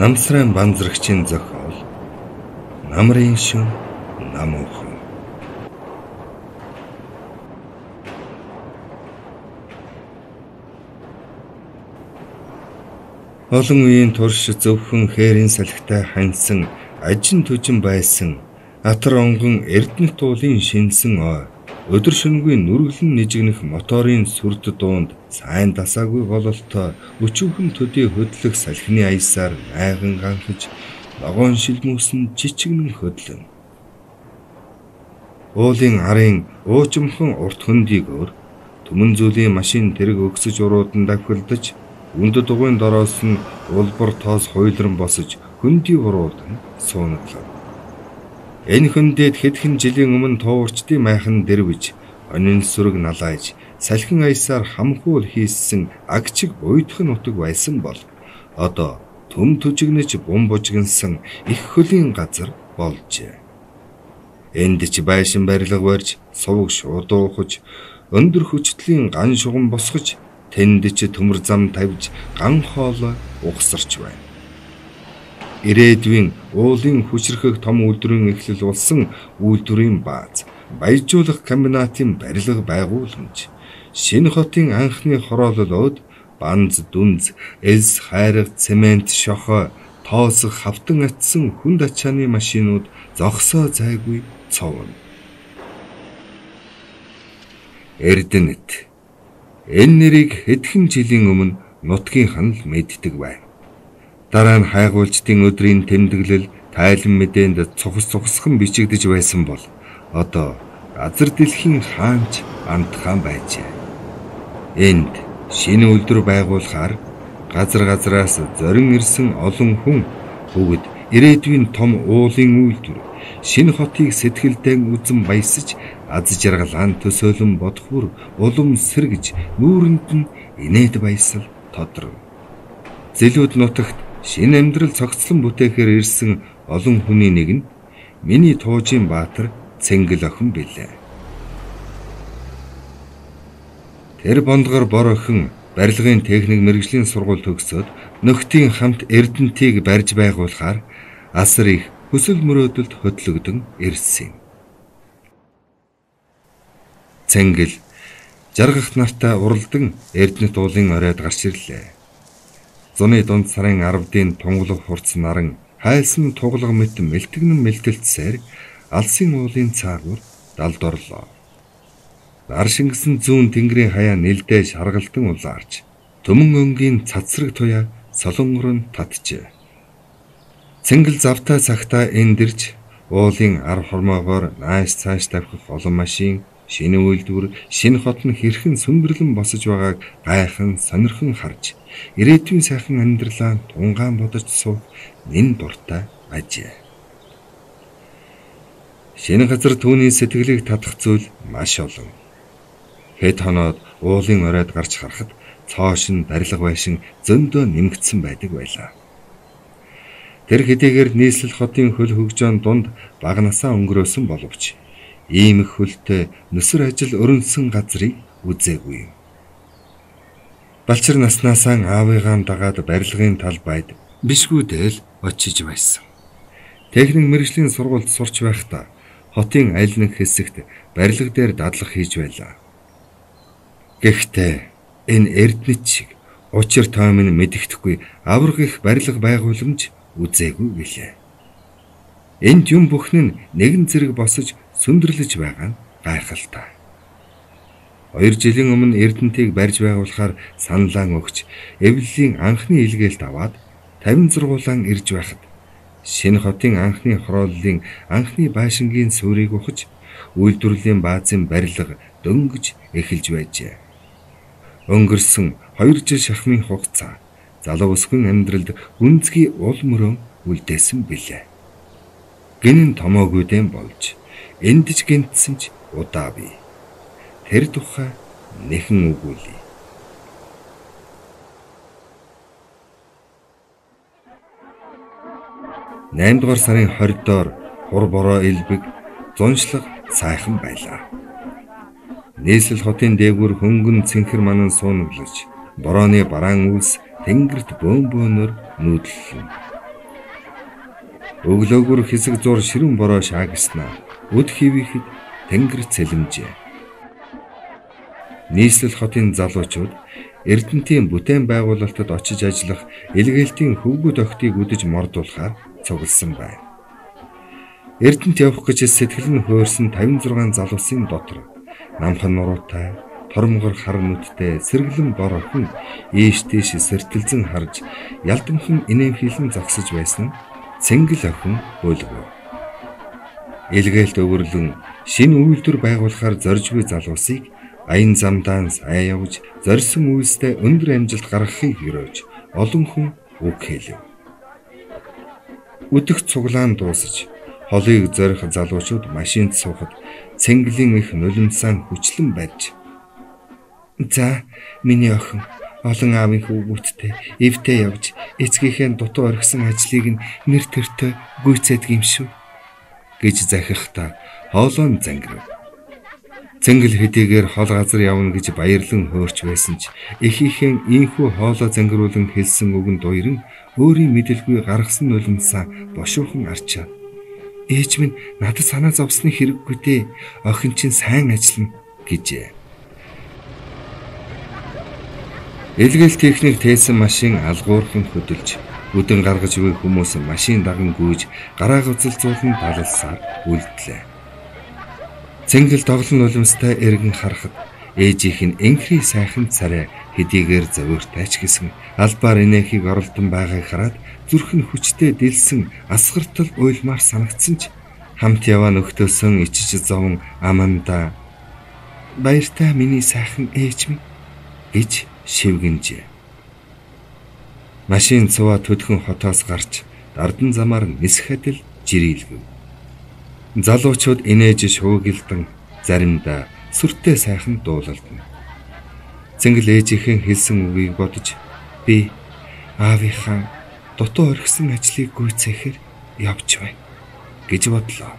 Намсрын банзрагчийн зохиол намрын шин намуухан. Олон үеийн турш зөвхөн хээрийн салхитай ханьсан ажин төжин байсан атар онгон эрдэнэт уулын шинсэн ой өдөр шөнөгүй нүргэлэн нижигнэх моторын сүрд дуунд сайн дасаагүй бололтой өчүүхэн төдий хөдлөх салхины аясаар найган ганхаж ногоон шилмүүсэн жичигнэн хөдлөн. Уулын арын уужимхан урт хөндийг өөр түмэн зүйлийн машин тэрэг өгсөж уруудан давхилдаж үндэд дугуйн дороос нь улбар тоос хуйлран босож хөндөй уруудан суунаглав. Энэ хөндөд хэдхэн жилийн өмнө туурчдын майхан дэрвэж онин сүрэг налайж салхин аясаар хамхуул хийссэн агчиг уйдхан утаг байсан бол одоо төм төжигнэж бум бужигнсан их хөлийн газар болжээ. Энд ч байшин барилга барьж сувг шуудуухаж өндөр хүчтлийн ган шугам босгож тэнд ч төмөр зам тавьж ган хоолой угсарч байна. Ирээдүйн уулын хүчрхэг том үйлдвэрийн эхлэл болсон үйлдвэрийн бааз, баяжуулах комбинатын барилга байгууламж, шинэ хотын анхны хороололоод банз дүнз, элс хайрга цемент шохоо, тоосох хавтан атсан хүнд ачааны машинууд зогсоо зайгүй цовно. Эрдэнэт энэ нэрийг хэдхэн жилийн өмнө нутгийнхан л мэддэг байна. Дараа нь хайгуулчдын өдрийн тэмдэглэл тайлан мэдээнд цухасхан бичигдэж байсан бол одоо газар дэлхийн хаанч амтхан байжээ. Энд шинэ үйлдвэр байгуулахаар газраас зорин ирсэн олон хүн бүгд ирээдүйн том уулын үйлдвэр шинэ хотыг сэтгэлдээ үзэн баясаж аз жаргалаан төсөөлөн бодох бүр улам сэргэж нүүрэнд нь инээд баясал тодров. Зэлүүд нутагт шинэ амьдрал цогцлон бүтээхээр ирсэн олон хүний нэг нь миний туужийн баатар Цэнгэл охин билээ. Тэр бондгор бор охин барилгын техник мэргэжлийн сургууль төгсөөд нөхдийн хамт эрдэнтийг барьж байгуулахаар асар их хүсэл мөрөөдөлд хөтлөгдөн ирсэн юм. Цэнгэл жаргах нартаа уралдан эрдэнэт уулын оройд гарч ирлээ. Зуны дунд сарын 10-ийн тунгалаг хурц наран хайлсан туглаг мэт мэлтгэн мэлтэлцсээр алсын уулын цаагуур далд орлоо. Нар шингэсэн зүүн тэнгэрийн хаяа нэлдээ шаргалтан улаарч төмөн өнгийн цацраг туяа солонгорон татжээ. Цэнгэл завтаа цагтаа эндэрж уулын ар хормоогоор нааш цааш тавхих олон машин шинэ үйлдвэр шинэ хот нь хэрхэн сүмбэрлэн босож байгааг гайхан сонирхон харж ирээдүйн сайхан амьдралаа тунгаан бодож суух нэн дуртай ажээ. Шинэ газар түүний сэтгэлийг татах зүйл маш олон. Хэд хоноод уулын оройд гарч харахад цоош нь барилга байшин зөндөө нэмэгдсэн байдаг байлаа. Тэр хэдийгээр нийслэл хотын хөл хөгжөөнд дунд бага насаа өнгөрөөсөн боловч ийм их хөлтэй нүсэр ажил өрнсөн газрыг үзээгүй юм. Балчир наснаасаа аавыгаа дагаад барилгын талбайд бишгүүдэл очиж байсан. Техник мэргэжлийн сургуульд сурч байхдаа хотын аль нэг хэсэгт барилга дээр дадлах хийж байлаа. Гэхдээ энэ эрдэнэт шиг учир тоомын мэддэхгүй авраг их барилга байгууламж үзээгүй гэлээ. Энд юм бүхэн нь нэгэн зэрэг босож сүндэрлэж байгаа нь гайхалтай. 2 жилийн өмнө эрдэнтийг барьж байгуулахаар саналаа өгч эвлэлийн анхны илгээлт аваад 50 зургуулан ирж байхад шинэ хотын анхны хорооллын анхны байшингийн суурийг ухаж үйлдвэрлэлийн баазын барилга дөнгөж эхэлж байжээ. Өнгөрсөн 2 жил шахмын хугацаа залуу өсгөн амьдралд гүнзгий уул мөрөө үлдээсэн билээ. Гинэн томоогүйдэн болж эндж гинтсэн ч удаа бий. Тэр тухай нэхэн үгүүлээ. 8 дугаар сарын 20-доор хур бороо элбэг зуншлаг сайхан байлаа. Нийслэл хотын дээгүүр хөнгөн цэнхэр манан суунаглаж, борооны бараан үлс тэнгэрт бөөнбөөнөр нүүдлэн. Өглөөгөр хэсэг зур ширүүн бороо шаагснаа өд хивэхэд тэнгэр цэлэмжээ. Нийслэл хотын залуучууд Эрдэнэтийн бүтээн байгуулалтад очиж ажиллах илгээлтийн хөвгүүд охтыг үдэж мордуулахаар цугласан байна. Эрдэнэт явах гэж сэтгэл нь хөөрсөн 56 залуусын дотор намхан нуруутай, тормгор хар нүдтэй сэргэлэн бор охин ийш тийш сэртэлзэн харж ялдамхан инээмхийлэн зогсож байсан Цэнгэл охин өлгөө. Илгээлт өвөрлөн шинэ үйлдвэр байгуулахаар зоржгүй залуусыг аян замдаа сайн явж зорьсон үйлстэй өндөр амжилт гаргахыг хөрөөж олон хүн үг хэлв. Өдөх цуглаан дуусаж холыг зорих залуучууд машинд суухад Цэнгэлийн их нулимсан хүчлэн барьж "За, миний охин олон аавын хөвгүүдтэй эвтэй явж эцгийнхээ дутуу орхисон ажлыг нь нэр төртөө гүйцэдэг юм шүү" гэж захихта хоолойн зангирв. Цэнгэл хэдийгээр хол газар явна гэж баярлан хөөрч байсан ч эхийнхээ ийхүү хоолой зангируулан хэлсэн үгэнд уяран өөрийн мэдэлгүй гаргасан нулимсаа бошуухан арчаа. "Ээж минь надад санаа зовсны хэрэггүй дээ. Охин чинь сайн ажиллана" гэжээ. Илгээл техник тээсэн машин алгуурхан хөдөлж өдөн гаргаж буй хүмүүс машин даган гүйж гараа гуцалзуулан далалсаар үлдлээ. Цэнгэл тоглон нулимстай эргэн харахад ээжийнх нь энхри сайхан царай хэдийгээр зовиртай ч гэсэн албаар инээхийг оролдон байгааг хараад зүрх нь хүчтэй дэлсэн асгартал уйлмаар санагдсан ч хамт яваа нөхдөөсөн ичиж зовон аманда "Баяртай миний сайхан ээж минь" гэж шивгэнжээ. Машин цуваа төдхөн хотоос гарч дардан замаар нисэхэд л жирэлгэв. Залуучууд инээж шуугилдан заримдаа сүртэй сайхан дуулалдана. Цэнгэл ээжийнхэн хэлсэн үгийг бодож "Би аавынхаа дутуу орхисон ажлыг гүйцээхээр явж байна" гэж бодлоо.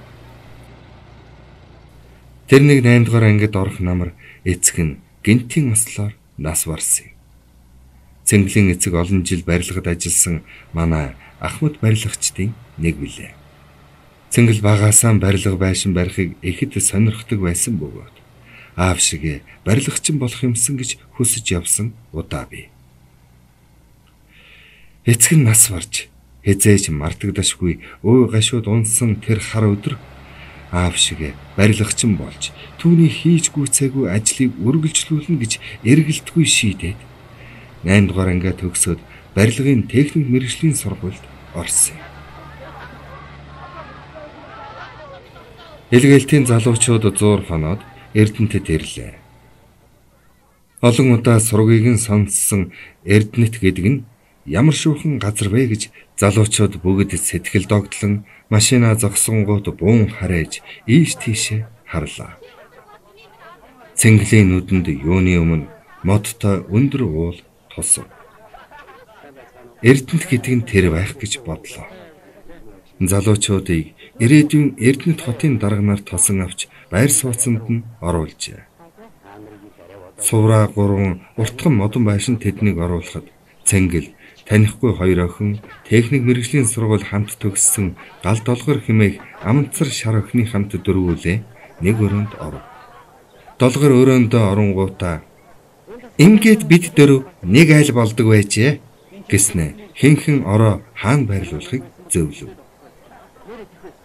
Тэр нэг 8 дугаар ангид орох намар эцэг нь гинтийн ослоор нас барсан. Цэнгэлийн эцэг олон жил барилгад ажилласан манай Ахмад барилгачдын нэг билээ. Цэнгэл багаасаа барилга байшин барихыг ихэд сонирхдог байсан бөгөөд аав шиг барилгачин болох юмсан гэж хүсэж явсан удаа бий. Эцэг нь нас барж хязээж мартагдашгүй өө гашууд унсан тэр хар өдөр аав шиг барилгачин болж түүний хийж гүйцээгүй ажлыг үргэлжлүүлнэ гэж эргэлтгүй шийдээд 8 дугаар ангиа төгсөөд барилгын техник мэргэжлийн сургуульд орсон. Илгээлтийн залуучууд зуур хоноод Эрдэнэтэд ирлээ. Олон удаа сургийг нь сонссон Эрдэнэт гэдэг нь ямар шуухан газар вэ гэж залуучууд бүгд сэтгэл догтлон машинаа зогсонгууд буун харээж ийш тийшээ харлаа. Цэнгэлийн нүдэнд юуны өмнө модтой өндөр уул тусав. Эрдэнэт гэдэг нь тэр байх гэж бодлоо. Залуучуудыг ирээдүйн Эрдэнэт хотын дарганаар тосон авч байр сууцанд нь оруулжээ. Сувраа 3 уртхан модон байшин тэднийг оруулахад Цэнгэл танихгүй 2 охин техник мэргэжлийн сургууль хамт төгссөн гал долгор хэмээх амтсар шар охины хамт дөрвүүлээ нэг өрөөнд оров. Долгор өрөөндөө оронгуудаа "Ингээд бид дөрөв нэг айл болдог байжээ" гэснэ хинхэн ороо хаан байрлуулахыг зөвлөв.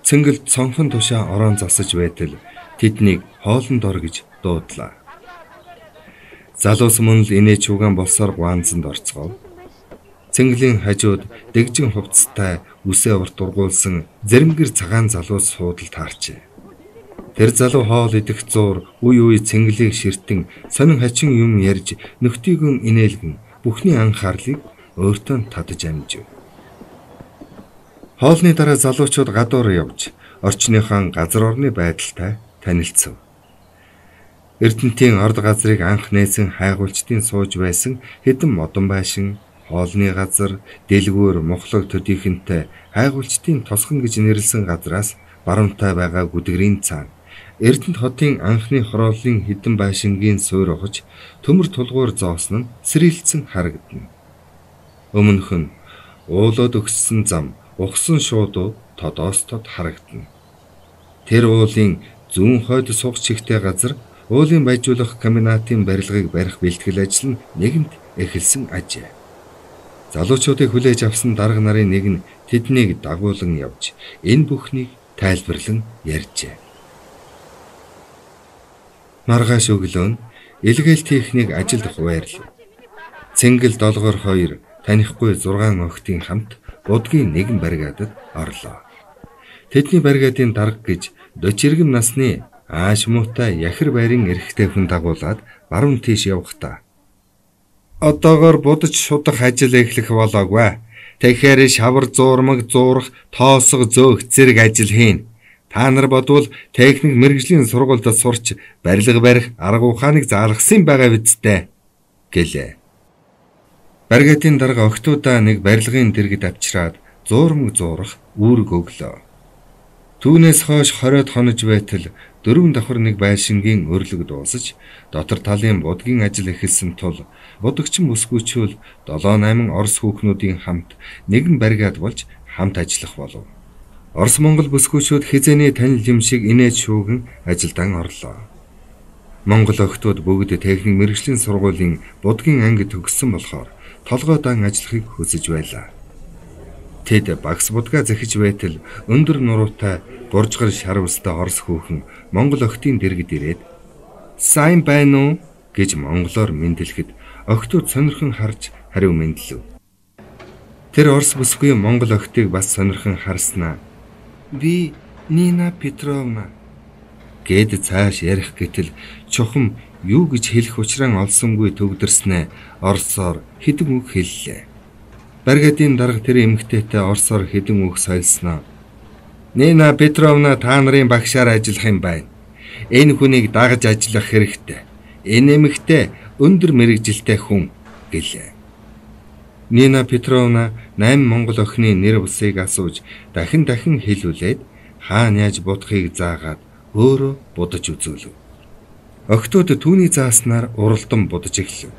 Цэнгэл цонхон тушаа ороон засаж байтал тэднийг хоолнд ор гэж дуудлаа. Залуус мөн л инээж угаан болсоор гуанзанд орцгов. Цэнгэлийн хажууд дэгжин хувцастай үсээ урт ургуулсан зэрэмгэр цагаан залуус суудал таарчээ. Тэр залуу хоол идэх зуур үе Цэнгэлийг ширтэн сонин хачин юм ярьж нөхдийгөн инээлгэн бүхний анхаарлыг өөртөө татаж амжив. Хоолны дараа залуучууд гадуур явж орчныхон газар орны байдалтай танилцв. Эрдэнэтийн орд газрыг анх нээсэн хайгуулчдын сууж байсан хэдэн модон байшин, хоолны газар, дэлгүүр, мухлаг төдийхөнтэй хайгуулчдын тосхон гэж нэрлсэн газраас баруунтай байгаа гүдгэрийн цаана Эрдэнэт хотын анхны хорооллын хэдэн байшингийн суур ухаж төмөр тулгуур зоосон нь сэрэлцэн харагдана. Өмнөх нь уулууд өгссөн зам ухсан шуудууд тодоостод харагдана. Тэр уулын зүүн хойд сух чигтэй газар уулын баяжуулах комбинатын барилгыг барих бэлтгэл ажил нь нэгэнт эхэлсэн ажээ. Залуучуудыг хүлээж авсан дарга нарын нэг нь тэднийг дагуулan явж энэ бүхнийг тайлбарлан ярьжээ. Маргааш өглөө нь илгээл техник ажилд хуваарлав. Цэнгэл долгоор 2 танихгүй 6 охидын хамт будгийн нэгэн баригадад орлоо. Тэдний баригадын дарга гэж 40 иргэн насны ааш муутай яхир байрын эрэгтэй хүн дагуулад баруун тийш явахдаа одоогоор будаж шудах ажил эхлэх болоогүй. Тэгэхээр шавар зуурмаг зуурах, тоосго зөөх зэрэг ажил хийн. Та нар бодвол техник мэргэжлийн сургуульд сурч барилга барих арга ухааныг заалгасан байгаа бидтэй гэлээ. Баригатын дарга охтуудаа нэг барилгын дэргэд авчираад зуурмаг зуурах үүрэг өглөө. Түүнээс хойш 20-од хонож байтал 4 давхар нэг байшингийн өрлөг дуусаж дотор талын будгийн ажил эхэлсэн тул будагчин бүсгүйчүүл 7-8 орос хүүхнүүдийн хамт нэгэн баригад болж хамт ажиллах болов. Орос Монгол бүсгүйчүүд хизээний танил юм шиг инээж шүүгэн ажилдан орлоо. Монгол охтууд бүгд техник мэргэжлийн сургуулийн будгийн анги төгссөн болохоор толгойдоо ажиллахыг хүсэж байлаа. Тэд багс будгаа захиж байтал өндөр нуруутай гуржгар шарвстай орос хүүхэн Монгол охтын дэргэд ирээд "Сайн байна уу?" гэж монголоор мэндэлэхэд охтууд сонирхон харж хариу мэдлэв. Тэр орос бүсгүй монгол охтыг бас сонирхон харснаа "Би Нина Петровна" гэд цааш ярих гэтэл чухам юу гэж хэлэх учраа олсонгүй төгдөрснээ оросоор хэдэн үг хэллээ. Баригадын дарга тэр эмэгтэйтэй оросоор хэдэн үг сольсноо. "Нина Петровна та нарын багшаар ажиллах юм байна. Энэ хүнийг дагаж ажиллах хэрэгтэй. Энэ эмэгтэй өндөр мэргэжилтэй хүн" гэлээ. Нина Петровна 8 монгол охины нэр бусыг асууж дахин хэлүүлээд хаана яаж будахыг заагаад өөрөө будаж үзүүлв. Охтууд түүний зааснаар уралдан будаж эхлэв.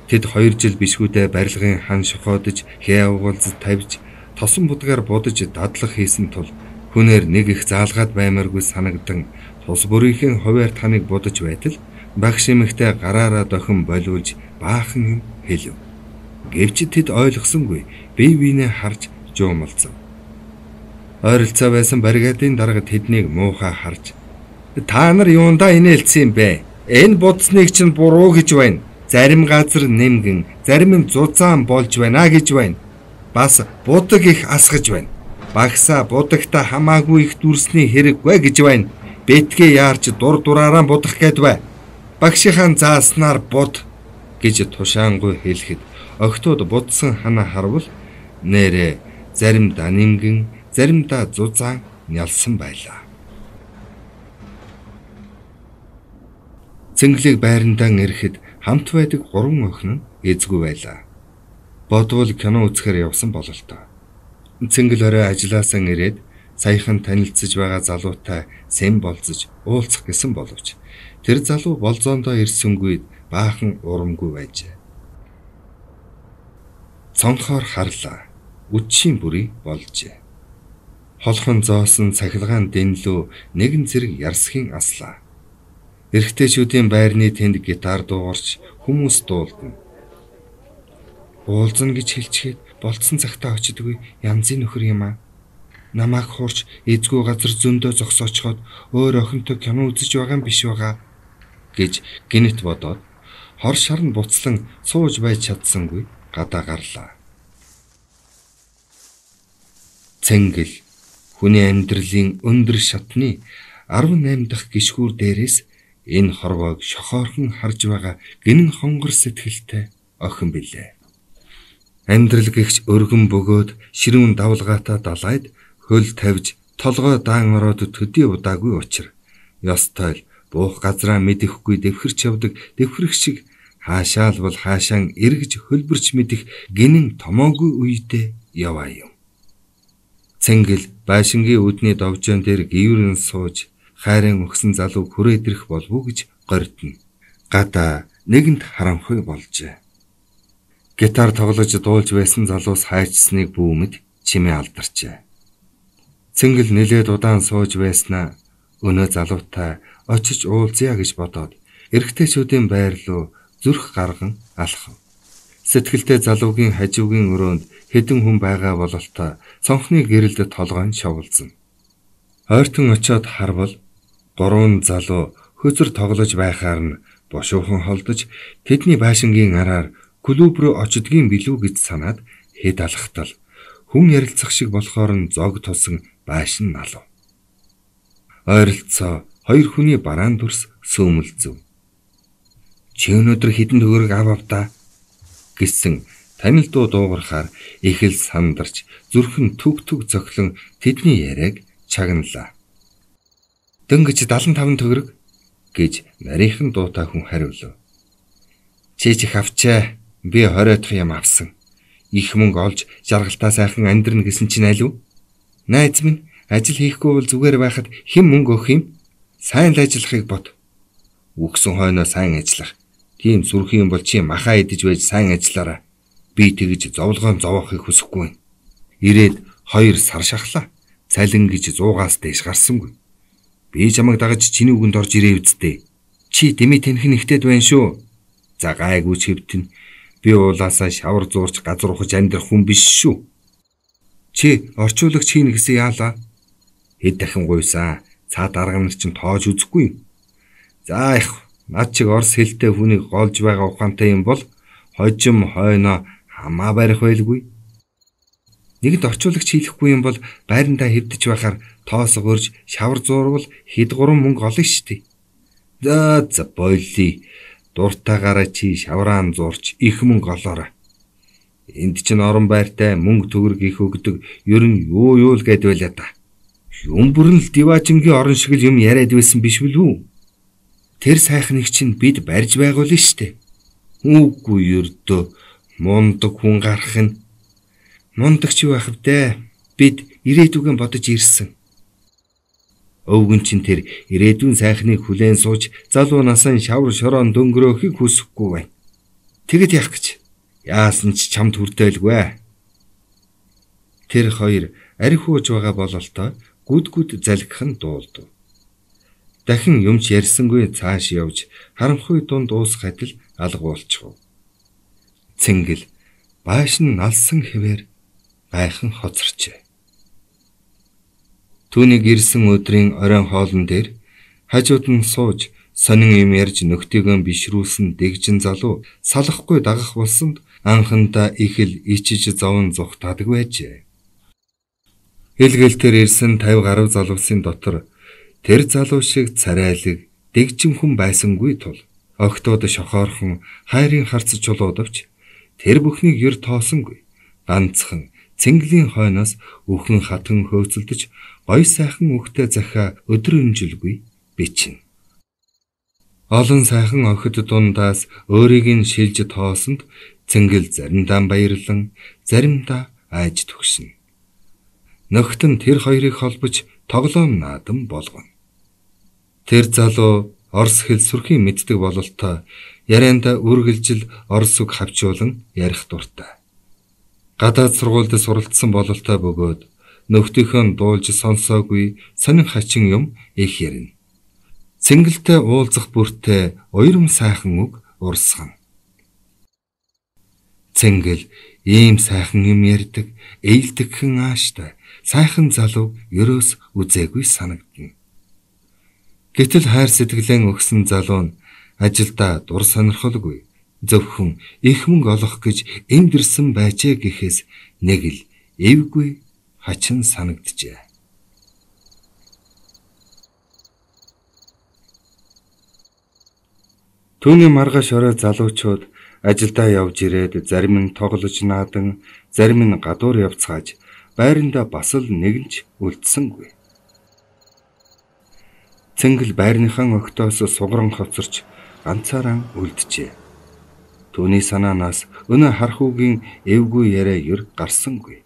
Тэд 2 жил бишгүүдээ барилгын хан шохоодж, хээ угуулзад тавьж, тосон будгаар будаж дадлах хийсэн тул хүнээр нэг их заалгаад баймааргүй санагдан тус бүрийнхэн хуваар таныг будаж байтал багш эмэгтэй гараараа дохин болиулж баахан юм хэлв. Гэвч тэд ойлгосонгүй бие биенээ харж жуумалцав. Ойролцоо байсан баригадын дарга тэднийг муухай харж "Та нар юундаа инээлцсэн юм бэ? Энэ будсныг чинь буруу гэж байна. Зарим газар нэмгэн, зарим нь зузаан болж байна гэж байна. Бас будаг их асгаж байна. Багсаа будагта хамаагүй их дүрсний хэрэггүй гэж байна. Бэтгээ яарч дур дураараа будах гээд бай. Багшийнхаа зааснаар буд" гэж тушаангуй хэлэхэд охтууд будсан ханаа харвал нэрээ заримдаа нэмгэн, заримдаа зузаан нялсан байлаа. Цэнгэлэг байрандаа ирэхэд хамт байдаг 3 охин нь эзгүй байлаа. Бодвол кино үзэхээр явсан бололтой. Цэнгэл орой ажилласаа ирээд саяхан танилцж байгаа залуутай сэм болцож уулзах гэсэн боловч тэр залуу болзоондоо ирсэнгүй баахан урамгүй байжээ. Цонхоор харлаа. Үдшийн бүрий болжээ. Холхон зоосон цахилгаан дэнлүү нэгэн зэрэг ярсхийн аслаа. Эрэгтэйчүүдийн байрны тэнд гитар дуугарч хүмүүс дуулдана. Уулзна гэж хэлчихэд болцсон цагтаа очидгүй янзын нөхөр юм аа. Намайг хуурч эзгүй газар зөндөө зогсоочхоод өөр охинтой кино үзэж байгаа юм биш байгаа гэж гинэт бодоод хор шарн буцлан сууж байж чадсангүй гадаа гарлаа. Цэнгэл хүний амьдралын өндөр шатны 18 дахь гишгүүр дээрээс энэ хорвоог шохоорхон харж байгаа гинэн хонгор сэтгэлтэй охин билээ. Амьдрал гихч өргөн бөгөөд ширүүн давлгаатай далайд хөл тавьж толгой даан ороод төдий удаагүй учир ёстой буух газраа мэдэхгүй дэвхэрч явдаг дэвхрэх шиг хаашаал бол хаашаан эргэж хөлбөрч мэдэх гинэн томоогүй үедээ яваа юм. Цэнгэл байшингийн үүдний довжоон дээр гіврэн сууж хайрын өгсөн залуу хүрээд ирэх болов уу гэж гордно. Гадаа нэгэнт харамхай болжээ. Гитар тоглож дуулж байсан залуус хайчсныг бүүмэд чимээ алдарчээ. Цэнгэл нэлээд удаан сууж байснаа өнөө залуутай очиж уулзъя гэж бодоод эрэгтэйчүүдийн байр руу зүрх гарган алхав. Сэтгэлдээ залуугийн хажуугийн өрөөнд хэдэн хүн байгаа бололтой цонхны гэрэлд толгойн шовлзсон. Ойртон очиод харвал 3 залуу хөзөр тоглож байхаар нь бошуухан холдож тэдний байшингийн араар клуб руу очдгийн билүү гэж санаад хэд алхтал хүн ярилцах шиг болохоор нь зог тусан байшин налав. Ойролцоо 2 хүний бараан дүрс сөөмөлзөв. Чи өнөөдөр хэдэн төгрөг авав гэсэн танил дуу дуугарахаар их л сандарч зүрхэн төг зохилон тэдний яриаг чагналаа. Дөнгөж 75 төгрөг гэж нарийнхан дуутай хүн хариулв. Чи ч их авчаа. Би 20 дахь юм авсан. Их мөнгө олж жаргалтаа сайхан амьдрна гэсэн чинь алив? Найз минь ажил хийхгүй бол зүгээр байхад хэн мөнгө өгөх юм? Сайн л ажиллахыг бод. Үгсэн хойноо сайн ажиллах. Тийм сүрхэн юм бол чи махаа идэж байж сайн ажиллаарай. Би тэгж зовлогоон зовоохыг хүсэхгүй. Ирээд 2 сар шахлаа. Цалин гэж 100-аас дээш гарсангүй. Би чамайг дагаж чиний үгэнд орж ирээ үсттэй. Чи дэмий тэнхэн ихтэйд байна шүү. За гайгүй чивтэн. Би уулаасаа шавар зуурч газар ухаж амьдрах хүн биш шүү. Чи орчуулагч хийнэ гэсэн яалаа. Хэд дахин гуйсан. Цаад арга нар чинь тоож үзэхгүй. За их над чиг орс хэлтэй хүнийг голж байгаа ухаантай юм бол хожим хойноо хамаа барих байлгүй. Нэгд орчуулагч хийхгүй юм бол байрандаа хэвдэж байхаар тоос гөрж шавар зуурвал хэд 3 мөнгө олно штий. За бойлий. Дуртаагаараа чи шавраан зуурч их мөнгө олоорой. Энд чинь орон байртай мөнгө төгрөг их өгдөг ер нь юу л гэд байлаа да. Юм бүрэн л диваажингийн орон шиг л юм яриад байсан биш үү? Тэр сайхныг чинь бид барьж байгуулна штэ. Үгүй ердөө мундаг хүн гарах нь мундагч юу ах вэ? Бид ирээдүгэн бодож ирсэн. Өвгөн чин тэр ирээдүйн сайхныг хүлээн сууж залуу насаа шавар шороон дөнгөрөөхийг хүсэхгүй байна. Тэгэд яах гэж? Яасан ч чамд хүрдээлгүй. Тэр 2 арх хууж байгаа бололтой гүд залгих нь дуулдав. Дахин юмч ярьсангүй цааш явж харанхуй дунд уусах адил алга болчихов. Цэнгэл байшин налсан хэвээр гайхан хоцорчээ. Түүнийг ирсэн өдрийн оройн хоолн дээр хажууд нь сууж сонин юм ярьж нөхдийгөө бишрүүлсэн дэгжин залуу салахгүй дагах болсонд анхандаа их л ичиж зовн зүхтаадаг байжээ. Хэлгэлтэр ирсэн 50 гаруй залуусын дотор тэр залуу шиг царайлаг дэгжин хүн байсангүй тул огтуд шохоорхон хайрын харц чулуудавч тэр бүхнийг ер тоосонгүй ганцхан Цэнгэлийн хойноос өхөн хатан хөөцөлдөж гой сайхан үхтэй захиа өдрөнжилгүй бичнэ. Олон сайхан охид дундаас өөрийг нь шилж тоосонд Цэнгэл заримдаа баярлан заримдаа айж төгшнө. Нөхтөн тэр 2-ыг холбож тоглоом наадам болгоно. Тэр залуу орс хэл сүрхийн мэддэг бололтой ярианда үргэлжил орс үг хавчуулан ярих дуртай. Гадаад сургуульд суралцсан бололтой бөгөөд нөхдийнхөө дуулж сонсоогүй сонин хачин юм их ярина. Цэнгэлтэй уулзах бүртээ уйрам сайхан үг урсгана. Цэнгэл ийм сайхан юм ярьдаг, ээлдэгхэн ааштай сайхан залуу ерөөс үзээгүй санагдана. Гэтэл хайр сэтгэлэн өгсөн залуу нь ажилдаа дур сонирхолгүй зөвхөн их мөнгө олох гэж энд ирсэн байжээ гэхээс нэг л эвгүй хачин санагджээ. Түүний маргааш орой залуучууд ажилдаа явж ирээд зарим нь тоглож наадан, зарим нь гадуур явцгааж байранда бас л нэгэнч үлдсэнгүй. Цэнгэл байрныхан огтоос сугаран хоцорч ганцаараа үлджээ. Түүний санаанаас өнөө хархуугийн эвгүй яриа ер гарсангүй.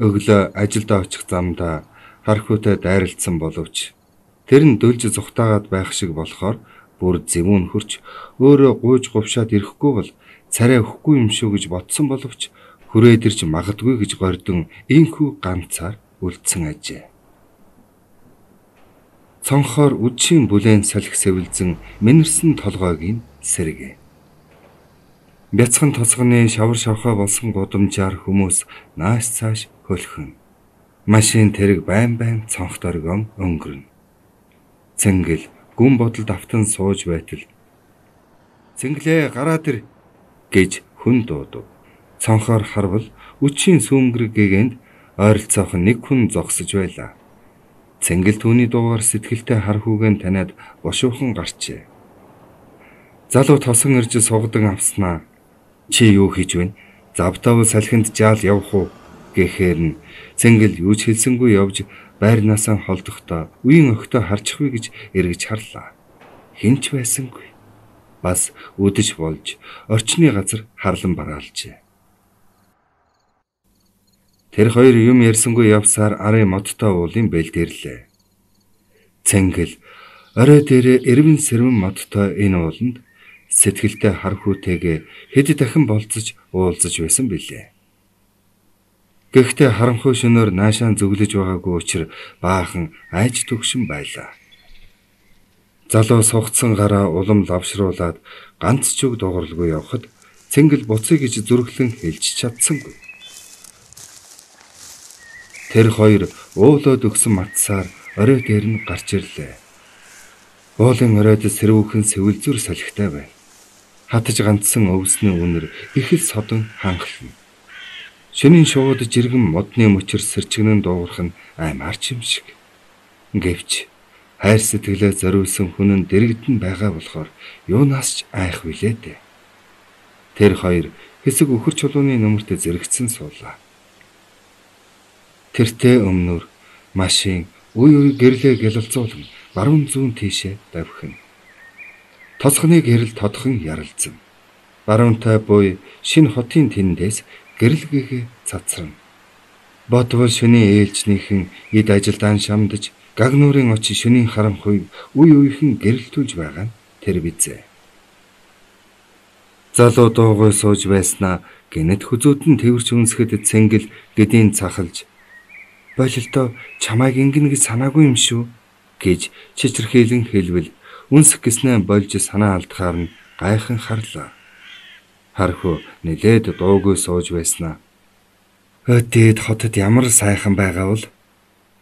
Өглөө ажилдаа очих замдаа хархуутай дайралцсан боловч тэр нь дөлж зүхтаагаад байх шиг болохоор бүр зэвүүн хөрч өөрөө гуйж говшаад ирэхгүй бол царай өгөхгүй юм шүү гэж бодсон боловч хүрээд ирж магадгүй гэж гордон инхүү ганцаар үлдсэн ажээ. Цонхоор үдшийн бүлээн салхи сэвэлзэн мэнэрсэн толгойг нь сэргэ. Бяцхан тоцгоны шавар шавхаа болсон гудамжаар хүмүүс нааш цааш хөлхөн. Машин тэрэг байн цонх дөргөн өнгөрнө. Цэнгэл гүн бодолд автан сууж байтал "Цэнгэлээ гараад ир" гэж хүн дуудав. Цонхоор харвал үдшийн сүүмгэр гэгэнд ойролцоох нэг хүн зогсож байлаа. Цэнгэл түүний дуугаар сэтгэлтэй хархуугэн таниад бошуухан гарчээ. "Залуу тосон ирж сугадан авснаа. Чи юу хийж вэ? Завтав салхинд жаал явах уу?" гэхээр нь Цэнгэл юу ч хэлсэнгүй явж байрнаасаа холдохдоо үеийн өгтөө харчихвэ гэж эргэж харлаа. Хинч байсангүй. Бас үдэж болж орчны газар харлан бараалжээ. Тэр хоёр юм ярьсангүй явсаар арын модтой уулын бэлдэрлээ. Цэнгэл орой дээрээ эрвэн сэрвэн модтой энэ ууланд сэтгэлтэй хархүүтэйгээ хэд дахин болцож уулзаж байсан билээ. Гэхдээ харанхуй шөнөөр наашаан зүглэж байгаагүй учраас баахан айж төгшин байлаа. Залуу сугцсан гараа улам лавшруулад ганц ч үг дууралгүй явхад Цэнгэл буцъя гэж зүрхлэн хэлж чадсангүй. Тэр хоёр уулаад өгсөн матсаар орой дээр нь гарч ирлээ. Уулын оройд сэрүүхэн сэвэлзүр салхитай байна. Хатаж ганцсан өвсний үнэр их л содон ханхлана. Шөнийн шууд жиргэн модны мөчөр сэрчгнэн дуугарх нь аймаарч юм шиг. Гэвч хайр сэтгэлээ зориулсан хүн нь дэрэгдэн байгаа болохоор юунаас ч айх билээ дээ. Тэр хоёр хэсэг өхөр чулууны нөмөртө зэрэгцэн суулаа. Тэртээ өмнөр машин үе гэрлээ гялалзуулан баруун зүүн тийшээ давхина. Тоцхны гэрэл тодхон яралзсан. Баруунтай буй шинэ хотын тэндээс гэрэлгээ цацрана. Ботвол шөнийн ээлжнийхэн эд ажилдаан шамдаж гагнуурын очи шөнийн харанхуйг үе үехэн гэрэлтүүлж байгаа нь тэр бизээ. Залуу дуугүй сууж байснаа гинэт хүзүүдэн тэрч үнсгэд Цэнгэл гэдийн цахалж "Болилдоо чамайг ингэн гэж санаагүй юм шүү" гэж чичирхийлэн хэлвэл үнсэх гэснээ болж санаа алдахаар нь гайхан харлаа. Хархуу нэлээд дуугүй сууж байснаа "Өдөөд хотод ямар сайхан байгаа бол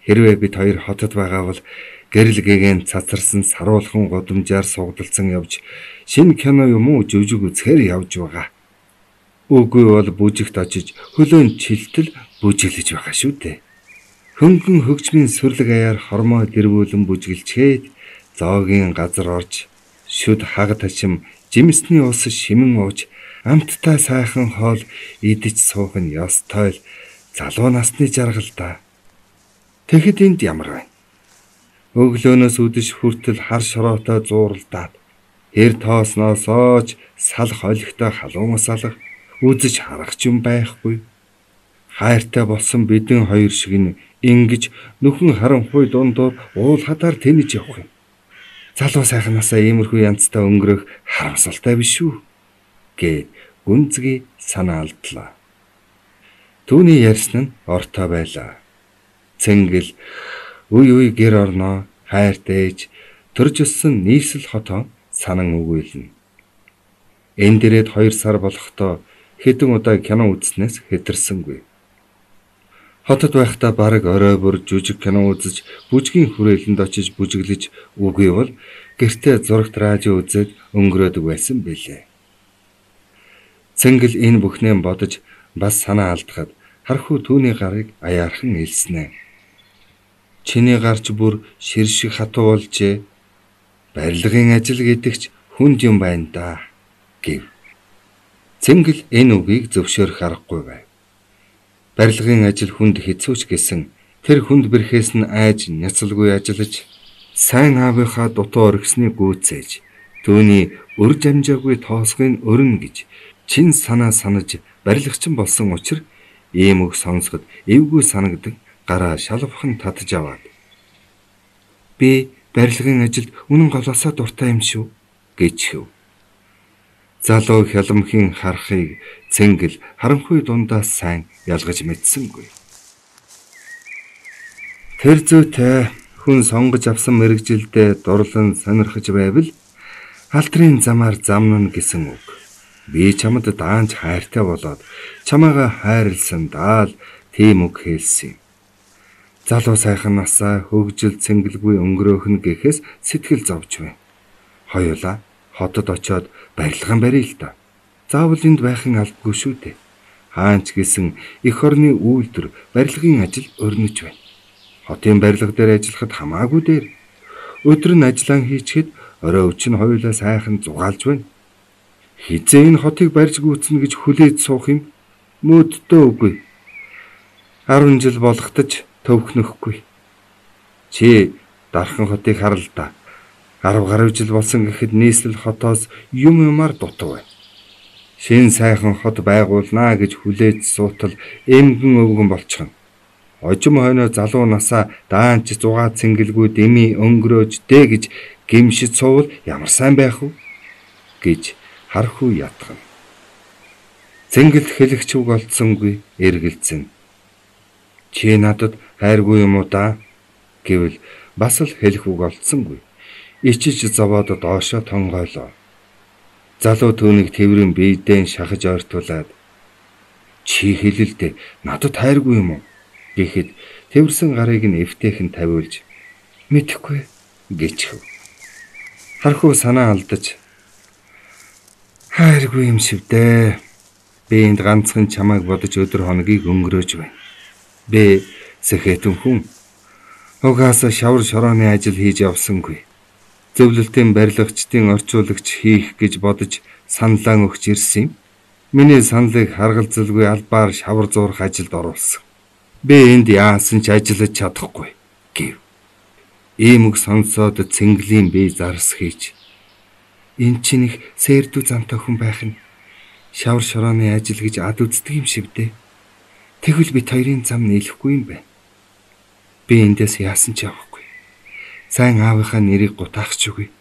хэрвээ бид хоёр хотод байгаа бол гэрэлгээгэн цацарсан саруулхан гудамжаар сугдалцсан явж шинэ кино юм уу жүжиг үзэхээр явж байгаа. Үгүй бол бүжигт очиж хөлөөн чилтэл бүжиглэж байгаа шүү дээ. Хөнгөн хөгжмийн сүрлэг аяар хормоо дэрвүүлэн бүжгэлчээд зоогийн газар орж шүд хаг ташим жимсний ус шимэн ууж амттай сайхан хоол идэж суух нь ёстой л залуу насны жаргал да. Тэгэхэд энд ямар байна? Өглөөнөөс үдэш хүртэл хар шороотой зууралдаад хэр тоосноосооч салх олигтой халуун салах үзэж харах ч юм байхгүй. Хайртай болсон бидэн хоёр шиг нь ингэж нөхөн харанхуй дундуур уул хадаар тэнэж явах юм. Залуу сайхнасаа иймэрхүү янзтай өнгөрөх харамсалтай биш үү? Гэ гүнзгий санаа алдлаа. Түүний ярьсан нь ортой байлаа. Цэнгэл үе гэр орноо хайртайж төрж өссөн нийслэл хотоо санан өгүүлнэ. Энэ дээрээ 2 сар болохдоо хэдэн удаа кино үзснээс хэтэрсэнгүй. Хотод байхдаа бараг орой бүр жүжиг кино үзэж, бүжгийн хүрээлэнд очиж бүжиглэж, үгүй бол гэртээ зурагт радио үзээд өнгөрөөдөг байсан билээ. Цэнгэл энэ бүхнээ бодож бас санаа алдахад хархуу түүний гарыг аяархан илснэ. Чиний гарч бүр шир шиг хатуу болжээ. Барилгын ажил гэдэгч хүнд юм байна да гэв. Цэнгэл энэ үгийг зөвшөөрөх аргагүй байв. Барилгын ажил хүнд хэцүүч гэсэн тэр хүнд бэрхээс нь айж няцалгүй ажиллаж сайн аавынхаа дутуу оргисны гүйцээж түүний өр жамжаагүй тоосгын өрн гэж чин санаа санаж барилгачин болсон учраас ийм үг сонсоход эвгүй санагдаг гараа шалвхан татж аваад "Би барилгын ажилд үнэн голоосоо дуртай юм шүү" гэж хэв. Залуу хяламхийн харахыг Цэнгэл харанхуй дундаас сайн ялгаж мэдсэнгүй. Тэр зүйтэй хүн сонгож авсан мэрэгжилдээ дурлан сонирхож байвал алдрын замаар замнана гэсэн үг. Би чамд даанч хайртай болоод чамайгаа хайрлсан даал тийм үг хэлсэн юм. Залуу сайхан насаа хөгжил цэнгэлгүй өнгөрөөх нь гэхээс сэтгэл зовж байна. Хоёулаа хотод очиод барилган барья л да. Заавал энд байхын албагүй шүү дээ. Хаанч гэсэн эх орны үйлдвэр барилгын ажил өрнөж байна. Хотын барилга дээр ажиллахад хамаагүй дээр. Өдөр нь ажиллан хийчихэд орой өчнө хоёулаа сайхан зугаалж байна. Хизээ энэ хотыг барьж гүйцэнэ гэж хүлээж суух юм мөддөө үгүй. 10 жил болохтаж төвхнөхгүй. Чи дархан хотыг харал да. 10 гаруй жил болсон гэхэд нийслэл хотоос юмар дутав байна. Шин сайхан хот байгуулнаа гэж хүлээж суутал эмгэн өвгөн болчихно. Ожим хойноо залуу насаа даанч зугаа цэнгэлгүй дэмий өнгөрөөж дэ гэж гимшиж суувал ямар сайн байх вэ гэж хархуу ятгана. Цэнгэлд хэлэгч үг олдсонгүй эргэлзэн. Чи надад хайргүй юм уу да гэвэл бас л хэлэх үг олдсонгүй. Ичиж зовоод доошоо тонгойлоо. Залуу түүнийг тэврэн биедээ шахаж ойртуулад чи хэлэлдэ надад хайргүй юм уу гэхэд тэвэрсэн гарыг нь эвтэйхэн тавиулж мэдэхгүй гэчихв. Хархуу санаа алдаж хайргүй юм шивдэ. Би энд ганцхан чамайг бодож өдөр хоногийг өнгөрөөж байна. Би сэхэтэн хүн. Угаасаа шавар шорооны ажил хийж явсангүй. Зөвлөлтийн барилгачдын орчуулагч хийх гэж бодож саналаа өгч ирсэн юм. Миний саналыг харгалзалгүй албаар шавар зурх ажилд оруулсан. Би энд яасан ч ажиллаж чадахгүй гэв. Ийм үг сонсоод цэнгэлийн бие зарс хийж. Энд чинь их сэрдүү замтай хүн байх нь шавар шорооны ажил гэж ад үздэг юм шивдэ. Тэгвэл бит хоёрын зам нийлэхгүй юм байна. Би эндээс яасан ч явахгүй. Сайн аавынхаа нэрийг гутаахч үгүй.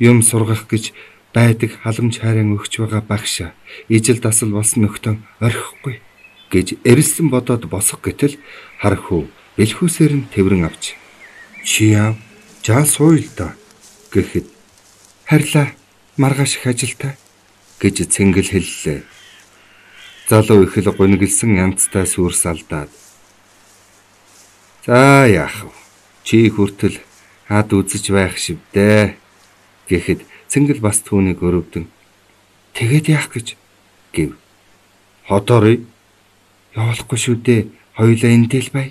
Юм сургах гэж байдаг халамж хайран өгч байгаа багшаа ижил дасал болсон нөхтөн орхихгүй гэж эрэлсэн бодоод босох гэтэл хархуу бэлхүүсээр нь тэврэн авч чи яав жаа сууя л да гэхэд харьлаа маргааш их ажилтай гэж цэнгэл хэллээ. Залуу их л гунигэлсэн янзтай сүрс алдаад за яах вэ? Чи хүртэл хад үзэж байх шивдэ гэхэд цэнгэл бас түүнийг өрөвдөн тэгээд яах гэж гэв. Хотоорой явуулахгүй шүү дээ. Хоёулаа эндээ л бай.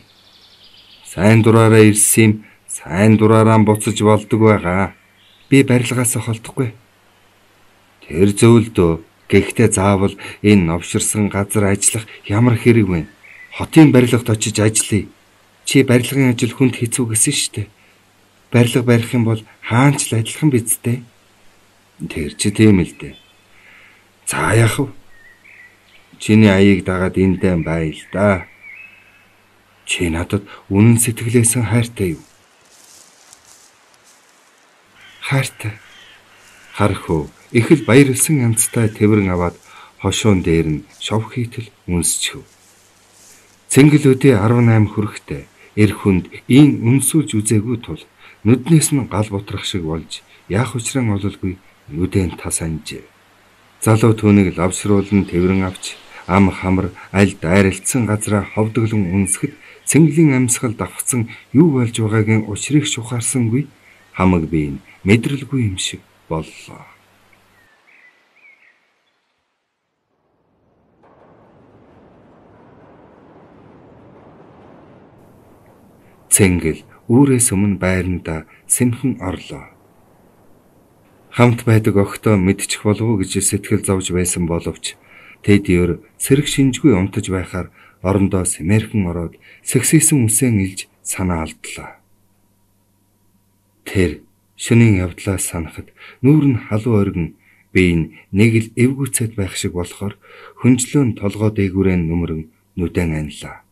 Сайн дураараа ирсэн юм. Сайн дураараа буцаж болдог байгаа. Би барилгаас холдохгүй. Тэр зөвлөдөө. Гэхдээ заавал энэ новширсан газар ажиллах ямар хэрэг вэ? Хотын барилгад очиж ажиллая. Чи барилгын ажил хүнд хэцүү гэсэн шүү дээ. Барилга барих юм бол хаанч л адилхан биз дээ. Тэр чи тийм л дээ. За яах вэ? Чиний аяыг дагаад эндээ бай л да. Чи надад үнэн сэтгэлээс хайртай юу? Хайртай. Хархуу их л баярлсан янзтай тэврэн аваад хошуун дээр нь шов хийтэл үнсчихв. Цэнгэлүүдээ 18 хүрэхтэй эр хүнд ийн үнсүүлж үзээгүй тул нүднээс нь гал бутрах шиг болж яах учраа ололгүй нүдэн тас анжээ. Залуу түүнийг лавшруулан тэврэн авч ам хамар аль дайралтсан газараа ховдоглон үнсгэд цэнгэлийн амьсгал давхцсан юу болж байгаагийн учрыг шухаарсангүй хамаг бие нь мэдрэлгүй юм шиг боллоо. Цэнгэл үүрээс өмнө байранда сэмхэн орлоо. Хамт байдаг огтоо мэдчих болов уу гэж сэтгэл зовж байсан боловч тэд сэрэг шинжгүй унтаж байхаар орондоо сэмэрхэн ороод сэгсийсэн үсэн илж санаа алдлаа. Тэр шөнийн явдлаа санахад нүүр нь халуун оргин бие нь нэг л эвгүцэд байх шиг болохоор хүнжлөөн толгой дээгүүрээ нүмерэн нүдэн анилаа.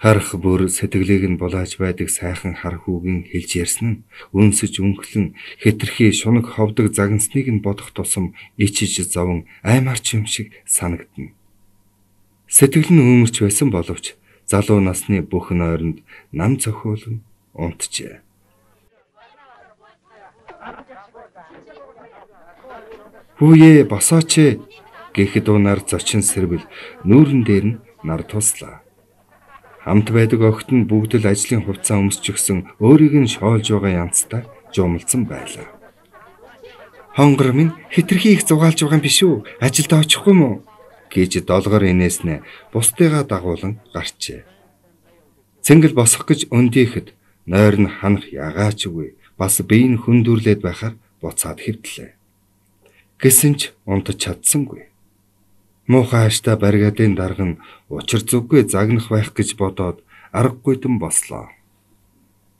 Харах бүр сэтгэлийг нь булааж байдаг сайхан хар хүүгийн хэлж ярьсан нь үнсэж өнхлөн хэтэрхий шунаг ховдог загнасныг нь бодох тусам ичиж зовон аймарч юм шиг санагдана. Сэтгэл нь үүмэрч байсан боловч залуу насны бүх нойронд нам цохиулан унтжээ. "Хүүе, босооч ээ" гэхэд унаар зочин сэрвэл нүүрэн дээр нь нар туслаа. Хамт байдаг охид нь бүгд л ажлын хувцас өмсчихсөн өөрийг нь шоолж байгаа янзтай жумалсан байлаа. "Хонгор минь хитрхи их зугаалж байгаа юм биш үү? Ажилд очихгүй мүү?" гэж долгор инээснэ бусдыгаа дагуулan гарчээ. Цэнгэл босох гэж өндийхэд нойр нь ханах ягаач үгүй бас бие нь хүндүрлээд байхаар буцаад хэвтлээ. Гэсэн ч унтаж чадсангүй. Муухай хааштай баригадын дарга нь учир зүггүй загнах байх гэж бодоод аргагүйдэн бослоо.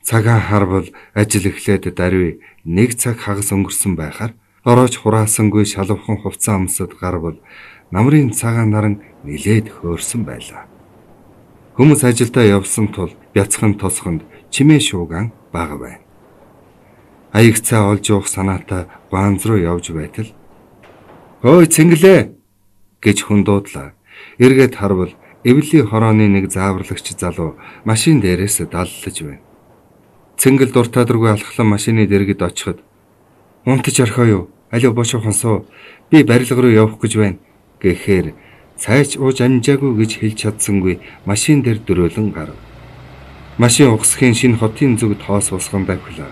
Цагаан харвал ажил эхлээд даруй 1 цаг хагас өнгөрсөн байхаар ороож хураасангүй шалвархан хувцас амсад гарвал намрын цагаан наран нилээд хөөрсөн байлаа. Хүмүүс ажилдаа явсан тул бяцхан тосгонд чимээ шуугаан бага байна. Аяг цаа олж уух санаатай ганц руу явж байтал "Хөөе Цэнгэлээ" гэж хүн дуудлаа. Эргээд харвал эвлийн хорооны нэг зааварлагч залуу машин дээрээс даллаж байна. Цэнгэл дуртаадургүй алхлан машины дэргэд очиход "Унтаж орхоо юу? Алив бошуухан суу. Би барилга руу явах гэж байна" гэхээр цайч ууж амжаагүй гэж хэлж чадсангүй машин дээр дөрөөлөн гарав. Машин угсхийн шинэ хотын зүг тоос усган давхилаа.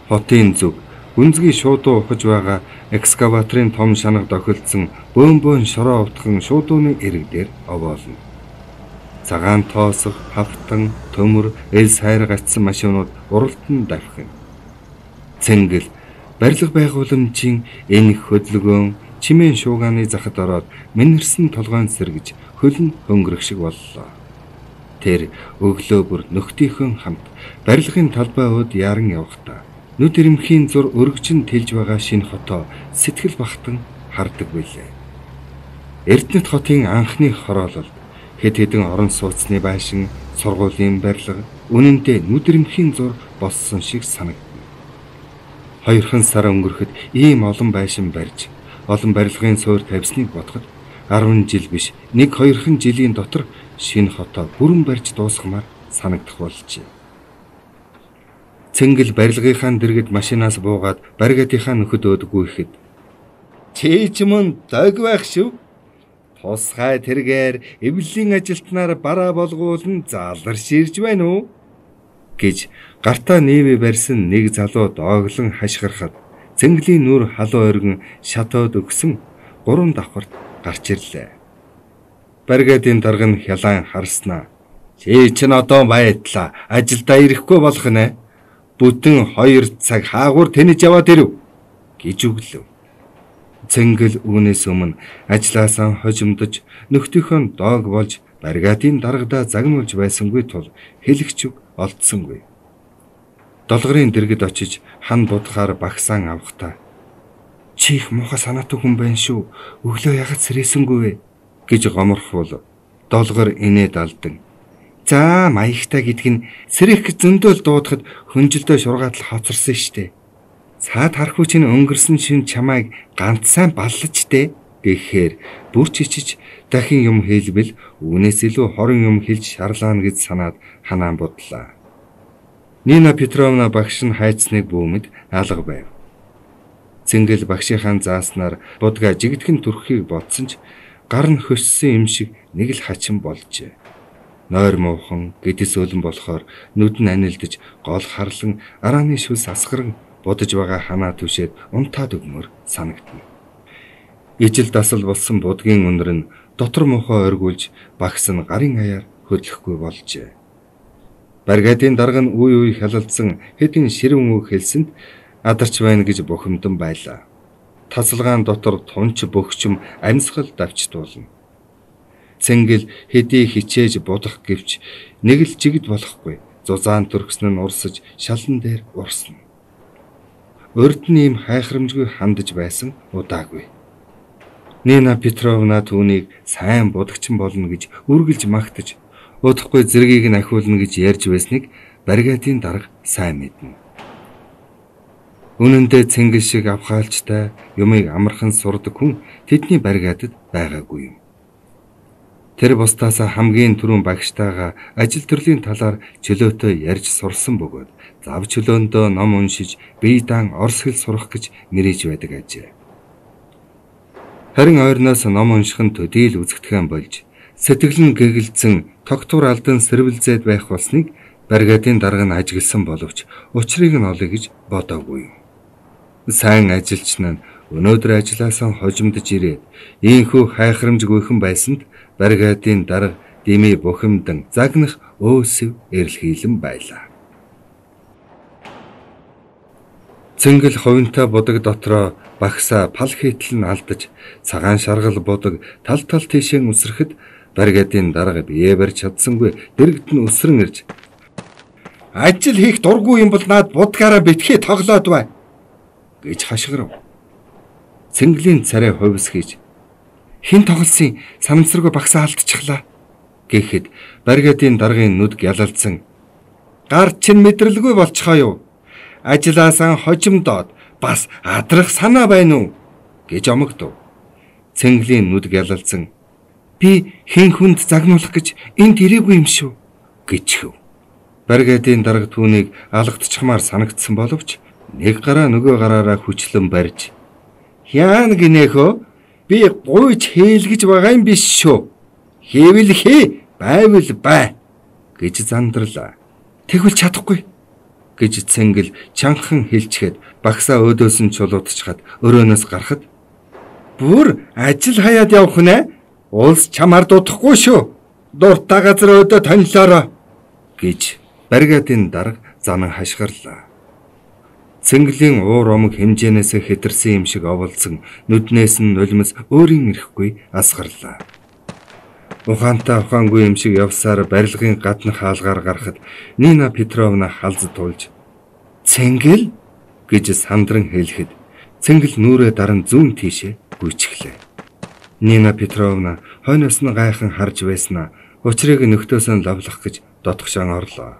Хотын зүг гүнзгий шуудуу ухаж байгаа экскаваторын том шанаг дохилдсон бөөн шороо утхан шуудууны эрэг дээр овоолно. Цагаан тоосох, хавтан, төмөр, эл сайр гацсан машинууд уралдан давхина. Цэнгэл барилга байгууламжийн энэ хөдөлгөөн чимээн шуугааны захад ороод мэнэрсэн толгойн сэргэж хөлн хөнгөрөх шиг боллоо. Тэр өглөө бүр нөхдийнхөн хамт барилгын талбай ууд яран явхдаа нүд ирэмхийн зур өргөжин тэлж байгаа шинэ хотоо сэтгэл бахтан хардаг билээ. Эрдэнэт хотын анхны хороололд хэд хэдэн орон сууцны байшин, сургуулийн барилга үнэндээ нүд ирэмхийн зур болсон шиг санагдана. 2 сар өнгөрөхөд ийм олон байшин барьж, олон барилгын суур тавьсныг бодоход 10 жил биш 1-2 жилийн дотор шинэ хотоо бүрэн барьж дуусгамаар санагдах болжээ. Цэнгэл барилгынхаа дэргэд машинаас буугаад баригадынхаа нөхөд өөдгөө ихэд "Чи ч мөн дог байх шүү. Тусгай тэргээр эвлэлийн ажилтнаар бараа болгуулн зааларш ирж байна уу?" гэж гартаа нээвэ барьсан нэг залуу дооглон хашгирахад Цэнгэлийн нүр халуун оргин шатоод өгсөн 3 давхарт гарч ирлээ. Баригадын дарга нь хялаан харснаа "Чи чинь одоо баятлаа ажилдаа ирэхгүй болох нэ. Бүтэн 2 цаг хаагуур тэнэж яваад ирэв" гэж өглөв. Цэнгэл үүнээс өмнө ажлаасаа хожимдож нөхдийнхөө доог болж баригадын даргадаа загнуулж байсангүй тул хэлэгч үг олдсонгүй. Долгорын дэргэд очиж хан будахаар багсаан авахтаа "Чи их муухай санаатай хүн байна шүү. Өглөө ягаад сэрээсэнгүй вэ?" гэж гоморхвол долгор инээд алдан "За маягтай гэдг нь сэрэх гэж зөндөөл дуудахад хөнжилдөө шургаатал хоцорсон штэ. Цаад харахгүй чинь өнгөрсөн шин чамайг ганц сайн баллаж дээ" гэхээр бүр чичиж дахин юм хэлбэл үүнээс илүү хорон юм хэлж шарлаана гэж санаад ханаан бодлаа. Нина Петровна багш нь хайцныг бүүмэд алга байв. Цэнгэл багшийнхаа зааснаар будга жигдхэн түрхийг бодсон ч гар нь хөссөн юм шиг нэг л хачин болжээ. Нойр муухан гэдэс өлөн болохоор нүд нь анилдж гол харлан арааны шүлс асгаран будаж байгаа ханаа түшээд унтаад өгмөр санагдана. Ижил дасал болсон будгийн өнөр нь дотор мохоо оргуулж багс нь гарын аяар хөдлөхгүй болжээ. Баригадын дарга нь үе хялалдсан хэдин ширүүн үг хэлсэнд адарч байна гэж бухимдан байлаа. Тасалгаан дотор тунч бөхчм амьсгал давчдуулна. Цэнгэл хэдий хичээж будах гэвч нэг л жигд болохгүй. Зузаан төрхсөн нь урсаж шалан дээр урсна. Урд нь ийм хайхрамжгүй хандаж байсан удаагүй. Нина Петровна түүнийг сайн будагчин болно гэж үргэлж магтаж, удахгүй зэргийг нь ахиулна гэж ярьж байсныг баригадын дарга сайн мэднэ. Үнэн дээр Цэнгэл шиг авхаалжтай юмыг амархан сурдаг хүн тэдний баригадад байгаагүй юм. Тэр бусдаас хамгийн түрүүн багштайгаа ажил төрлийн талаар чөлөөтэй ярьж сурсан бөгөөд зав чөлөөндөө ном уншиж бие даан орос хэл сурах гэж мэрэж байдаг ажээ. Харин ойрноос ном унших нь төдийл үзэгдэхэн болж сэтгэл нь гэгэлцэн тогтвор алдан сэрвэлзээд байх болсныг бригадын дарга нь ажигласан боловч учрыг нь олё гэж бодоогүй. Сайн ажилч нь өнөөдөр ажилласаа хожимдож ирээд ийхүү хайхрамжгүйхэн байсанд бригадын дарга дими бухимдан загнах өөсөв эрэлхийлэн байлаа. Цэнгэл хувинтай будаг дотроо багсаа пал хийтэл нь алдаж цагаан шаргал будаг тал тийшээ үсрэхэд бригадын дарга бие барьж чадсангүй дэрэгд нь өсрөн ирж ажил хийх дургүй юм бол наад будгаараа битгий тоглоод бай гэж хашгирав. Цэнгэлийн царай хувьс хийж хин тоглосын санамсаргүй багсаа алдчихлаа гэхэд бригадын даргын нүд гялалцсан гар чин мэдрэлгүй болчихоо юу? Ажилласаа хожимдоод бас адрах санаа байна уу гэж омогдов. Цэнгэлийн нүд гялалцсан би хэн хүнд загнуулах гэж энд ирээгүй юм шүү гэчихв. Бригадын дарга түүнийг алгадчихмаар санагдсан боловч нэг гараа нөгөө гараараа хүчлэн барьж яан гинэхөө би гуйж хийлгэж байгаа юм биш шүү. Хийвэл хий, байвал бай гэж зандарлаа. Тэгвэл чадахгүй гэж Цэнгэл чанхан хэлчихэд багсаа өөдөөс нь чулуутчихад өрөөнөөс гарахад бүр ажил хаяад явах нэ? Улс чамаар дутахгүй шүү. Дуртай газар өөдөө танилаараа гэж бригадын дарга занан хашгирлаа. Цэнгэлийн уур омог хэмжээнээс хэтэрсэн юм шиг оволцсон нүднээс нь нулимс өөрийн ирэхгүй асгарлаа. Ухаантай ухаангүй юм шиг явсаар барилгын гаднах хаалгаар гарахад Нина Петровна халз туулж "Цэнгэл" гэж сандран хэлэхэд Цэнгэл нүрээ даран зүүн тийшээ гүйчихлээ. Нина Петровна хойноос нь гайхан харж байснаа учрыг нөхдөөс нь лавлах гэж дотгошон орлоо.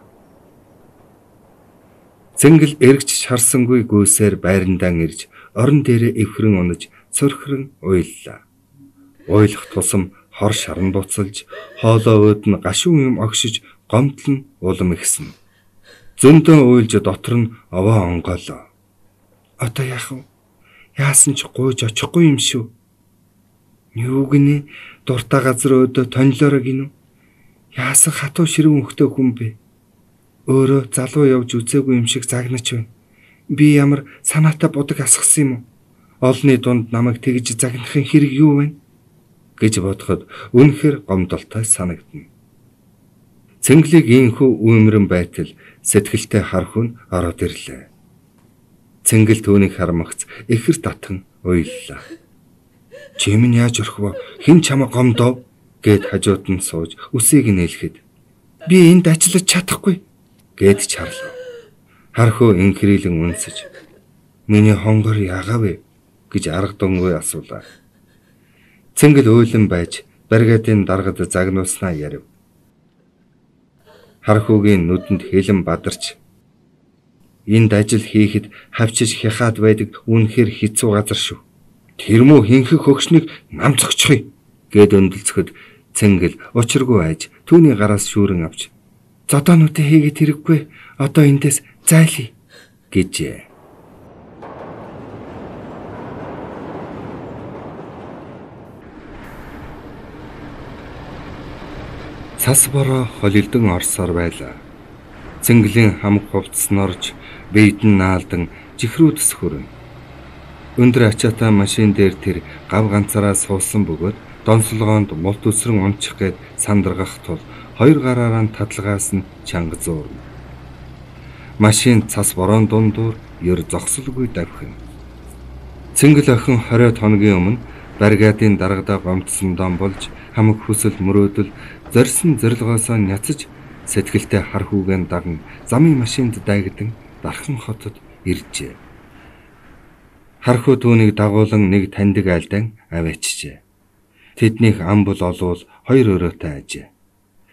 Цэнгэл эргэж шарсангүй гүйсээр байрандаа ирж орон дээрээ эвхрэн унаж цөрхрөн уйллаа. Уйлах тусам хор шарн буцалж, хоолоо өөд нь гашуун юм огшиж, гомдол нь улам ихсэн. Зөндөө уйлж дотор нь овоо онгоолоо. Одоо яах вэ? Яасан ч гуйж очихгүй юм шүү. Юу гинэ? Дуртай газар өөдөө тонилоороо гинү? Яасан хатуу ширүүн хөхтөө хүн бэ? Өөрөө залуу явж үзээгүй юм шиг загнаж байна. Би ямар санаатай будаг асгасан юм уу? Олны дунд намайг тэгж загнахын хэрэг юу вэ? гэж бодоход үнэхээр гомдолтой санагдна. Цэнгэлийг ийхүү үүмрэн байтал сэтгэлтэй хархун ороод ирлээ. Цэнгэл түүнийг хармагц ихэр татан уйллаа. "Чи минь яаж орох вэ? Хэн чамаа гомдов?" гэд хажууд нь сууж үсийг нээлэхэд "Би энд ажиллаж чадахгүй" гэд чарлав. Хархуу инхрилэн үнсэж "Миний хонгор яагаа вэ?" гэж арга дунгүй асуулаа. Цэнгэл уйлан байж бригадын даргад загнуулснаа ярив. Хархуугийн нүдэнд хэлэн бадарч "Энд ажил хийхэд хавчиж хяхаад байдаг үнэхээр хэцүү газар шүү. Тэр муу хинхэх хөгшнийг намцогчхий" гэд өндөлцөхөд Цэнгэл учиргүй айж түүний гараас шүүрэн авч "Зодоонуудаа хийгээд хэрэггүй. Одоо эндээс зайлъя" гэжээ. Цас бороо холилдон орсоор байлаа. Цэнгэлийн хамг хувцснорж, бийд нь наалдан жихрүү төсхөрөн. Өндөр ачаатай машин дээр тэр гав ганцаараа суусан бөгөөд донсолгоонд мулт үсрэн унчих гээд сандаргах тул хоёр гараараа татлагаас нь чанга зуурна. Машин цас бороон дундуур ер зогсолгүй давхин. Цэнгэл охин 20 хоногийн өмнө бригадын даргадаа гомдсон дом болж хамаг хүсэл мөрөөдөл зорьсон зорилгоосоо няцаж сэтгэлтэй хар хүүгэн даган замын машинд дайгдан дархан хотод иржээ. Хархуу түүнийг дагуулan нэг таньдаг айлдан аваачжээ. Тэднийх ам бол олвол хоёр өрөөтэй ажээ.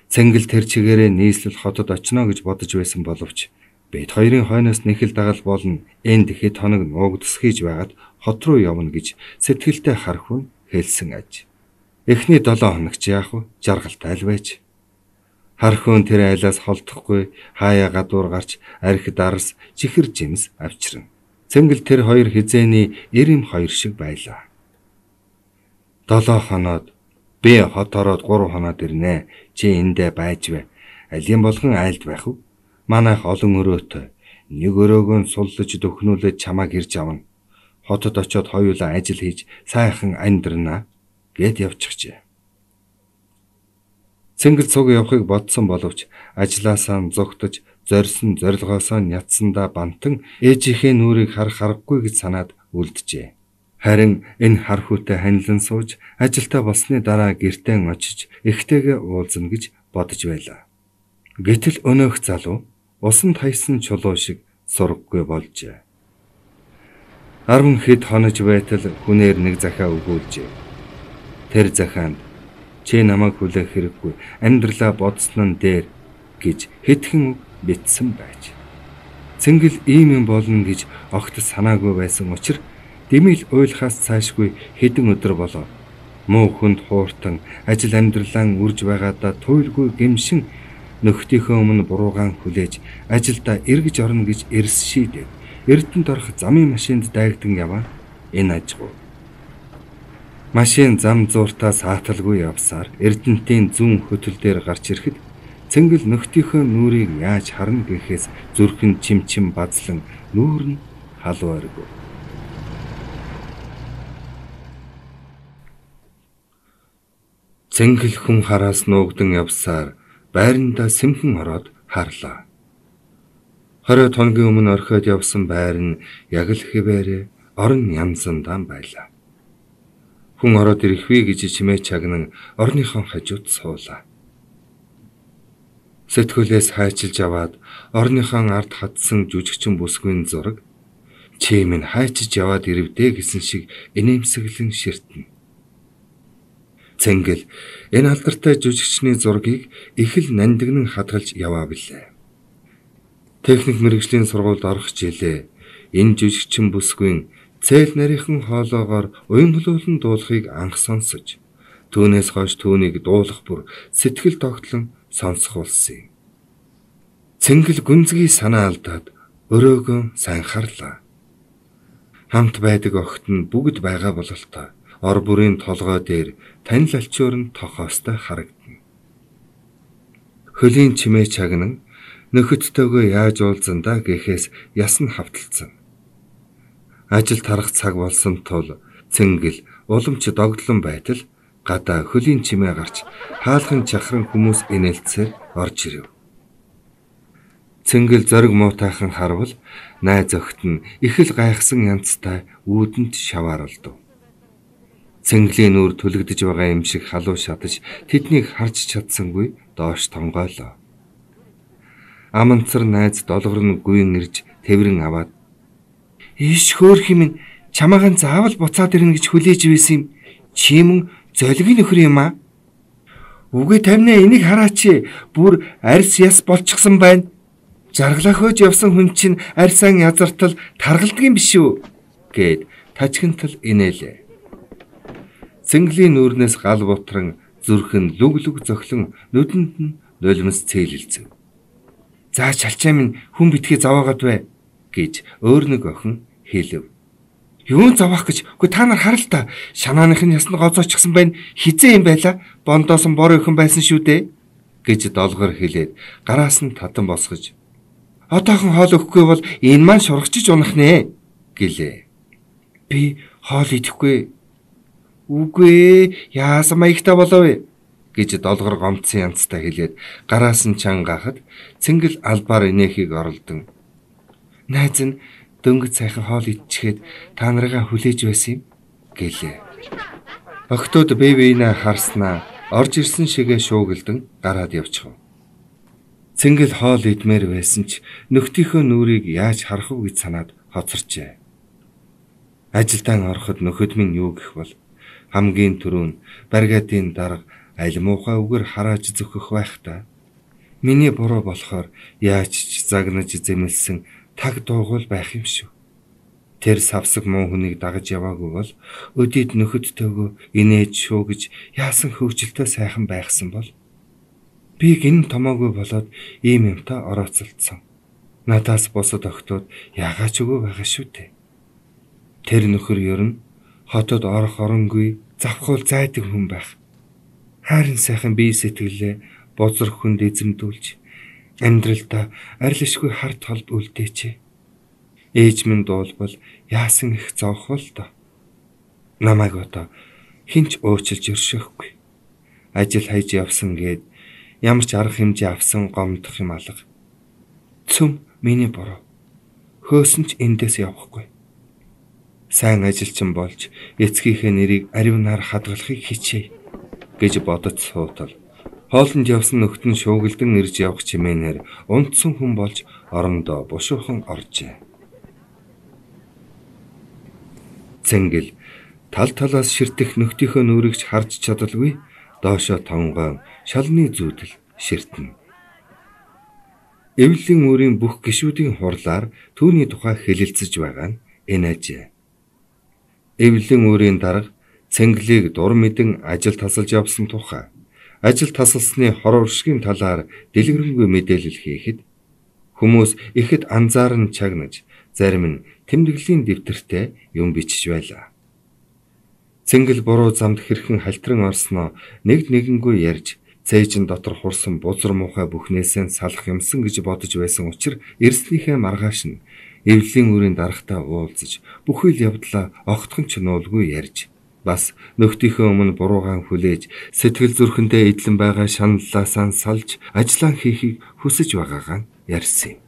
Цэнгэл тэр чигээрээ нийслэл хотод очно гэж бодож байсан боловч бид хоёрын хойноос нэхэл дагал болно. Энд хэд хоног нуугдсхийж байгаад хот руу явна гэж сэтгэлтэй хархуу хэлсэн аж. Эхний 7 хоногч яах вэ? Жаргалтай л байж. Хархуун тэр айлаас холдохгүй хаяа гадуур гарч архи дарс чихэр жимс авчирна. Цэнгэл тэр хоёр хизээний 92 шиг байлаа. 7 хоноод би хот ороод 3 хоноод ирнэ. Чи эндээ байж вэ? Алин болгон айлд байх уу? Манайх олон өрөөтэй. Нэг өрөөгөө суллаж дөхнүүлээд чамааг ирж авна. Хотод очиод хоёулаа ажил хийж сайхан амьдрнаа гэд явчихжээ. Цэнгэл цуг явахыг бодсон боловч ажлаасаа зогтож зорьсон зорилгоосоо нятсандаа бантан ээжийнхээ нүрийг харах аргагүй гэж санаад үлджээ. Харин энэ хар хүүтэй ханилан сууж ажилтаа болсны дараа гэртээ очиж эхтэйгээ уулзна гэж бодож байлаа. Гэтэл өнөөх залуу усанд хайсан чулуу шиг сургаггүй болжээ. 10 хэд хонож байтал хүнээр нэг захиа өгүүлжээ. Тэр захианд чи намайг хүлээх хэрэггүй, амьдралаа бодсон нь дээр гэж хэдхэн үг бичсэн байж. Цэнгэл ийм юм болно гэж огт санаагүй байсан учраас дэмэл уйлахаас цаашгүй хэдэн өдөр болоо. Муу хүнд хууртан ажил амьдралаа үрж байгаадаа туйлгүй гэмшин нөхдийнхөө өмнө буруугаан хүлээж ажилдаа эргэж орно гэж эрс шийдэв. Эрдэнэт орох замын машинд дайгдан яваа энэ ажгүй. Машин зам зууртаа сааталгүй явсаар Эрдэнэтийн зүүн хөтөл дээр гарч ирэхэд Цэнгэл нөхдийнхөө нүрийг яаж харна гэхээс зүрхэн чимчим базлан нүүр нь халуургүй. Цэнгэл хүн хараас нуугдан явсаар байрандаа сэмхэн ороод харлаа. 20 хоногийн өмнө орхиод явсан байр нь яг л хэвээрээ орон янзандаа байлаа. Хүн ороод ирэхвээ гэж чимээ чагнан орныхон хажууд суулаа. Сэтгүүлээс хайчилж аваад орныхон ард хатсан жүжигчин бүсгүйн зураг чи минь хайчиж яваад ирэвдэ гэсэн шиг инээмсэглэн ширтэнэ. Цэнгэл энэ алдартай жүжигчний зургийг их л нандинан хадгалж яваа билээ. Техник мэргэжлийн сургуульд орох жилээ энэ жүжигчин бүсгүйн цээл нарийнхан хоолоогоор уянгалуулан дуулахыг анх сонсож, түүнээс хойш түүнийг дуулах бүр сэтгэл тогтлон сонсох болсон юм. Цэнгэл гүнзгий санаа алдаад өрөөгөө сайн харлаа. Хамт байдаг охид нь бүгд байгаа бололтой ор бүрийн толгой дээр танил алчуур нь тохоостой харагдана. Хөлийн чимээ чагнан нөхөдтэйгөө яаж уулзандаа гэхээс ясн хавталцсан. Ажил тарах цаг болсон тул Цэнгэл уламж догдлон байтал гадаа хөлийн чимээ гарч хаалхан чахран хүмүүс инээлцээр орж ирэв. Цэнгэл зориг муутайхан харвал найз охид нь их л гайхсан янзтай үүдэнд шавааралдав. Цэнгэлийн нүур түлэгдэж байгаа юм шиг халуун шатаж тэднийг харж чадсангүй доош тонгойлоо. Аманцар найз долгор нь гүйн ирж тэврэн аваад "Иш хөөх юм чамаахан заавал буцаад ирнэ гэж хүлээж байсан юм. Чи мөн золгийн нөхөр юм аа. Үгүй тамина энийг хараач. Бүр арьс яс болчихсон байна. Жаргалаа хөөж явсан хүн чинь арьсаан язартал таргалдгийн биш үү?" гэд тажигнтал инээлээ. Цэнгэлийн нүүрнээс гал бутран зүрхэн лүг зохлон нүдэнд нь нулимс цээлэлцэв. "За чалчаа минь хүн битгий заваагаад бай" гэж өөр нэг охин хэлв. "Юун заваах гэж? Үгүй та нар харал та. Шанааных нь ясна гоцоочихсан байна. Хизээ юм байла. Бондоос нь бор өхөн байсан шүү дээ" гэж долгор хэлээд гараас нь татан босгож "Одоохон хоол өгөхгүй бол энэ маань шургачиж унах нэ" гэлээ. "Би хоол идэхгүй." "Үгүй яасан маягтай болов вэ?" гэж долгор гомцсон янзтай хэлээд гараас нь чангахад Цэнгэл албаар инээхийг оролдон "Найз нь дөнгөж сайхан хоол идчихэд та нарыгаа хүлээж байсан юм" гэлээ. Охтууд бэбинаа харснаа орж ирсэн шигээ шуугилдан гараад явчихв. Цэнгэл хоол идмээр байсан ч нөхдийнхөө нүрийг яаж харах вэ гэж санаад хоцорчээ. Ажилдаа ороход нөхөд минь юу гэх бол хамгийн түрүүн баригатын дарга аль муухай үгээр харааж зөхөх байх та. Миний буруу болохоор яаж ч загнаж зэмлсэн таг дуугуул байх юм шүү. Тэр савсаг муу хүнийг дагаж яваагүй бол өдийд нөхөдтэйгөө инээж шүү гэж яасан хөвгөлтэй сайхан байхсан бол би гин томоогүй болоод ийм юмтай орооцолдсон. Надаас босод өгтөөд яагаач үгүй байгаа шүү дээ. Тэр нөхөр ер нь хотод орох оронгүй завхуул зайдаг хүн байх. Харин сайхан бие сэтгэлээ бозор хүнд эзэмдүүлж амьдралдаа арилшгүй харт холд үлдээч. Ээж минь дуулбал яасан их зовх бол доо. Намайг одоо хинч өөчилж өршөөхгүй. Ажил хайж явсан гээд ямар ч арга хэмжээ авсан гомдох юм алга. Цөм миний буруу. Хөөсөн ч эндээс явахгүй. Сайн ажилчин болж эцгийнхээ нэрийг аривнаар хадгалахыг хичээе гэж бодож суутал. Хоолнд явсан нөхд нь шуугилдан ирж явах чимээнээр унтсан хүн болж орондоо бушуухан оржээ. Цэнгэл тал талаас ширтэх нөхдийнхөө нүрэгч харж чадалгүй доошоо тонгоон шалны зүүдэл ширтэнэ. Эвлэлийн үүрийн бүх гишүүдийн хурлаар түүний тухай хэлэлцэж байгаа нь энэ ажээ. Эвлэлийн үүрийн дарга Цэнгэлийг дур мэдэн ажил тасалж явсан тухай ажил тасалсны хор уршгийн талаар дэлгэрэнгүй мэдээлэл хийхэд хүмүүс ихэд анзаарн чагнаж зарим нь тэмдэглэлийн дэвтэртээ юм бичиж байлаа. Цэнгэл буруу замд хэрхэн халтран орсноо нэгэнгүй ярьж цээжин дотор хурсан бузар муухай бүхнээсээ салах юмсан гэж бодож байсан учраас эрснийхээ маргааш нь эвлэлийн үрийн дарагтай уулзаж бүхэл явдлаа огтхон ч нуулгүй ярьж бас нөхдийнхөө өмнө буруугаан хүлээж сэтгэл зүрхэндээ эдлэн байгаа шаналлаасаа салж ажиллаа хийхийг хүсэж байгаагаа ярьсан юм.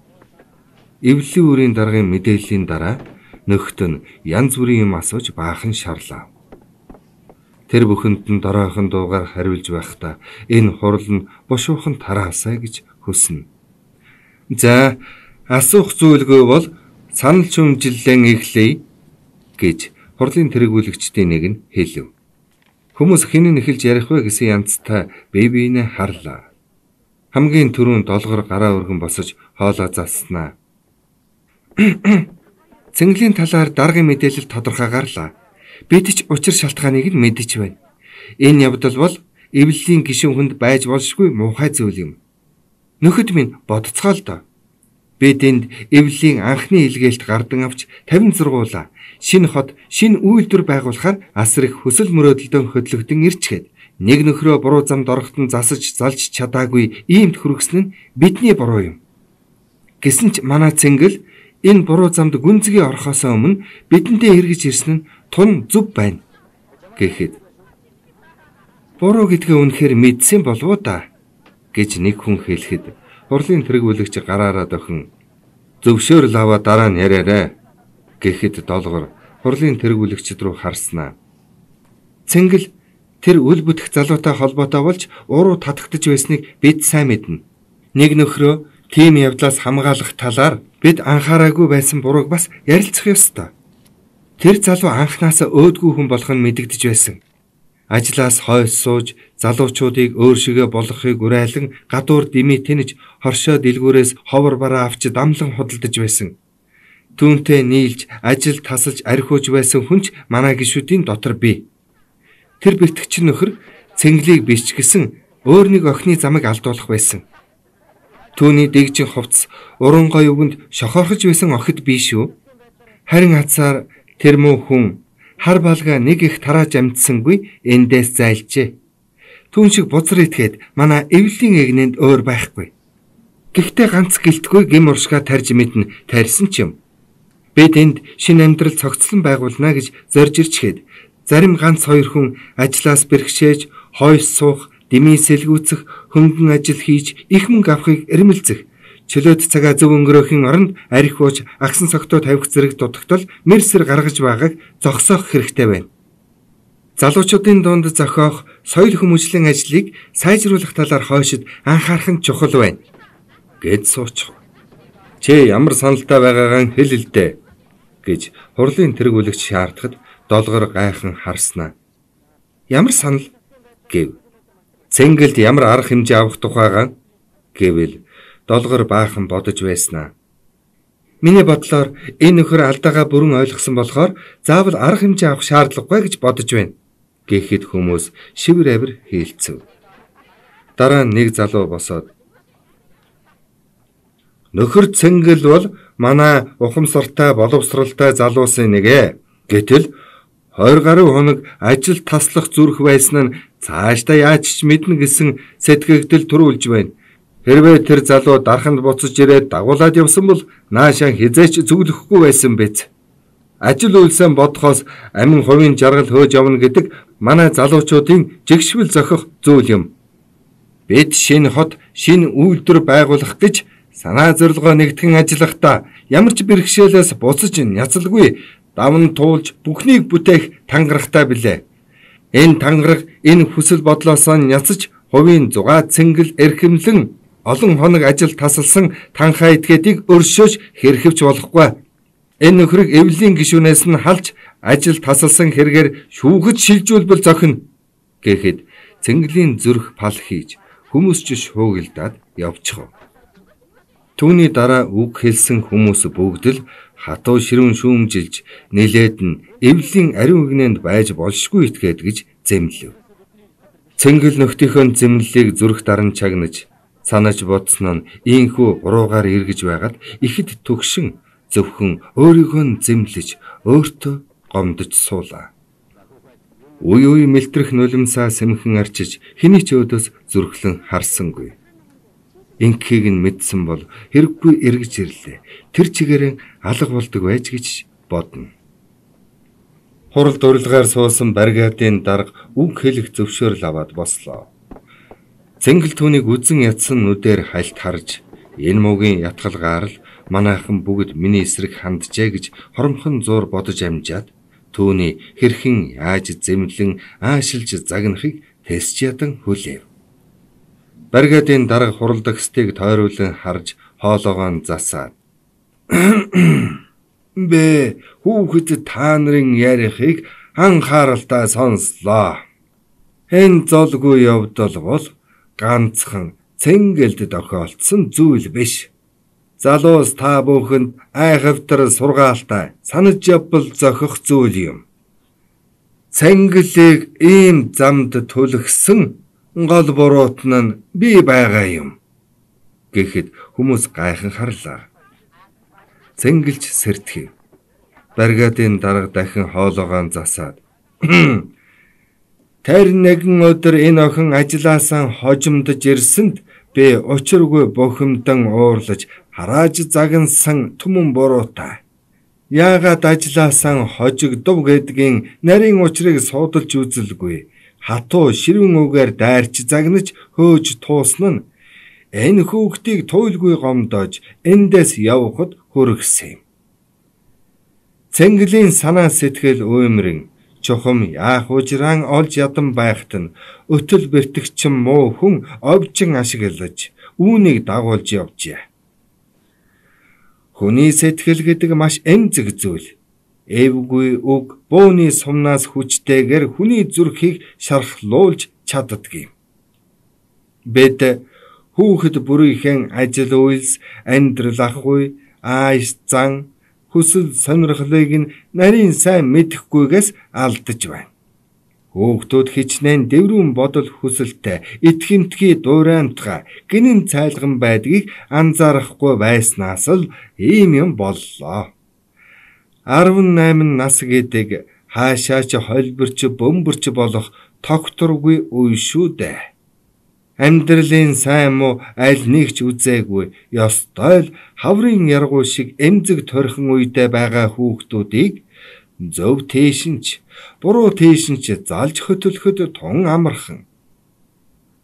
Эвлэлийн үрийн даргын мэдээллийн дараа нөхд нь янз бүрийн юм асууж баахан шаарлаа. Тэр бүхэнд нь доройхон дуугаар хариулж байхдаа энэ хурал нь бушуухан тараасаа гэж хүснэ. За асуух зүйлгүй бол санал шүмжиллэн эхлэе гэж хурлын тэргүүлэгчдийн нэг нь хэлв. Хүмүүс хинэн эхэлж ярих вэ гэсэн янзтай бие биенээ харлаа. Хамгийн түрүүн долгор гараа өргөн босож хоолоо залснаа. Цэнгэлийн талаар даргын мэдээлэл тодорхой гарлаа. Бид ч учир шалтгааныг нь мэдэж байна. Энэ явдал бол эвлэлийн гишүүн хүнд байж болшгүй муухай зүйл юм. Нөхөд минь бодцгоо л доо. Бид энд эвлэлийн анхны илгээлт гардан авч 50 зургуулаа. Шинэ хот, шинэ үйлдвэр байгуулахаар асар их хүсэл мөрөөдөлдөн хөдлөгдөн ирчгээд нэг нөхрөө буруу замд орохдон засаж залж чадаагүй иймд хүргэсэн нь бидний буруу юм. Гэсэн ч манай Цэнгэл энэ буруу замд гүнзгий орохоос өмнө бидэндээ эргэж ирсэн нь тун зүв байна гэхэд буруу гэдгээ үнэхээр мэдсэн болов уу да гэж нэг хүн хэлэхэд хурлын тэргүүлэгч гараараа дохин зөвшөөрөл аваа дараа нь яриарай гэхэд долгор хурлын тэргүүлэгчд рүү харснаа. Цэнгэл тэр үл бүтэх залуутай холбоотой болж уруу татагдж байсныг бид сайн мэднэ. Нэг нөхрөө тийм явдлаас хамгаалах талаар бид анхаараагүй байсан бурууг бас ярилцах ёстой. Тэр залуу анхнаасаа өөдгүй хүн болох нь мэдэгдэж байсан. Ажлаас хойш сууж залуучуудыг өөр шигээ болгохыг уриалан гадуур дими тэнэж хоршоо дэлгүүрээс ховор бараа авч дамлан худалдаж байсан. Түүнтэй нийлж ажил тасалж архиуж байсан хүнч манай гишүүдийн дотор бий. Тэр бэлтгэгч нөхөр Цэнгэлийг бичгэсэн өөр нэг охины замыг алдуулах байсан. Түүний дэгжин хувцс уран гой үгэнд шохорхож байсан охид бий шүү. Харин хацаар тэр муу хүн хар балга нэг их тарааж амтсангүй эндээс зайлжээ. Түүн шиг бузар итгээд манай эвлэлийн эгнэнд өөр байхгүй. Гэхдээ ганц гэлтгүй гим уршгаа тарж мэднэ тарьсан ч юм. Бид энд шинэ амьдрал цогцлон байгуулна гэж зорж ирчгээд зарим ганц хоёр хүн ажлаас бэрхшээж хойш суух, дэмий сэлгүүцэх, хөнгөн ажил хийж их мөнгө авахыг эрмэлзэх. Чөлөөт цагаа зөв өнгөрөөхийн оронд арх ууж агсан согтоо тавих зэрэг дутагтал мэрсэр гаргаж байгааг зогсоох хэрэгтэй байна. Залуучуудын дунд зохиох соёл хүмүүжлийн ажлыг сайжруулах талаар хойшид анхаарах нь чухал байна гэд суучих. Чи ямар саналтай байгаагаа хэл л дээ гэж хурлын тэргүүлэгч шаардахад долгор гайхан харснаа. Ямар санал гэв. Цэнгэлд ямар арга хэмжээ авах тухайгаа гэвэл долгор баахан бодож байснаа. Миний бодлоор энэ нөхөр алдаагаа бүрэн ойлгосон болохоор заавал арга хэмжээ авах шаардлагагүй гэж бодож байна. Гэхэд хүмүүс шивэр авир хийлцэв. Дараа нь нэг залуу босоод "Нөхөр Цэнгэл бол манай ухамсартай боловсралтай залуусын нэг ээ. Гэтэл 20 гаруй хоног ажил таслах зүрх байсан нь цаашдаа яаж ч мэднэ гэсэн сэтгэгдэл төрүүлж байна. Хэрвээ тэр залуу дарханд буцаж ирээд дагуулад явсан бол наашаа хизээч зүглэхгүй байсан биз. Ажил үйлсээ бодхоос амин хувийн жаргал хөөж явна гэдэг манай залуучуудын жигшвэл зохих зүйл юм. Бид шинэ хот, шинэ үйлдвэр байгуулах гэж санаа зорилгоо нэгтгэн ажиллахдаа ямар ч бэрхшээлээс буцаж няцалгүй давн туулж бүхнийг бүтээх тангарахтай билээ. Энэ тангараг энэ хүсэл бодлоос няцаж хувийн зугаа цэнгэл эрхэмлэн олон хоног ажил тасалсан танхаа этгээдийг өршөөж хэрхэвч болохгүй. Энэ нөхрийг эвлийн гишүүнээс нь халж ажил тасалсан хэрэгээр шүүхэд шилжүүлбэл зохино гэхэд цэнгэлийн зүрх пал хийж хүмүүс ч шуугилдаад явчихв. Түүний дараа үг хэлсэн хүмүүс бүгд л хатуу ширүүн шүүмжилж нэлээд нь эвлийн ариун игнэнд байж болшгүй итгээд гэж зэмлэв. Цэнгэл нөхдийнхөө зэмлэлийг зүрх даран чагнаж санаж бодсон нь ийхүү уруугаар эргэж байгаад ихэд төгшин зөвхөн өөрийгөө зэмлэж өөртөө гомдож суулаа. Үе үе мэлтрэх нулимсаа сэмхэн арчиж хэний ч өөдөөс зүрхлэн харсангүй. Инхийг нь мэдсэн бол хэрэггүй эргэж ирлээ. Тэр чигээрээ алга болдог байж гэж бодно. Хурал дурлгаар суусан баригадын дарга үг хэлэх зөвшөөрөл аваад бослоо. Цэнгэл түүнийг үзэн ятсан нүдээр хальт харж энэ мөгийн ятгалгаар л манайхан бүгд миний эсрэг ханджээ гэж хоромхон зуур бодож амжаад түүний хэрхэн яаж зэмлэн аашилж загнахыг тэсч ядан хүлээв. Баригадын дарга хуралдагчдыг тойруулан харж хоолоогоо засаад "Бэ хүүхэд та нарын ярихыг анхааралтай сонслоо. Энэ золгүй явдал бол ганцхан Цэнгэлд тохиолдсон зүйл биш. Залуус та бүхэнд айхавтар сургаалтай санаж явбал зохих зүйл юм. Цэнгэлийг ийм замд түлхсэн гол буруутан нь би байгаа юм." Гэхэд хүмүүс гайхан харлаа. Цэнгэлж сэрдэв. Баригадын дарга дахин хоолоогоо засаад "Тэр нэгэн өдөр энэ охин ажилласаа хожимдож ирсэнд би учиргүй бухимдан уурлаж харааж загнасан түмэн буруутай. Яагаад ажилласаа хожигдов гэдгийн нарийн учрыг судалж үзэлгүй. Хатуу ширүүн үгээр дайрч загнаж хөөж туусна нь энэ хүүхдийг туйлгүй гомдоож эндээс явхад хүргэсэн юм. Цэнгэлийн санаа сэтгэл уймрын чухам яах ужраан олж ядан байхад нь өтөл бэртгчэн муу хүн овжин ашиглаж үүнийг дагуулж явжээ. Хүний сэтгэл гэдэг маш эмзэг зүйл. Эвгүй үг бууны сумнаас хүчтэйгээр хүний зүрхийг шархлуулж чаддагюм. Бид хүүхэд бүрийнхэн ажил үйлс, амьдрал ахуй, ааш зан, хүсэл сонирхлыг нь нарийн сайн мэдэхгүйгээс алдаж байна. Хүүхдүүд хичнээн дэврүүн бодол хүсэлтэй, итгэмтгий дуураймтгай, гинэн цайлган байдгийг анзаарахгүй байснаас л ийм юм боллоо. 18 нас гэдэг хаашаач холбирч бөмбөрч болох тогтворгүй үе шүү дээ. Амьдралын сайн муу аль нэг ч үзээгүй, ёстой л хаврын яргуу шиг эмзэг торхон үедээ байгаа хүүхдүүдийг зөв тийшинч, буруу тийшинч залж хөтөлөхөд тун амархан.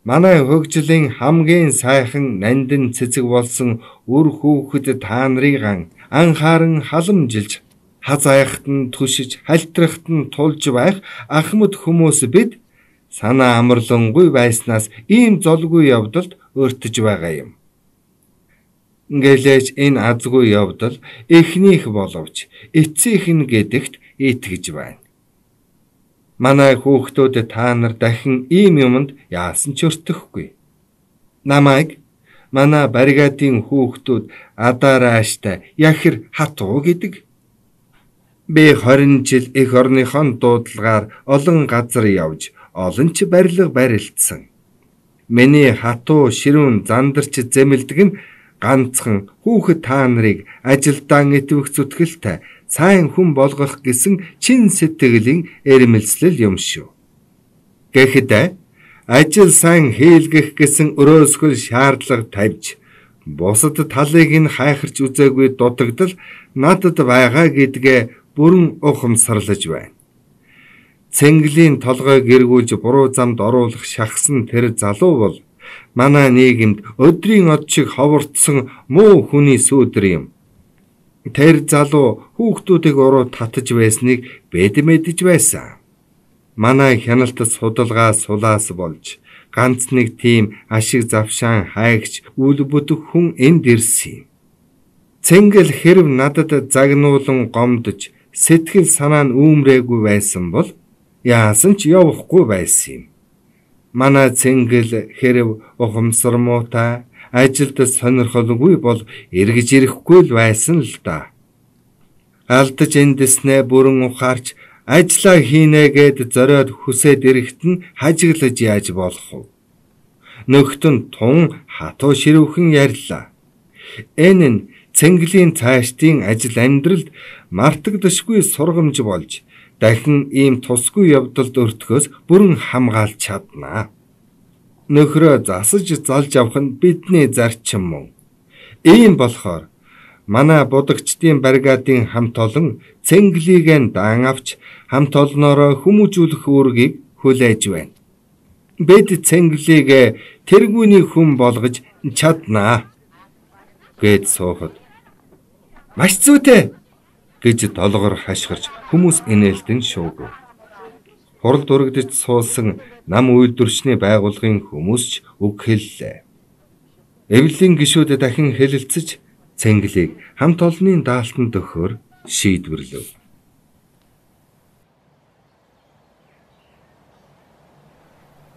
Манай хөгжлийн хамгийн сайхан нандин цэцэг болсон үр хүүхэд та нарыг анхааран халамжилж хазаахт нь түшиж хальтрахт нь тулж байх ахмад хүмүүс бид санаа амарлангүй байснаас ийм золгүй явдалд өртөж байгаа юм. Ингэлээж энэ азгүй явдал эхнийх боловч эцсийнх нь гэдэгт итгэж байна. Манай хүүхдүүд та нар дахин ийм юмд яасан ч өртөхгүй. Намайг Манай баригадын хүүхдүүд адарааштай яхир хатуу гэдэг. Би 20 жил эх орныхон дуудлагаар олон газар явж олон ч барилга барилдсан. Миний хатуу ширүүн зандарч зэмэлдэг нь ганцхан хүүхэд та нарыг ажилдаа итвэх зүтгэлтэй сайн хүн болгох гэсэн чин сэтгэлийн эрмэлзэл юм шүү. Гэхдээ ажил сайн хийлгэх гэсэн өрөөсгөл шаардлага тавьж бусад талыг нь хайхарч үзээгүй дутагдал надад байгаа гэдгээ бүрэн ухамсарлаж байна. Цэнгэлийн толгойг эргүүлж буруу замд оруулах шахсан тэр залуу бол манай нийгэмд өдрийн од шиг ховордсон муу хүний сүүдэр юм. Тэр залуу хүүхдүүдийг уруу татаж байсныг бид мэдэж байсан. Манай хяналт судалгаа сулаас болж ганц нэг тийм ашиг завшаан хайгч үл бүдэх хүн энд ирсэн юм. Цэнгэл хэрв надад загнуулан гомдож сэтгэл санаа нь үүмрээгүй байсан бол яасан ч явахгүй байсан юм. Манай цэнгэл хэрв ухамсар муутай ажилд сонирхолгүй бол эргэж ирэхгүй л байсан л да. Алдаж эндснээ бүрэн ухаарч ажиллаа хийнэ гэд зориод хүсээд ирэхт нь хажиглаж яаж болох вэ? Нөхтөн тун хатуу ширүүхэн ярьлаа. Энэ нь цэнгэлийн цаашдын ажил амьдралд мартагдашгүй сургамж болж дахин ийм тусгүй явдалд өртгөөс бүрэн хамгаалж чаднаа. Нөхрөө засаж залж авах нь бидний зарчим мөн. Ийм болохоор манай будагчдын баригадын хамт олон цэнгэлийг даан авч хамт олноороо хүмүүжүүлэх үүргийг хүлээж байна. Бид цэнгэлийг тэргүүний хүн болгож чаднаа гэд суухад маш зүйтэй гэж долгор хашгирч хүмүүс инээлтэн шуугав. Хурал дурагдж суулсан нам үйлдвэрчний байгууллагын хүмүүс ч үг хэллээ. Эвлийн гишүүд дахин хэлэлцэж цэнгэлийг хамт олонны даалтанд өгөхөөр шийдвэрлэв.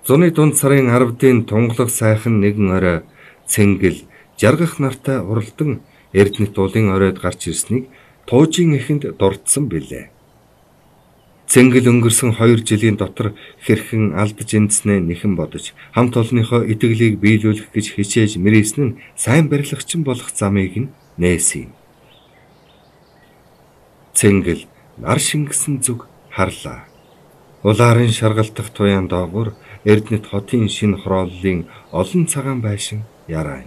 Зуны дунд сарын 10-ны тунгалаг сайхан нэгэн орой цэнгэл жаргах нартай уралдан Эрдэнэт уулын оройд гарч ирснийг туужийн эхэнд дурдсан билээ. Цэнгэл өнгөрсөн 2 жилийн дотор хэрхэн алдаж эндснээ нэхэн бодож хамт олонныхоо итгэлийг биелүүлэх гэж хичээж мэрийсэн нь сайн барилгачин болох замыг нь нээсэн юм. Цэнгэл нар шингэсэн зүг харлаа. Улаарын шаргалтах туяан доогуур Эрдэнэт хотын шинэ хорооллын олон цагаан байшин яраа.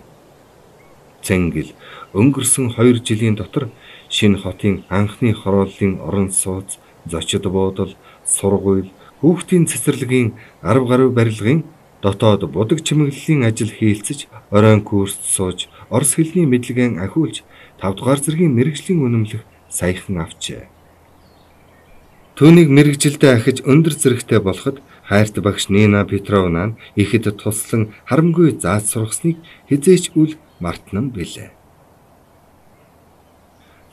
Цэнгэл өнгөрсөн 2 жилийн дотор шинэ хотын анхны хорооллын орон сууц, зочид буудал, сургууль, хүүхдийн цэцэрлэгийн 10 гаруй барилгын дотоод будаг чимэглэлийн ажил хийлцэж, оройн курст сууж, орос хэлний мэдлэгээ ахиулж, 5 дугаар зэргийн мэргэжлийн үнэмлэх саяхан авчээ. Түүнийг мэргэжилдээ ахиж өндөр зэрэгтэй болоход хайрт багш Нина Петровна нь ихэд туслан харамгүй зааж сургасныг хизээч үл мартнан билээ.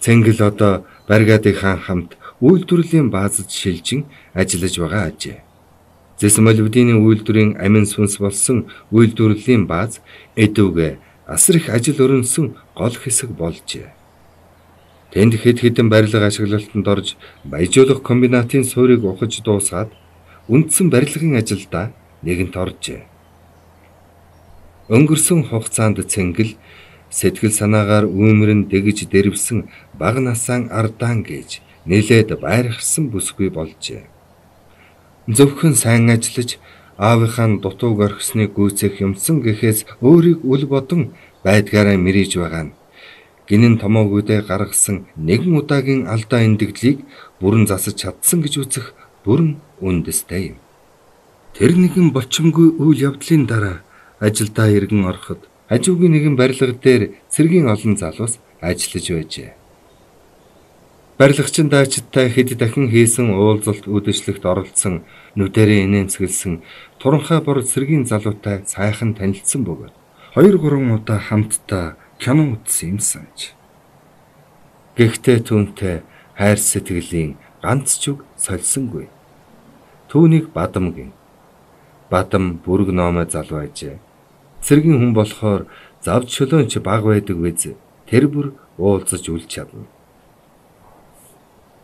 Цэнгэл одоо баригадынхаа хамт үйлдвэрлэлийн баазад шилжин ажиллаж байгаа ажээ. Зэс молибдины үйлдвэрийн амин сүнс болсон үйлдвэрлэлийн бааз эдүгэ асар их ажил өрнсөн гол хэсэг болжээ. Тэнд хэд хэдэн барилга ашиглалтанд орж баяжуулах комбинатын суурийг ухаж дуусгаад үндсэн барилгын ажилдаа нэгэнт оржээ. Өнгөрсөн хугацаанд Цэнгэл сэтгэл санаагаар үүмэрэн дэгж дэрвсэн бага насаан ардаан гэж нэлээд байрхсан бүсгүй болжээ. Зөвхөн сайн ажиллаж аавынхаа дутууг орхисныг гүйцэх юмсан гэхээс өөрийг үл бодон байдгаараа мэрийж байгаа нь гинэн томоогүйдээ гаргасан нэгэн удаагийн алдаа эндэгдлийг бүрэн засаж чадсан гэж үзэх бүрэн үндэстэй юм. Тэр нэгэн болчмгүй үйл явдлын дараа ажилдаа иргэн ороход хажуугийн нэгэн барилга дээр цэргийн олон залуус ажиллаж байжээ. Барилгачин даачдтай хэд дахин хийсэн уулзалт үдэшлэгт оролцсон, нүдэрээ инээмсэглсэн туранхай бор цэргийн залуутай сайхан танилцсан бөгөөд 2-3 удаа хамтдаа кино үзсэн юмсанч. Гэхдээ түүнтэй хайр сэтгэлийн ганц ч үг сольсонгүй. Түүнийг Бадам гин. Бадам бүрэг номой залуу ажээ. Цэргийн хүн болохоор Завж чөлөөнч баг байдаг биз. Тэр бүр уулзаж үл чадна.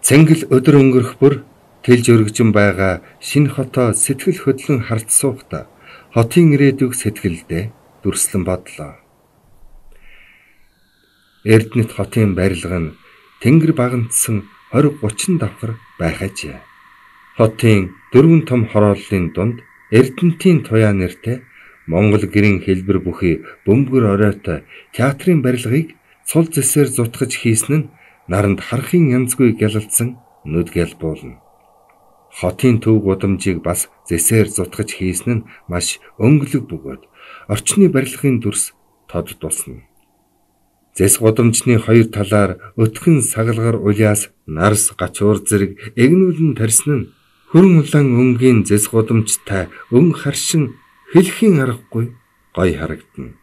Цэнгэл өдөр өнгөрөх бүр тэлж өргөжин байгаа шинэ хотоо сэтгэл хөдлөн харж суухдаа хотын ирээдүйг сэтгэлдээ дүрслэн бодлоо. Эрдэнэт хотын барилга нь тэнгэр багандсан 20-30 давхар байх ажээ. Хотын 4 том хорооллын дунд Эрдэнэтийн туяа нэртэй Монгол гэрийн хэлбэр бүхий бөмбөр оройтой театрын барилгыг цул зэсээр зутгаж хийсэн нь наранд харахын янзгүй гялалзсан нүдгэл буулна. Хотын төв гудамжийг бас зэсээр зутгаж хийсэн нь маш өнгөлөг бөгөөд орчны барилгын дүрс тод тусна. Зэс гудамжны хоёр талаар өтгөн сагалгар улиас нарс гачуур зэрэг эгнүүлэн тарьсан нь хөрөн улаан өнгийн зэс гудамжтай өн харшин хэлхийн аргагүй гой харагдана.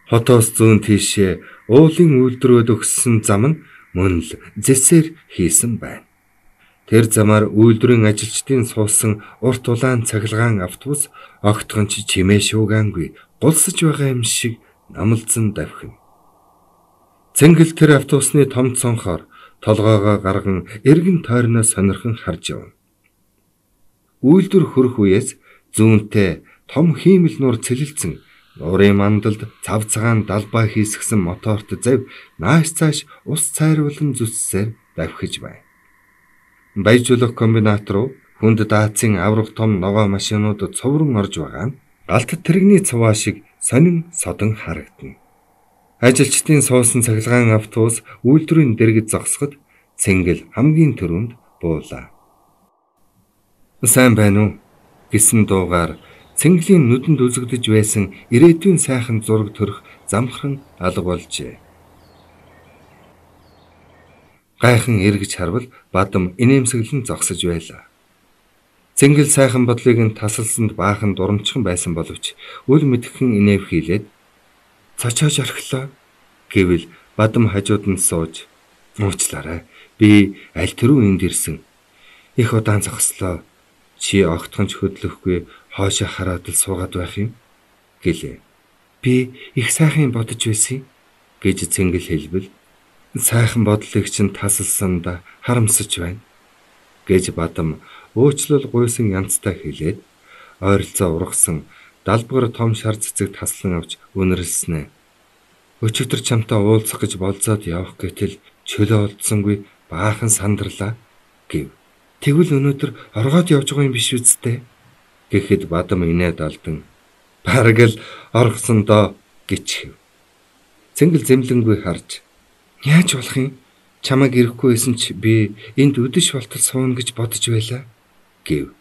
Хотоос зүүн тийшээ уулын үйлдвэрүүд өгсөн зам нь мөн л зэсээр хийсэн байна. Тэр замаар үйлдвэрийн ажилчдын суусан урт улаан цахилгаан автобус огтхон ч чимээ шуугаангүй гулсаж байгаа юм шиг намалзан давхина. Цэнгэл тэр автобусны том цонхоор толгоогоо гарган эргэн тойрноо сонирхон харж явна. Үйлдвэр хөрөх үеэс зүүнтэй том хиймэл нуур цэлэлцэн нуурын мандалд цав цагаан далбаа хийсгсэн моторт завь нааш цааш ус цайруулан зүссээр давхиж байна. Баяжуулах комбинат руу хүнд даацын аврах том ногоо машинууд цоврон орж байгаа нь галт тэрэгний цуваа шиг сонин содон харагдана. Ажилчдын суусан цахилгаан автобус үйлдвэрийн дэргэд зогсоход Цэнгэл хамгийн түрүүнд буулаа. "Сайн байна уу?" гэсэн дуугаар Цэнгэлийн нүдэнд үзэгдэж байсан ирээдүйн сайхан зураг төрөх замхран алга болжээ. Гайхан эргэж харвал Бадам инээмсэглэн зогсож байлаа. Цэнгэл сайхан бодлыг нь тасалсанд баахан дурамчхан байсан боловч үл мэдхэн инэв хийлээд "Цочоож орхилоо" гэвэл Бадам хажууд нь сууж "Уучлаарай. Би аль түрүү энд ирсэн. Их удаан зогслоо. Чи огтхон ч хөдлөхгүй хоошоо хараад л суугаад байх юм" гэлээ. "Би их сайхан бодож байсан" гэж Цэнгэл хэлбэл "Сайхан бодлыг чинь тасалсанд харамсаж байна" гэж Бадам уучлал гуйсан янзтай хэлээд ойролцоо ургасан далбар том шар цэцэг таслан авч үнэрлснэ. "Өчигдөр чамтай уулзах гэж болзоод явах гэтэл чөлөө олдсонгүй баахан сандарлаа" гэв. "Тэгвэл өнөөдөр оргоод явж байгаа юм биш үсттэй" гэхэд Бадам инээд алдан "Бараг л оргосон доо" гэчихв. Цэнгэл зэмлэнгүй харж "Яаж болох юм? Чамайг ирэхгүй байсан ч би энд өдөш болтол сууна гэж бодож байлаа" гэв.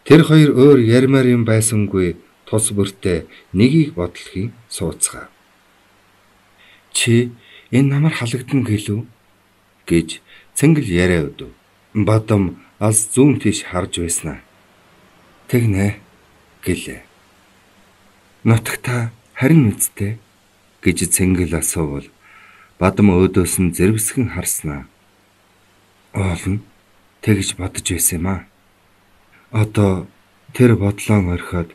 Тэр хоёр өөр ярмаар юм байсангүй тус бүртээ нэгийг бодлохын сууцгаа. "Чи энэ намар халагдана гэлүү" гэж Цэнгэл яриа өдөв. Бадам алс зүүн тийш харж байснаа. "Тэгнэ" гэлээ. "Нутагта харин үсттэй" гэж Цэнгэл асуувал Бадам өөдөөс нь зэрвсгэн харснаа. "Оолно тэгж бодож байсан юм аа. Одоо тэр бодлоон орхиод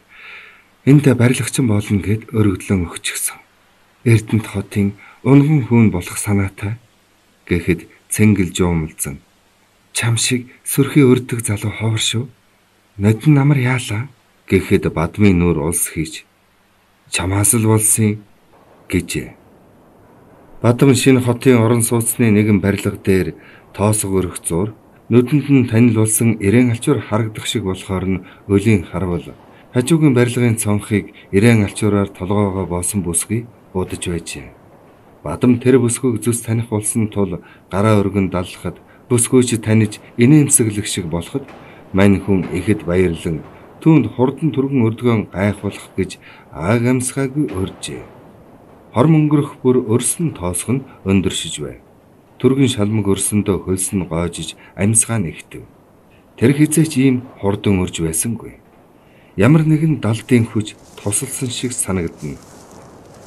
энд барилгачин болно гэд өргөдлөн өгчихсөн. Эрдэнэт хотын унган хүүн болох санаатай" гэхэд Цэнгэл жуумалзан "Чам шиг сүрхий өрдөг залуу ховор шүү. Нодон намар яалаа" гэхэд Бадмын нүур улс хийж "Чамаас л болсон" гэжээ. Бадам шинэ хотын орон сууцны нэгэн барилга дээр тоосго өрөх зур нүдэнд нь танилцуулсан ирээн алчуур харагдах шиг болохоор нь өлийн харвал хажуугийн барилгын цонхыг ирээн алчуураар толгоогоо боосон бүсгүй будаж байжээ. Бадам тэр бүсгүйг зүс таних болсон тул гараа өргөн даллахад бүсгүйч таниж инээмсэглэх шиг болоход мань хүн ихэд баярлан түүнд хурдан түргэн өрдгөн гайхуулах гэж ааг амсгаагүй урьжээ. Хорм өнгөрөх бүр өрсөн тоосго нь өндөршиж байв. Түргэн шалмаг өрсөндөө хөлс нь гоожиж амьсгаа нэгтэв. Тэр хизээч ийм хурдан өрж байсангүй. Ямар нэгэн далдын хүч тусалсан шиг санагдана.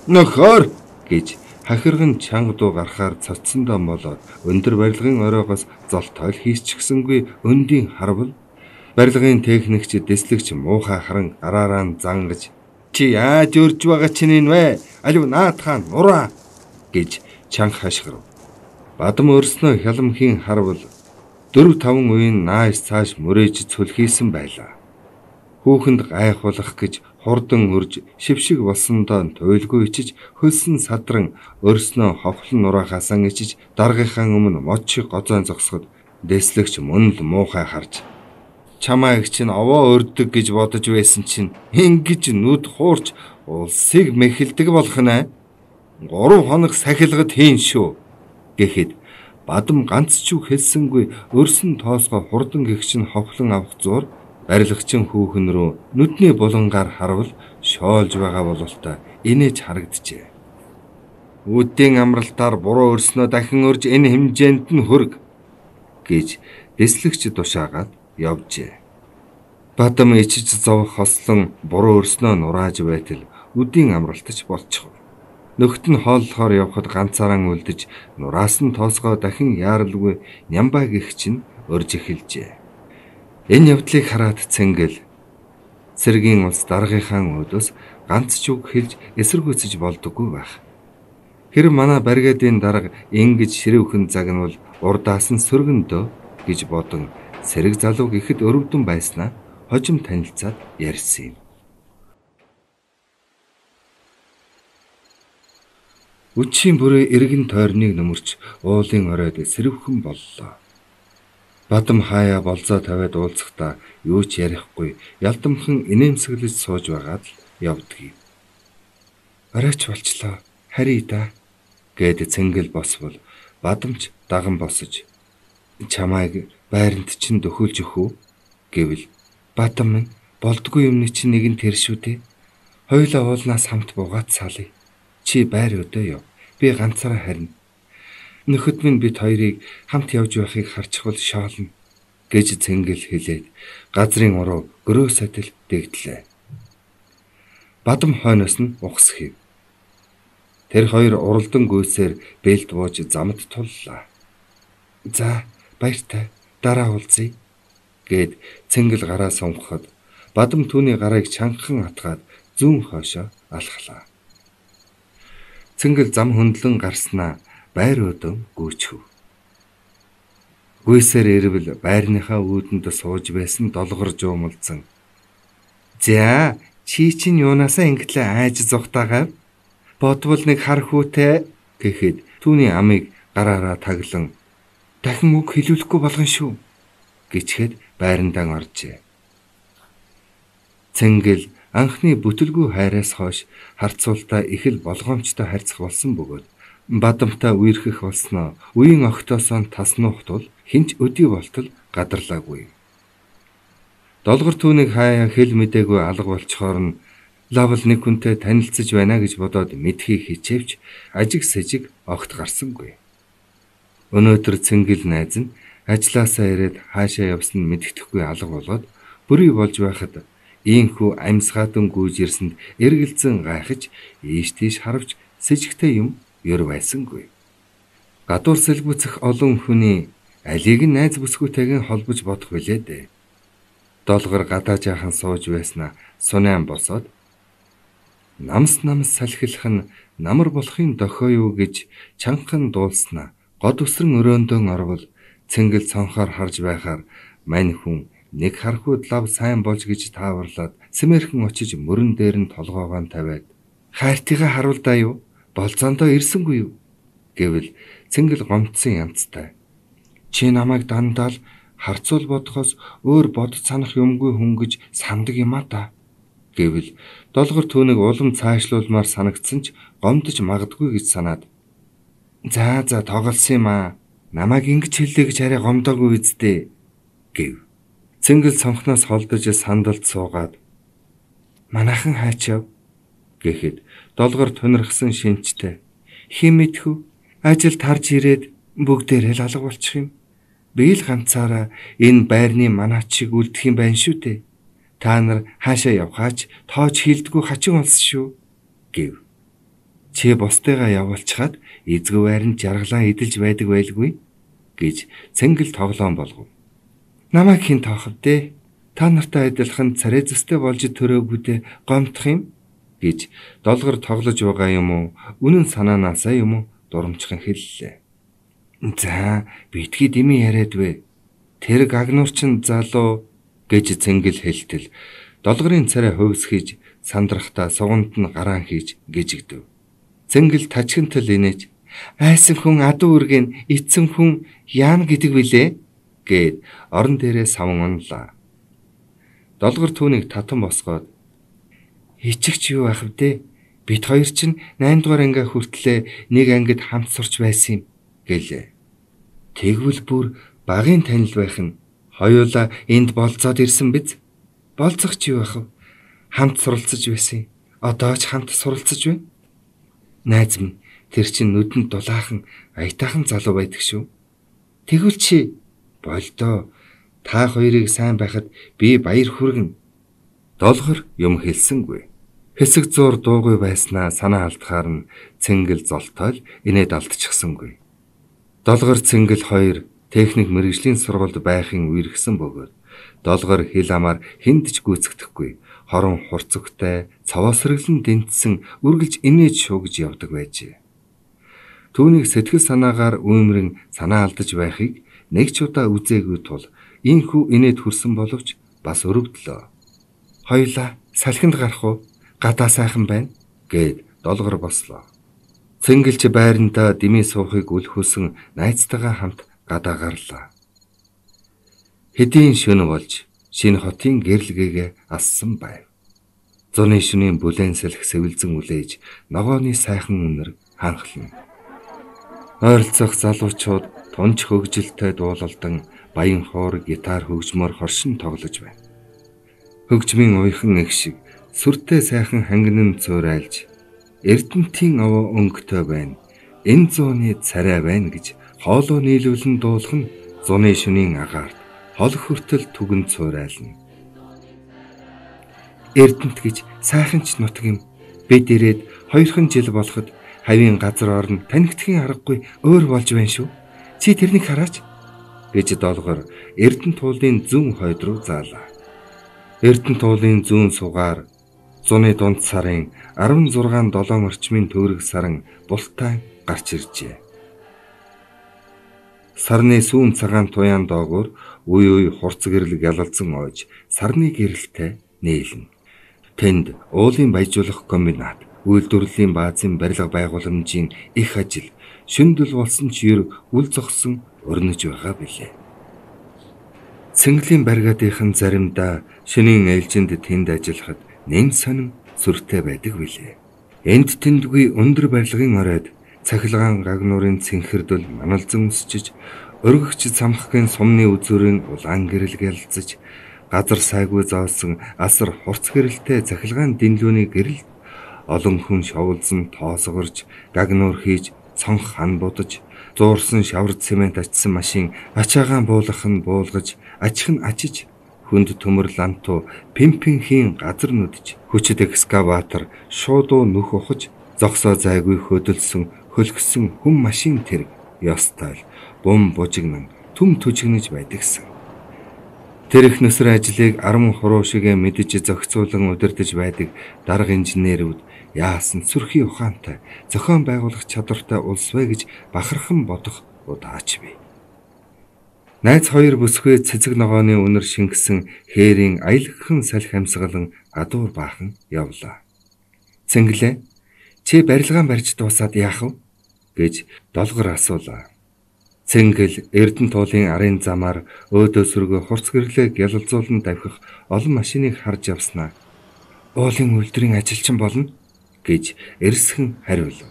"Нөхөр" гэж хахирган чанга дуу гарахаар цоцсондоо молоод өндөр барилгын оройгоос золтойл хийсчихсэнгүй өндийн харвал барилгын техникч дэслэгч муухай харан гараараа зангаж Чи яаж өрж байгаа чинь энэ вэ? Алив наатахан нураа гэж чанга хашгирав. Бадам өрснөө хяламхийн харвал 4-5 үеийн нааш цааш мөрөөж цөлхийсэн байлаа. Хүүхэнд гайхуулах гэж хурдан өрж шившиг болсондоо туйлгүй ичиж хөлсөн садран өрснөө ховхлон нураахаасан ичиж даргийнхаа өмнө мод шиг гозоон зогсоход дэслэгч мөн л муухай харж чамайг чинь овоо өрдөг гэж бодож байсан чинь ингэж нүд хуурч улсыг мэхэлдэг болох нэ. 3 хоног сахилгад хийн шүү гэхэд бадам ганц ч үг хэлсэнгүй өрсөн тоосгоо хурдан гихчин ховхлон авах зур барилгачин хүүхэн рүү нүдний булангаар харвал шоолж байгаа бололтой инээж харагджээ. Үдийн амралтаар буруу өрснөө дахин өрж энэ хэмжээнд нь хүрг гэж дэслэгч тушаагаад явжээ. Бадам ичиж зовх хослон буруу өрснөө нурааж байтал үдийн амралтч болчихов. Нөхд нь хооллохоор явхад ганцаараа үлдэж нураасан тоосгоо дахин яаралгүй нямбай гих чинь өрж эхэлжээ. Энэ явдлыг хараад Цэнгэл цэргийн улс даргийнхаа өөдөөс ганц ч үг хэлж эсэргүүцэж болдоггүй байх. Хэрэв манай баригадын дарга ингэж ширүүхэн загнавал урдаас нь сөргөндөө гэж бодон сэрэг залууг ихэд өрөвдөн байснаа хожим танилцаад ярьсан юм. Үчийн бүрээ эргэн тойрныг нөмөрч уулын оройд сэрвхэн боллоо. Бадам хаяа болзоо тавиад уулзахдаа юу ч ярихгүй ялдамхан инээмсэглэж сууж байгаад л явдгийг. Оройч болчлоо. Харъя да гэд Цэнгэл босвол бадамч даган босож чамайг байранд чинь дөхүүлж өгөх үү гэвэл бадам минь болдгүй юмны чинь нэг нь тэр шүү дээ. Хоёулаа уулнаас хамт буугаад салъя. Чи байр өдөө яв. Би ганцаараа харина. Нөхөд минь бид хоёрыг хамт явж байхыг харчихвал шоолно гэж Цэнгэл хэлээд газрын уруу гөрөө сатил дэгдлээ. Бадам хойноос нь ухс хийв. Тэр хоёр уралдан гүйсээр бэлд бууж замд туллаа. За баяртай дараа уулзъя гэд Цэнгэл гараа сунгахад бадам түүний гарыг чангахан атгаад зүүн хойшоо алхлаа. Цэнгэл зам хөндлөн гарснаа байр өдөн гүйчв. Гүйсээр ирвэл байрныхаа үүдэнд сууж байсан долгор жуумалцсан. За чи чинь юунаасаа ингэтлээ айж зугтаагаа бодвол нэг хар хүүтэй гэхэд түүний амийг гараараа таглан дахин үг хэлүүлэхгүй болгон шүү гэчгээд байрандаа оржээ. Цэнгэл анхны бүтэлгүй хайраас хойш харцуултаа их л болгоомжтой харьцах болсон бөгөөд бадамтай үерхэх болсноо үеийн огтоосоо таснуух тул хинч өдий болтол гадарлаагүй. Долгор түүнийг хаяа хэл мэдээгүй алга болчхоор нь лавл нэг хүнтэй танилцж байна гэж бодоод мэдхийг хичээвч ажиг сэжиг огт гарсангүй. Өнөөдөр Цэнгэл найз нь ажилласаа ирээд хаашаа явсан нь мэддэхгүй алга болоод бүрий болж байхад ийхүү амьсгаатан гүйж ирсэнд эргэлзэн гайхаж ийш тийш харвч сэжигтэй юм ер байсангүй. Гадуур сэлбүцэх олон хүний алийг нь найз бүсгүйтэйг холбож бодох билээ дээ. Долгор гадаа жаахан сууж байснаа сунаан босоод намс салхилах нь намар болохын дохио юу гэж чангахан дуулснаа год үсрэн өрөөндөн орвол Цэнгэл цонхоор харж байхаар мань хүн нэг хархууд лав сайн болж гэж тааварлаад сэмэрхэн очиж мөрөн дээр нь толгоогоо тавиад хайртыгаа харуулдаа юу болцоондоо ирсэнгүй юу гэвэл Цэнгэл гомдсон янзтай. Чи намайг дандаа л харцуул бодохоос өөр бодож санах юмгүй хүн гэж сандаг юм а та гэвэл долгор түүнийг улам цаашлуулмаар санагдсан ч гомдож магадгүй гэж санаад за тоглосон юм а намайг ингэж хэллээ гэж арай гомдоогүй үсттэй гэв. Цэнгэл цонхноос холдож сандалд суугаад манайхан хаачав гэхэд долгор тунирхсан шинжтэй хэн мэдхүү ажил тарж ирээд бүгдээр л алга болчих юм. Би л ганцаараа энэ байрны манаач шиг үлдэх юм байна шүү дээ. Та нар хаашаа явхаач тоож хилдэггүй хачин олсон шүү гэв. Чи бусдыгаа явуулчихад эзгүй байранд жаргалаа эдэлж байдаг байлгүй гэж Цэнгэл тоглоом болгов. Намайг хэн тоохов дээ? Та нартай адилхан царай зүстэй болж төрөөгүүдээ гомдох юм? гэж долгор тоглож байгаа юм уу? Үнэн санаанаасаа юм уу? Дурамчхан хэллээ. За, битгий дими яриад вэ. Тэр гагнуурчин залуу гэж цэнгэл хэлтэл долгорын царай хувьсгийж сандрахтаа суганд нь гараан хийж гижигдэв. Цэнгэл тажигнтал инээж айсан хүн адуу үргэн эцэн хүн яана гэдэг билээ гэд орон дээрээ савн унлаа. Долгор түүнийг татан босгоод хичигч юу ах вэ? Бид хоёр чинь 8 дугаар анги хүртлээ нэг ангид хамт сурч байсан юм гэлээ. Тэгвэл бүр багын танил байх нь хоёулаа энд болцоод ирсэн биз? Болцох ч юу ах вэ? Хамт суралцж байсан. Одоо ч хамт суралцж байна. Найз минь тэр чинь нүдэнд дулаахан аятайхан залуу байдаг шүү. Тэгвэл чи болдоо та хоёрыг сайн байхад би баяр хүргэнэ. Долгор юм хэлсэнгүй. Хэсэг зур дуугүй байснаа санаа алдахаар нь цэнгэл золтойл инээд алдчихсангүй. Долгор цэнгэл хоёр техник мэргэжлийн сургуульд байхын үерхсэн бөгөөд долгор хил амаар хүнд ч гүйцэгдэхгүй хорон хурцгтай цаваасралн дэнтсэн үргэлж инээж шуугж явдаг байжээ. Түүнийг сэтгэл санаагаар үүмрэн санаа алдаж байхыг нэг ч удаа үзээгүй тул ийхүү инээд хүрсэн боловч бас өрөвдлөө. Хоёлаа салхинд гарах уу? Гадаа сайхан байна гэд долгор бослоо. Цэнгэлч байрандаа дими суухыг үлхүүлсэн найзтайгаа хамт гадаа гарлаа. Хэдийн шөнө болж шинэ хотын гэрлэгээ ассан байв. Зуны шөнийн бүлээн салхи сэвэлзэн үлээж ногооны сайхан үнэр ханхлана. Ойролцох залуучууд тунч хөгжилтэй дуулалдан баян хоор гитар хөгжмөр хоршин тоглож байна. Хөгжмийн уйхан их шиг сүртэй сайхан хангин нь цөөрайлж Эрдэнтийн овоо өнгөтэй байна. Энэ зууны царай байна гэж хоолоо нийлүүлэн дуулах нь зуны шөнийн агаарт хол хүртэл түгэн цөөрайлна. Эрдэнэт гэж сайхан ч нутаг юм. Бид ирээд 2хан жил болоход хавийн газар орн танигдхийн аргагүй өөр болж байна шүү. Чи тэрнийг хараач гэж долгор Эрдэнэт туулын зүүн хойд руу заалаа. Эрдэнэт туулын зүүн сугаар зуны дунд сарын 16-7 орчмын төгрөг саран бултай гарч иржээ. Сарны сүүн цагаан туяан доогуур үе хурц гэрэл гялалзан ойж сарны гэрэлтэй нээлнэ. Тэнд уулын баяжуулах комбинат, үйлдвэрлэлийн баазын барилга байгууламжийн их ажил, шүндэл болсон ч ер үл зогсон өрнөж байгаа билээ. Цэнгэлийн баригадынхан заримдаа шөнийн ээлжинд тэнд ажиллахад нэм сонин сүртэй байдаг билээ. Энд тэндгүй өндөр барилгын оройд цахилгаан гагнуурын цэнхэрдэл маналзан өсчиж, өргөгч самхгийн сумны үзүүрийн улаан гэрэл гялцж, газар сайгүй заасан асар хурц гэрэлтэй цахилгаан дэнлүүний гэрэл олон хүн шовлсон тоосгорж, гагнуур хийж, цонх хан будаж, зуурсан шавар цемент ачсан машин ачаагаан буулгах нь буулгаж, ачих нь ачиж, хүнд төмөр ланту пимпинхийн газар нүдж, хүчит экскаватор шуудуу нүх ухаж, зогсоо зайгүй хөдөлсөн хөлгсөн хүм машин тэрэг ёстой бум бужигнан түм түжигнэж байдагсан. Тэр их нүсэр ажлыг 10 хуруу шигэ мэдж зохицуулан удирдах байдаг дарга инженерүүд яасан сүрхий ухаантай зохион байгуулах чадвартай улс вэ гэж бахархан бодох удаач бий. Найз хоёр бүсгүй цэцэг ногооны үнэр шингэсэн хээрийн аялагхан салхи амьсгалан гадуур баахан явлаа. Цэнгэлээ чи барилгаан барьж дуусаад яах вэ гэж долгор асуулаа. Цэнгэл Эрдэнэт туулын арын замаар өөдөө сөргөө хурц гэрлээ гялалзуулан давхих олон машиныг харж явснаа. Уулын үйлдвэрийн ажилчин болно гэж эрсхэн хариулв.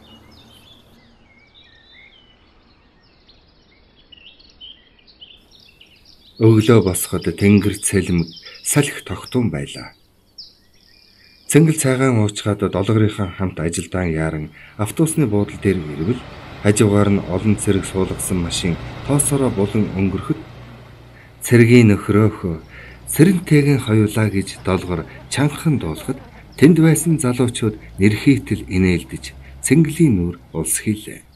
Өглөө босоход тэнгэр цэлмэг салхи тогтун байлаа. Цэнгэл цайгаан уучгаад долгорынхан хамт ажилдаан яаран автобусны буудлын дээр ирвэл хажуугаар нь олон цэрэг суулгасан машин тоосороо булан өнгөрөхөд цэргийн нөхрөөхөө сэрэнтэйгэн хоёулаа гэж долгор чангахан дуулахад тэнд байсан залуучууд нэрхийтэл инээлдэж цэнгэлийн нүур улс хийлээ.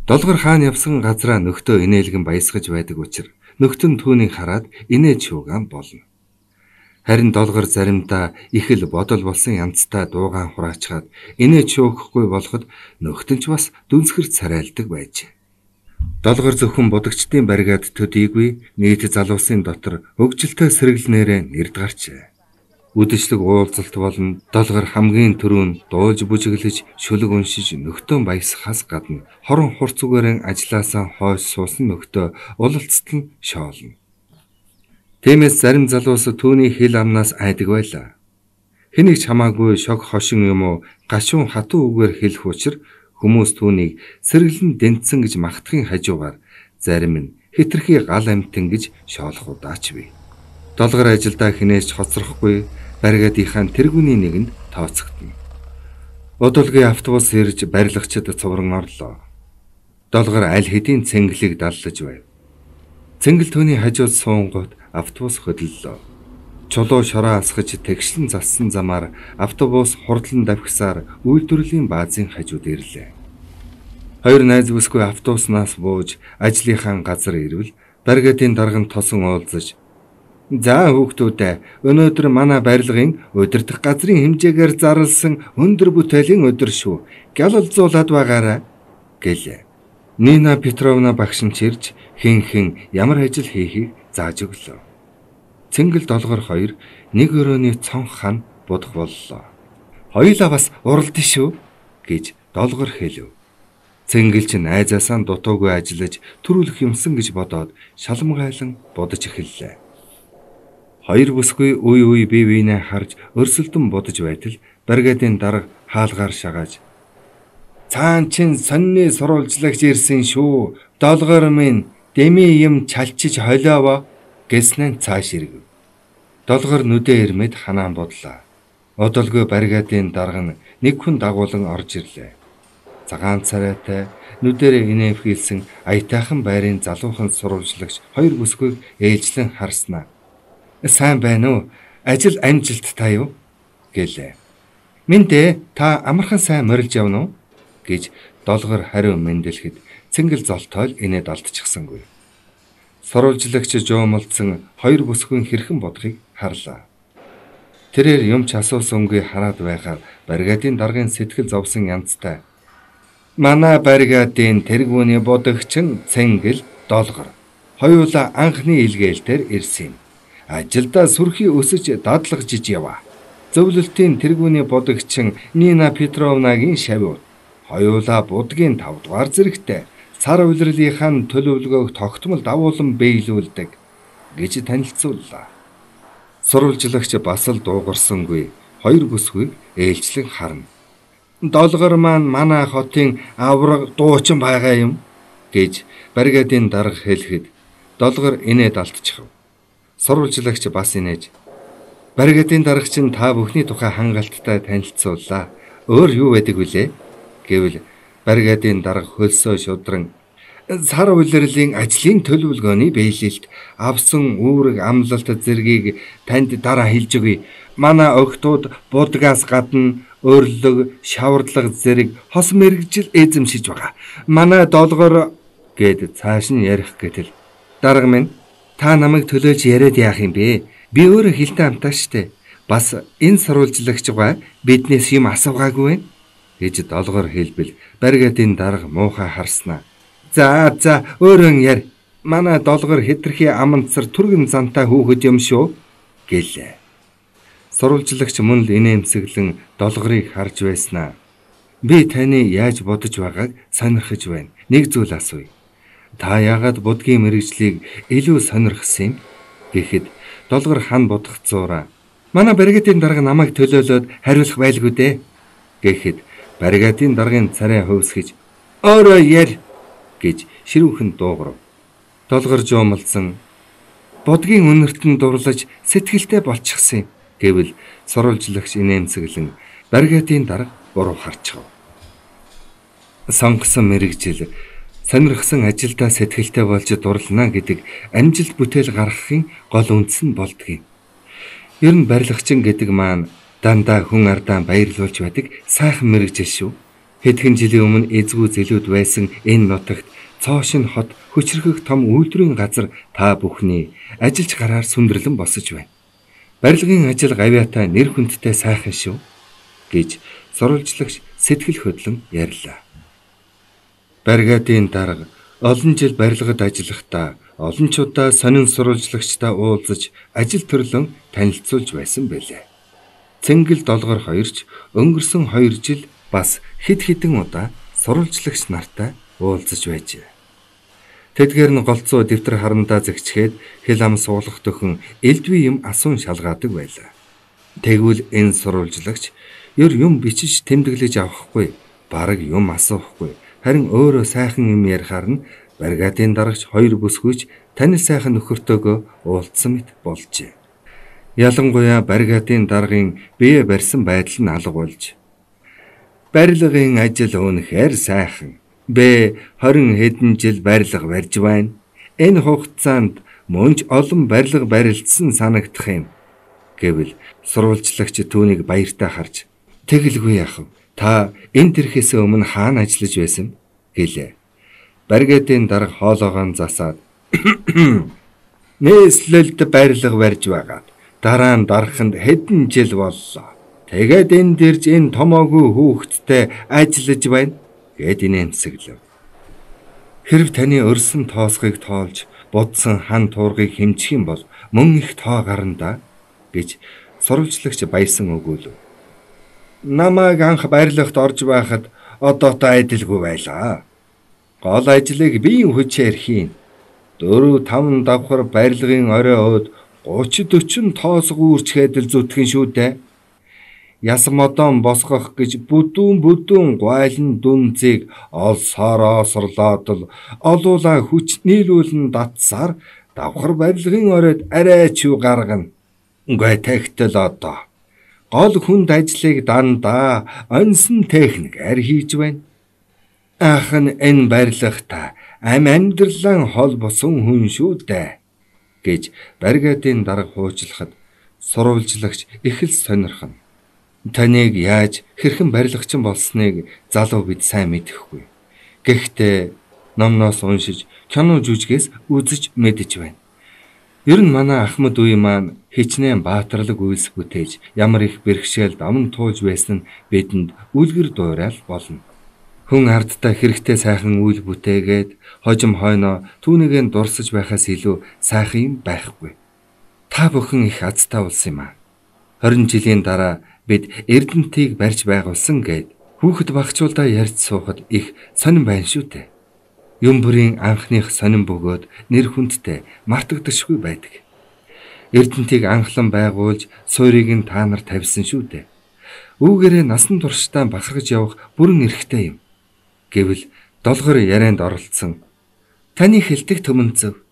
Долгор хаан явсан газраа нөхдөө инээлгэн баясгаж байдаг учраас нөхдөн түүнийг хараад инээж шуугаан болно. Харин долгор заримдаа их л бодол болсон янзтай дуугаан хураачаад инээж шүүхгүй болоход нөхтөн ч бас дүнсгэр царайлдаг байжээ. Долгор зөвхөн будагчдын баригад төдийгүй нийт залуусын дотор хөгжилтэй сэргэлнээрээ нэрд гарчээ. Үдэшлэг уулзалт болон долгор хамгийн түрүүнд дуулж бүжиглэж шүлэг уншиж нөхтөн баясахаас гадна хорон хурц үгээрэн ажилласаа хойш суусан нөхтөө улалцт нь шоолно. Тиймээс зарим залуус түүний хэл амнаас айдаг байлаа. Хэнийг ч хамаагүй шог хошин юм уу гашуун хатуу үгээр хэлэх учир хүмүүс түүнийг сэргэлэн дэнтсэн гэж магтахын хажуугаар зарим нь хитрхи гал амтэн гэж шоолох удаач бий. Долгор ажилдаа хинээс ч хоцрохгүй баригадынхаа тэргүүний нэгэнд тооцогдно. Удалгүй автобус ирж барилгачид цувран орлоо. Долгор аль хэдийн цэнгэлийг даллаж байв. Цэнгэл түүний хажууд суунгууд автобус хөдлөлөө. Чулуу шороо асгаж тэгшлэн зассан замаар автобус хурдлан давхисаар үйлдвэрлэлийн баазын хажууд ирлээ. Хоёр найз бүсгүй автобуснаас бууж ажлынхаа газар ирвэл баригадын дарганд тосон уулзаж "За хүүхдүүдээ, өнөөдөр манай барилгын удирдах газрын хэмжээгээр зарласан өндөр бүтээлийн өдөр шүү. Гялалзуулаад байгаарай" гэлээ. Нина Петровна багш нь чирж хэн ямар ажил хийхийг зааж өглөө. Цэнгэл долгор хоёр нэг өрөөний цонх хана будах боллоо. "Хоёулаа бас уралдсан шүү" гэж долгор хэлв. Цэнгэл ч найзаасаа дутуугүй ажиллаж төрүүлэх юмсан гэж бодоод шалмгайлан будаж эхэллээ. Хоёр бүсгүй үе бие биенээ харж өрсөлдөн будаж байтал баригадын дарга хаалгаар шагааж "Цаан чин сонины сурвалжлагч ирсэн шүү. Долгор минь дэми юм чалчиж холиово" гэснэн цааш ирэв. Долгор нүдээ ирмэд ханаан бодлаа. Одолгүй баригадын дарга нэг хүн дагуулan орж ирлээ. Цагаан царайтай нүдэрээ инэвхийлсэн аятайхан байрын залуухан сурвалжлагч хоёр бүсгүйг ээлжлэн харснаа. "Сайн байна уу? Ажил амжилттай юу?" гэлээ. "Минь та амархан сайн морилж явна уу?" гэж долгор хариу мэндэлэхэд цэнгэл золтойл инээд алдчихсангүй. Сурвалжлагч жуумалдсан хоёр бүсгүйн хэрхэн бодохыг харлаа. Тэрээр юм ч асуусангүй хараад байхаар баригадын даргын сэтгэл зовсон янзтай. "Манай баригадын тэргүүний будагчин Цэнгэл долгор хоёулаа анхны илгээлтээр ирсэн юм. Ажилдаа сүрхий өсөж дадлагжиж яваа. Зөвлөлтийн тэргүүний будагчин Нина Петровнагийн шавь. Хоёулаа будгийн 5 дугаар зэрэгтэй сар улирлынхаа төлөвлөгөөг тогтмол дагуулan биелүүлдэг" гэж танилцууллаа. Сурвалжлагч бас л дуугарсангүй хоёр бүсгүйг ээлжлэн харна. "Долгор маань манай хотын авраг дуучин байгаа юм" гэж баригадын дарга хэлэхэд долгор инээд алдчихв. Сурвалжлагч бас инээж "Баригадын дарга чинь та бүхний тухай хангалттай танилцууллаа. Өөр юу байдаг вүлээ?" гэвэл баригадын дарга хөлсөө шудран "Сар улирлын ажлын төлөвлөгөөний биелэлт авсан үүрэг амлалт зэргийг танд дараа хэлж өгье. Манай охтууд будгаас гадна өрлөг, шаварлаг зэрэг хос мэрэгжил эзэмшиж байгаа. Манай долгор" гэд цааш нь ярих гэтэл "Дарга минь, та намайг төлөөлж яриад яах юм бэ? Би өөрөө хилтэй амтаа штэ. Бас энэ сурвалжлагч байгаа биднээс юм асуугаагүй вэ?" гэж долгор хэлбэл баригадын дарга муухай харснаа. За өөрөө яар. Манай долгор хитрхи амандсар түргэн зантай хүүхэд юм шүү" гэлээ. Сурвалжлагч мөн л инээмсэглэн долгорыг харж байснаа. "Би таны яаж бодож байгааг сонирхож байна. Нэг зүйл асууя. Та яагаад будгийн мэрэгжлийг илүү сонирхсан юм?" гэхэд долгор хан бодгоцоораа "Манай баригадын дарга намайг төлөөлөөд хариулах байлгүй дээ" гэхэд баригадын даргын царай хөвсгөж "Өөрөө яар" гэж ширүүхэн дуугарв. Долгор жуумалсан "Будгийн үнэртэн дурлаж сэтгэлтэй болчихсон юм" гэвэл сурвалжлагч инээмсэглэн баригадын дарга буруу харчихв. Сонгосон мэрэгжил сонирхсан ажилдаа сэтгэлтэй болж дурлана гэдэг амжилт бүтээл гаргахын гол үндэс нь болдгийг. Ер нь барилгачин гэдэг маань дандаа хүн ардаа баярлуулж байдаг сайхан мэрэгжил шүү. Хэдхэн жилийн өмнө эзгүй зэлүүд байсан энэ нутагт цоошин хот хүчрхэг том үйлдвэрийн газар та бүхний ажиллаж гараар сүндэрлэн босож байна. Барилгын ажил гавьяатай нэр хүндтэй сайхан шүү гэж сурвалжлагч сэтгэл хөдлөн ярьлаа. Бригадын дарга олон жил барилгад ажиллахдаа олончуудаа сонин сурвалжлагчтай уулзаж ажил төрлөн танилцуулж байсан байлээ. Цэнгэл долгор хоёрч өнгөрсөн 2 жил бас хэд хэдэн удаа сурвалжлагч нартай уулзаж байжээ. Тэдгээр нь голцоо дэвтэр харандаа зэгчгээд хэл ам суулгах төхөн элдвээ юм асуун шалгаадаг байлаа. Тэгвэл энэ сурвалжлагч ер юм бичиж тэмдэглэж авахгүй, бараг юм асуухгүй, харин өөрөө сайхан юм ярихаар нь бригадын дарагч 2 бүсгүйч танил сайхан нөхөртөөгөө уулзсан мэт болжээ. Ялангуяа бригадын даргын бие барьсан байдал нь алга болж барилгын ажил үнэхээр сайхан. 20 хэдэн жил барилга барьж байна. Энэ хугацаанд мөнч олон барилга барилдсан санагдах юм гэвэл сурвалжлагч түүнийг баяртай харж тэгэлгүй яах вэ? Та энэ төрхөөс өмнө хаана ажиллаж байсан гэлээ. Бригадын дарга хоолоогоо засаад нээслэлд барилга барьж байгаад дараа нь дараханд хэдэн жил боллоо. Тэгээд энэ дэрж энэ томоогүй хүүхэдтэй ажиллаж байна гэд инээмсэглэв. Хэрв таны өрсөн тоосхыг тоолж будсан хан туургийг хэмжих юм бол мөн их тоо гарна гэж сурвалжлагч баясан өгөөлөв. Намайг анх барилгад орж байхад одоотой адилгүй байлаа. Гол ажлыг биеийн хүчээр хийн. 4-5 давхар барилгын орой өөд 30-40 тоос гүүрчгээд л зүтгэн шүү дээ. Яс модон босгох гэж бүдүүн гуайлан дүнзийг олсороо сорлоод л олуула хүч нийлүүлэн татсаар давхар барилгын оройд арай ч юу гаргана. Үгүй тэгтэл одоо гол хүнд ажлыг дандаа онсон техникээр хийж байна. Ахын энэ барилгата амьдралан хол босон хүн шүү дээ гэж бригадын дарга хуучлахад сурвалжлагч их л сонирхно. Таныг яаж хэрхэн барилгачин болсныг залуу бид сайн мэдэхгүй. Гэхдээ номноос уншиж, кино жүжигээс үзэж мэдэж байна. Ер нь манай Ахмад үе маань хичнээн баатарлаг үйлс бүтээж, ямар их бэрхшээл даван туулж байсан нь бидэнд үлгэр дуурайл болно. Хүн ардтай хэрэгтэй сайхан үйл бүтээгээд хожим хойноо түүнийгээ дурсаж байхаас илүү сайхан юм байхгүй. Та бүхэн их азтай улс юм аа. 20 жилийн дараа бид Эрдэнэтийг барьж байгуулсан гэд хүүхэд багчуулдаа ярьж суухад их сонирн байна шүү дээ. Юм бүрийн анхных сонирн бөгөөд нэр хүндтэй мартагдашгүй байдаг. Эрдэнэтийг анхлан байгуулж суурийг нь та нар тавьсан шүү дээ. Үүгээрээ насан туршдаа бахархаж явах бүрэн эрхтэй юм. Гэвэл долгор ярианд оролцсон. Таны хэлдэг төмөнцөв.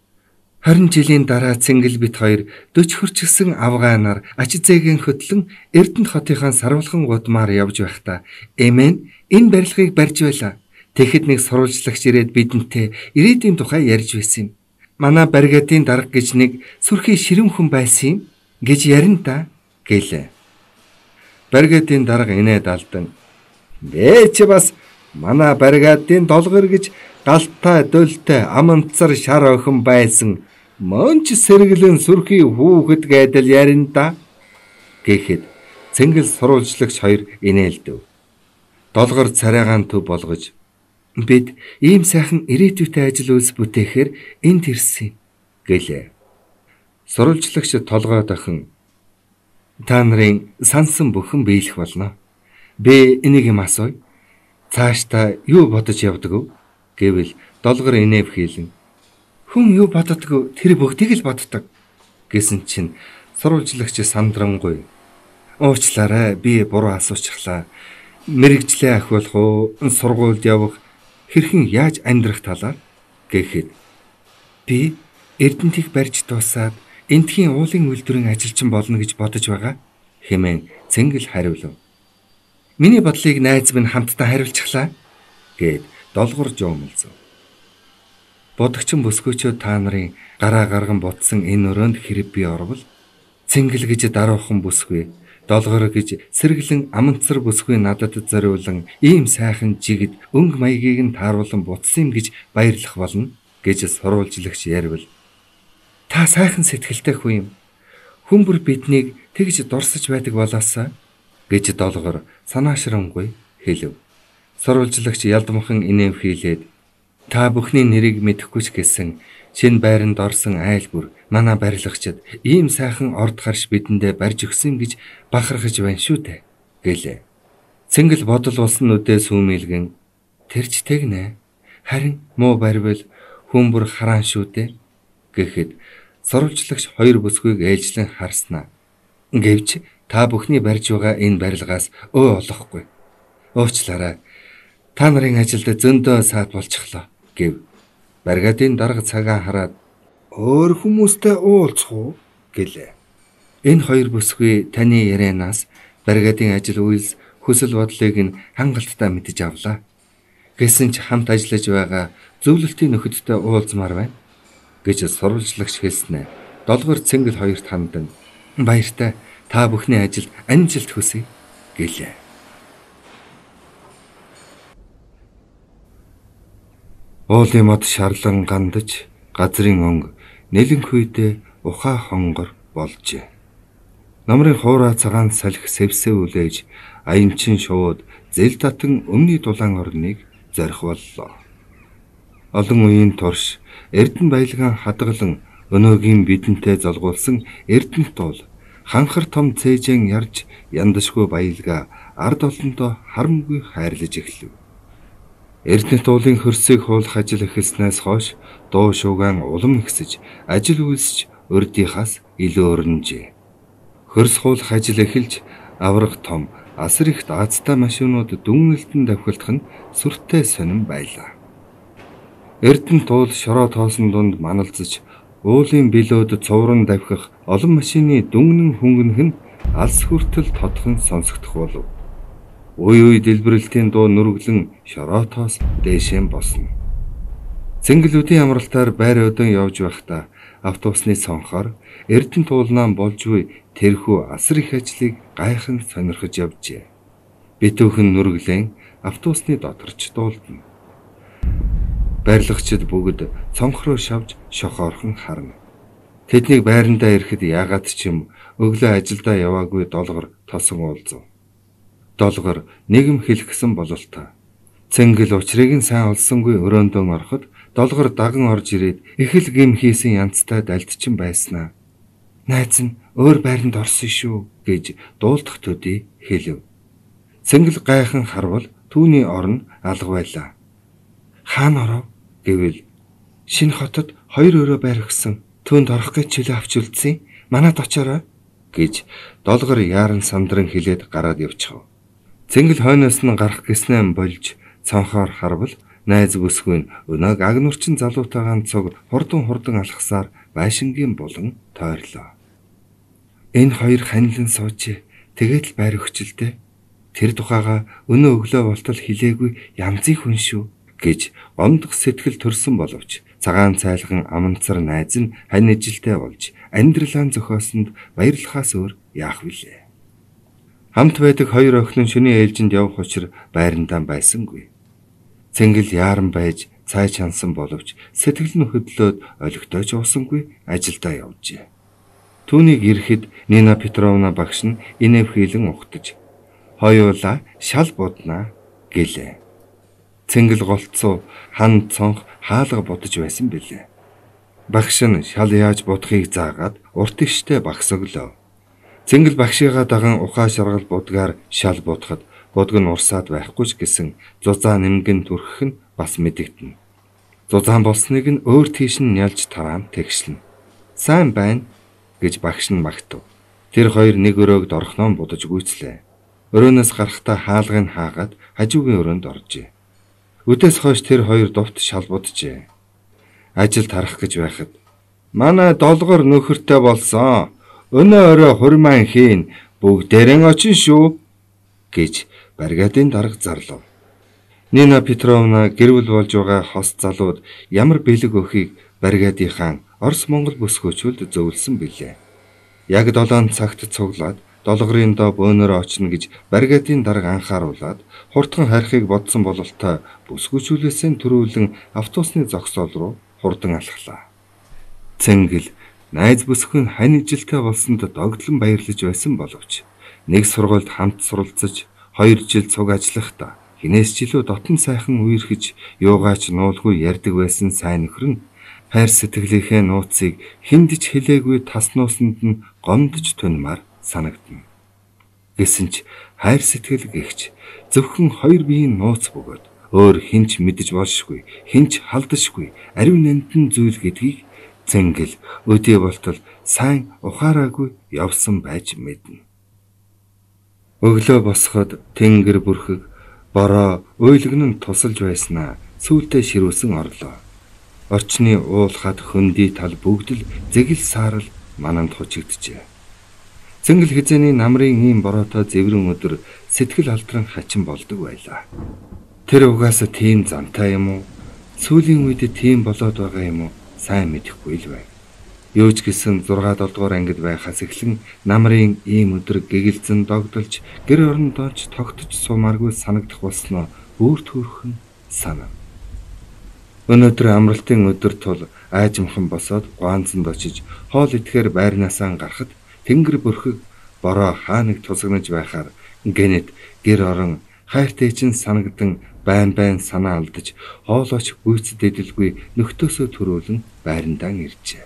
20 жилийн дараа Цэнгэл бит хоёр 40 хүрчсэн авгаанаар Ачзээгийн хөтлөн Эрдэнэт хотынхаа сарвалхан гудмаар явж байхдаа эмэн энэ барилгыг барьж байлаа. Тэгэхэд нэг сурвалжлагч ирээд бидэнтэй ирээдүйн тухай ярьж байсан юм. Манай бригадын дарга гэж нэг сүрхий ширэм хүн байсан юм гэж ярина та гэлээ. Бригадын дарга инээд алдан чи бас манай бригадын долгор гэж галтай дөлтэй аманцар шар охин байсан мөнч сэргэлэн сүрхий хүүхэд гэдэл ярина да гэхэд Цэнгэл сурвалжлагч хоёр инээлдэв. Долгор царайгаан төв болгож бид ийм сайхан ирээдүйтэй ажил үйлс бүтээхээр энд ирсэн гэлээ. Сурвалжлагч толгой дахин та нарын сансан бүхэн биелэх болно. Би энийг юм асууя. Цааш та юу бодож явдаг вэ гэвэл долгор инэв хийлэн хүн юу боддгоо тэр бүгдийг л боддог гэсэн чинь сурвалжлагч сандрангуй уучлаарай би буруу асуучихлаа. Мэргэжлээ ахиулах уу сургуульд явах хэрхэн яаж амьдрах талаар гэхэд би Эрдэнэтийг барьж дуусаад энтхийн уулын үйлдвэрийн ажилчин болно гэж бодож байгаа хэмээн Цэнгэл хариулв. Миний бодлыг найз минь хамтдаа хариулчихлаа гэд долгор жуумэлзв. Бодогчин бүсгүйчүүд та нарын гараа гарган ботсон энэ өрөөнд хэрэг би орвол Цэнгэл гэж даруухан бүсгүй, долгор гэж сэргэлэн аманцар бүсгүй надад зориулан ийм сайхан жигд өнгө маягийг нь тааруулан бутсан юм гэж баярлах болно гэж сурвалжлагч ярил. Та сайхан сэтгэлтэй хүн юм. Хүн бүр биднийг тэгж дорсож байдаг болоосаа гэж долгор санаашрамгүй хэлв. Сурвалжлагч ялдамхан инээмхийлээд та бүхний нэрийг мэдэхгүй ч гэсэн шинэ байранд орсон айл бүр манай барилгачид ийм сайхан орд гарш бидэндээ барьж өгсөн гэж бахархаж байна шүү дээ гэлээ. Цэнгэл бодол улсан нүдээ сүүмэлгэн тэрч тэгнэ. Харин муу барьвал хүн бүр хараан шүү дээ гэхэд сурвалжлагч хоёр бүсгүйг ээлжлэн харснаа. Гэвч та бүхний барьж байгаа энэ барилгаас олохгүй. Уучлаарай. Та нарын ажилд зөндөө саад болчихлоо гэв. Баригадын дарга цагаан хараад өөр хүмүүстэй уулзах уу гэлээ. Энэ хоёр бүсгүй таны ярианаас баригадын ажил үйлс хүсэл бодлыг нь хангалттай мэдэж авлаа. Гэсэн ч хамт ажиллаж байгаа зөвлөлтийн нөхөдтэй уулзмаар байна гэж сурвалжлагч хэлснэ. Долгор Цэнгэл хоёрт хандан баяртай та бүхний ажилд амжилт хүсье гэлээ. Уулын мод шарлан гандаж газрын өнг нэлэнхүйдээ ухаа хонгор болжээ. Намрын хуурай цагаан салхи сэвсээ үлээж аянчин шууд зэл татан өмнөний дулаан орныг зорих боллоо. Олон үеийн турш Эрдэнэ баялгаан хадгалан өнөөгийн бидэнтэй золгуулсан Эрдэнэт бол ханхар том цээжэн ярж яндашгүй баялгаа ард олондоо харамгүй хайрлаж эхлэв. Эрдэнэт уулын хөрсийг хуулах ажил эхэлснээс хойш дуу шуугаан улам ихсэж ажил үйлсч урдийнхаас илүү өрнөжээ. Хөрс хуулах ажил эхэлж авраг том асар их даацтай машинууд дүнэлтэн давхилдах нь сүртэй сонирн байлаа. Эрдэнэт уул шороо тоосон дунд маналзаж уулын билөөд цувран давхих олон машины дүннэн хөнгөнөх нь алс хүртэл тодхон сонсогдох болов. Үй дэлбэрэлтийн дуу нүргэлэн шороотоос дээшэн босно. Цэнгэлүүдийн амралтаар байр өдөн явж байхдаа автобусны цонхоор Эрдэнэт уулнаа болж буй тэрхүү асар их ажлыг гайхан сонирхож явжээ. Битүүхэн нүргэлэн автобусны доторч дуулдана. Барилгачид бүгд цонх руу шавж шохоорхон харна. Тэднийг байрандаа ирэхэд яагаад ч юм өглөө ажилдаа яваагүй долгор тосон уулзав. Долгор нэгм хэлгэсэн бололтой. Цэнгэл учрыг нь сайн олсонгүй өрөөндөө ороход долгор даган орж ирээд их л гим хийсэн янзтай дальдчин байснаа. Найз нь өөр байранд орсон шүү гэж дуулдах төдий хэлв. Цэнгэл гайхан харвал түүний орн алга байлаа. Хаана оров гэвэл шинэ хотод хоёр өрөө байр өгсөн. Түүнд орох гэж чөлөө авч үлдсэн. Манад очоорой гэж долгор яаран сандран хэлээд гараад явчихав. Цэнгэл хойноос нь гарах гэснээ болж цонхоор харвал найз бүсгүй нь өнөөг агнуурчин залуутайгаан цуг хурдан алхасаар байшингийн булан тойрлоо. Энэ хоёр ханилан сууж тэгээд л байр өгчлээ. Тэр тухайга өнөө өглөө болтол хилээгүй янзын хүн шүү гэж гомдох сэтгэл төрсөн боловч цагаан цайлган аманцар найз нь хань ижилтэй болж амьдралаа зохиосонд баярлахаас өөр яах вүлээ. Хамт байдаг хоёр охин нь шөнийн ээлжинд явах учраа байрандаа байсангүй. Цэнгэл яаран байж цай чансан боловч сэтгэл нь хөдлөөд олигтойч уусангүй ажилдаа явжээ. Түүнийг ирэхэд Нина Петровна багш нь инэвхийлэн ухтаж "Хоёулаа шал буднаа" гэлээ. Цэнгэл голцоо хан цонх хаалга будаж байсан билээ. Багш нь шал яаж будахыг заагаад урт иштэй багс өглөө. Цэнгэл багшигаа даган ухаа шаргал будгаар шал будахад будг нь урсаад байхгүй ч гэсэн зузаа нэмгэн түрхэх нь бас мэдэгдэнэ. Зузаан болсныг нь өөр тийш нь нялж тараан тэгшлэн. "Сайн байна" гэж багш нь магтав. Тэр хоёр нэг өрөөг дорхноо будаж гүйцлээ. Өрөөнөөс гарахдаа хаалгыг хаагаад хажуугийн өрөөнд оржээ. Өдөөс хойш тэр хоёр дувт шал буджээ. Ажил тарах гэж байхад "Манай долгор нөхөртэй болсон. Өнөө өрөө хурмаан хийн бүгдээрэн очин шүү" гэж баригадын дарга зарлав. Нина Петровна гэрвэл болж байгаа хос залууд ямар бэлэг өхийг баригадынхаа Орос Монгол бүсгүйчүүд зөвлөсөн билээ. Яг 7 цагт цуглаад долгорын доо бөөнөрөө очно гэж баригадын дарга анхааруулад хурдхан харихыг бодсон бололтой бүсгүйчүүлээсээ төрүүлэн автобусны зогсоол руу хурдан алхлаа. Цэнгэл найз бүсгүй нь хань ижилтэй болсонд догдлон баярлаж байсан боловч нэг сургуульд хамт суралцаж 2 жил цуг ажиллахдаа хинээс ч илүү дотн сайхан үерхэж юугаач нуулгүй ярьдаг байсан сайн нөхөр нь хайр сэтгэлийнхээ нууцыг хиндэж хэлээгүй тас нуусанд нь гомдож тунмаар санагдана. Гэсэн ч хайр сэтгэл гэгч зөвхөн хоёр биеийн нууц бөгөөд өөр хинч мэдэж болшгүй, хинч халдашгүй ариун нандин зүйл гэдгийг Цэнгэл өдөө болтол сайн ухаараагүй явсан байж мэднэ. Өглөө босоход тэнгэр бүрхэг бороо уйлгэн нь тусалж байснаа сүүлдээ ширүүсэн орлоо. Орчны уулхад хөндөй тал бүгд л зэгэл саарл мананд хучигджээ. Цэнгэл хизээний намрын ийм бороотой зэврэн өдөр сэтгэл алдран хачин болдог байлаа. Тэр угаасаа тийм зантай юм уу? Сүүлийн үед тийм болоод байгаа юм уу? Сайн мэдэхгүй л байв. Юу ч гэсэн 6-7 дугаар ангид байхаас эхлэн намрын ийм өдөр гэгэлзэн догдолж гэр орондооч тогтож сумааргүй санагдах болсноо бүр төрхөн санав. Өнөөдөр амралтын өдөр тул аажимхан босоод гуанзанд очиж хоол идэхээр байрнаасаа гарахад тэнгэр бүрхэг бороо хааныг тусагнаж байхаар гэнэт гэр орон хайртай чинь санагдан байн санаа алдаж хоолооч гүйцэд эдэлгүй нөхдөөсөө төрүүлэн байрандаа иржээ.